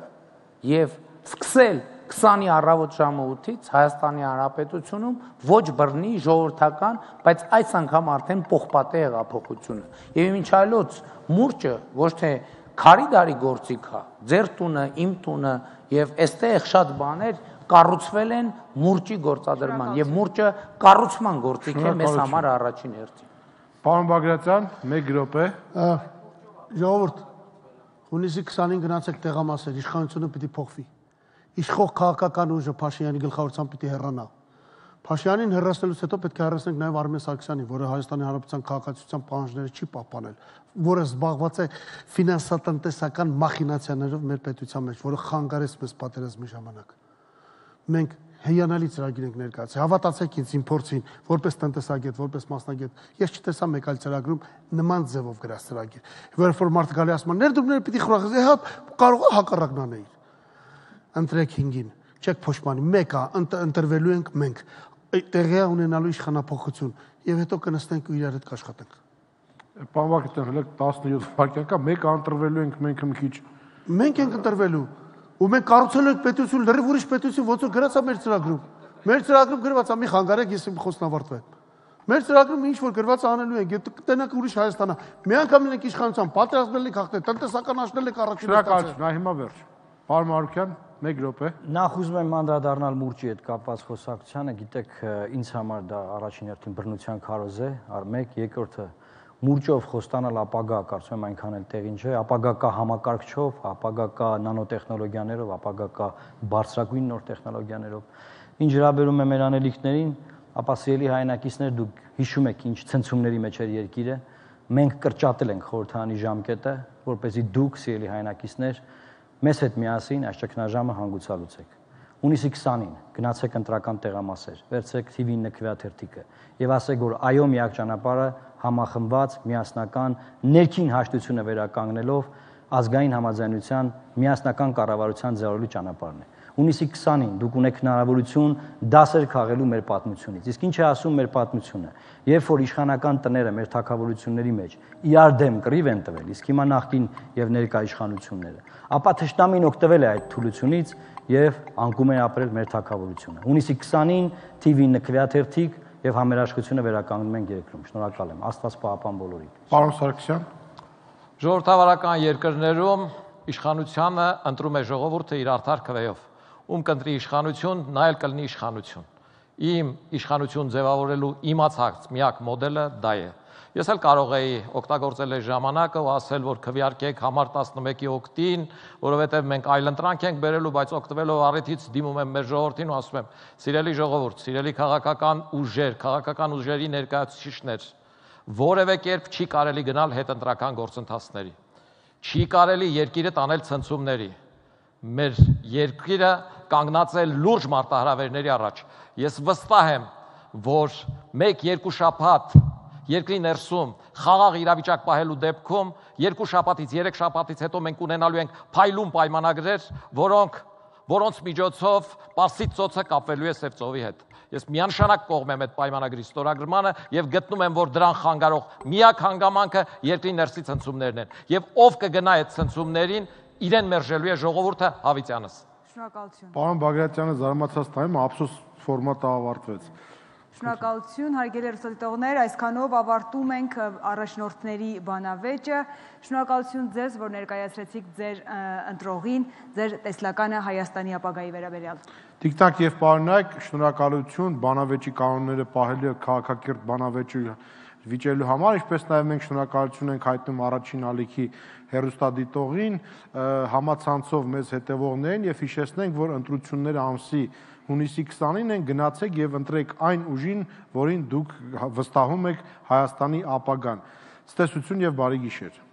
եւ սկսել քսանի առավոտ ժամը ութից Հայաստանի Հանրապետությունում ոչ բռնի ժողովրդական, բայց այս անգամ արդեն պողպատե հեղափոխությունը։ Եվ ինչ այլոց մուրճը ոչ թե քարի դարի գործիք է, ձեր տունը, իմ տունը եւ այստեղ շատ բաներ կառուցվել են մուրճի գործադրման եւ մուրճը կառուցման գործիք է մեզ համար առաջին հերթին։ Պարոն Բագրատյան, մեկ րոպե։ Ժողովուրդ, հունիսի քսանին գնացեք տեղամասեր, իշխանությունը պիտի փոխվի։ Իշխող քաղաքական ուժը Փաշինյանի գլխավորությամբ պիտի հեռանա։ Փաշինյանին հեռացնելուց հետո պետք է հեռացնենք նաև Արմեն Սարգսյանին, որը Հայաստանի Հանրապետության քաղաքացիության պահանջները չի պահպանել, որը զբաղված է ֆինանսատնտեսական մախինացիաներով մեր պետության մեջ, որը խանգարեց մեզ պատերազմի ժամանակ։ Մենք հիանալի ծրագիր ենք ներկայացրել։ Հավատացեք ինձ, իմ փորձին, որպես տնտեսագետ, որպես մասնագետ, ես չտեսա մեկ այլ ծրագրում նման ձևով գրած ծրագիր։ Որը որ մարդը գալի ասում է, ներդրումները պիտի խորախս, հա կարող է հակառակն անել։ Ընտրեք հինգին, չեք փոշմանի, մեկը ընտրվելու ենք մենք, տեղի ունենալու իշխանապողություն եւ հետո կնստենք ու իրար հետ կաշխատենք։ Պարոն Բագրատյան, հələ տասնյոթ վայրկյան կա, մեկը ընտրվելու ենք մենք մի քիչ։ Մենք ենք ընտրվելու։ Ու մենք կառուցել ենք պետություն, լրիվ ուրիշ պետություն, ոնց որ գրած է մեր ծրագրում։ Մեր ծրագրում գրված է, մի խանգարեք, ես իմ խոսքն ավարտվեմ։ Մեր ծրագրում ինչ որ գրված է անելու ենք, եթե կտենակ ուրիշ Հայաստանա, մի անգամ լինենք իշխանության, պատերազմել ենք հաղթել, տնտեսական աշնել ենք առաջին հերթին։ Նա հիմա վերջ։ Պարոն Մարուկյան, մեկ րոպե։ Նախ ուզում եմ անդրադառնալ մուրճի հետ կապված խոսակցությանը, գիտեք, ինձ համար դա առաջին հերթին բռնության քարոզ է, մեկ, երկրորդը մուրճով խոստանալ ապագա, կարծում եմ այնքան էլ տեղին չէ, ապագա կա համակարգչով, ապագա կա նանոտեխնոլոգիաներով, ապագա կա բարձրագույն նոր տեխնոլոգիաներով։ Ինչ հրաբերում է մեր անելիքներին, ապա սիրելի հայրենակիցներ, դուք հիշում եք ինչ ցնցումների մեջ էր երկիրը, մենք կրճատել ենք խորհրդարանի ժամկետը, որպեսզի դուք, սիրելի հայրենակիցներ, մեզ հետ միասին այս ճգնաժամը հանգուցալուծեք։ Հունիսի քսանին գնացեք ընտրական տեղամասեր, վերցրեք Թի վի նկվյաթերթիկը եւ ասեք, որ այո, միակ ճանապարհը համախմբված, միասնական, ներքին հաշտությունը վերականգնելով ազգային համաձայնության միասնական կառավարության ձեռալու ճանապարհն է։ Հունիսի քսանին դուք ունեք հնարավորություն դասեր քաղելու մեր պատմությունից։ Իսկ ինչ է ասում մեր պատմությունը։ Երբ որ իշխանական տները մեր թագավորությունների մեջ իրար դեմ կռիվ են տվել, իսկ հիմա նախկին եւ ներկա իշխանությունները, ապա թշնամին օգտվել է այդ թուլությունից եւ անկում է ապրել մեր թագավորությունը։ Հունիսի քսանին Թի վի նկվյաթերթիկ եւ համերաշխությունը վերականգնում ենք երկրում։ Շնորհակալ եմ։ Աստված պահապան բոլորին։ Պարոն Սարգսյան, Ժողովրդավարական երկրներում իշխանությունը ընտրում է ժողովուրդը իր արդար քվեով։ Ում կընտրի իշխանություն, նա էլ կլինի իշխանություն։ Իմ իշխանություն ձևավորելու իմացած միակ մոդելը դա է։ Ես էլ կարող էի օգտագործել այս ժամանակը ու ասել, որ քվեարկեք համար տասնմեկի օգտին, որովհետև մենք այլընտրանք ենք բերելու, բայց օգտվելով առիթից դիմում եմ մեր ժողովրդին ու ասում եմ. «Սիրելի ժողովուրդ, սիրելի քաղաքական ուժեր, քաղաքական ուժերի ներկայացուցիչներ, որևէ կերպ չի կարելի գնալ հետընտրական գործընթացների։ Չի կարելի երկիրը տանել ցնցումների։ Մեր երկիրը կանգնած է լուրջ մարտահրավերների առաջ։ Ես վստահ եմ, որ մեկ-երկու շաբաթ երկրի ներսում խաղաղ իրավիճակ պահելու դեպքում երկու շաբաթից, երեք շաբաթից հետո մենք ունենալու ենք փայլուն պայմանագրեր, որոնք որոնց միջոցով Պարսից ծոցը կապվելու է Սև ծովի հետ։ Ես միանշանակ կողմ եմ այդ պայմանագրի ստորագրմանը եւ գտնում եմ, որ դրան խանգարող միակ հանգամանքը երկրի ներսի ցնցումներն են։ Եվ ով կգնա այդ ցնցումներին, իրեն մերժելու է ժողովուրդը Հավիտյանս։ Շնորհակալություն։ Պարոն Բագրատյանը զարմացած նայում, ափսոս ֆորմատը ավարտվեց։ Շնորհակալություն, հարգելի հեռուստադիտողներ, այսքանով ավարտում ենք առաջնորդների բանավեճը։ Շնորհակալություն ձեզ, որ ներկայացրեցիք ձեր ընտրողին, ձեր տեսլականը Հայաստանի ապագայի վերաբերյալ։ Տիկ-տակ եւ պարոնայք, շնորհակալություն բանավեճի կանոնները պահելու քաղաքակիրթ բանավեճի վիճելու համար, ինչպես նաև մենք շնորհակալություն ենք հայտնում առաջին ալիքի հեռուստադիտողին, համացանցով մեզ հետևողներին եւ հիշեցնենք, որ ընտրությունները ամսի հունիսի քսանին են, գնացեք եւ ընտրեք այն ուժին, որին դուք վստահում եք Հայաստանի ապագան։ Ցտեսություն եւ բարի գիշեր։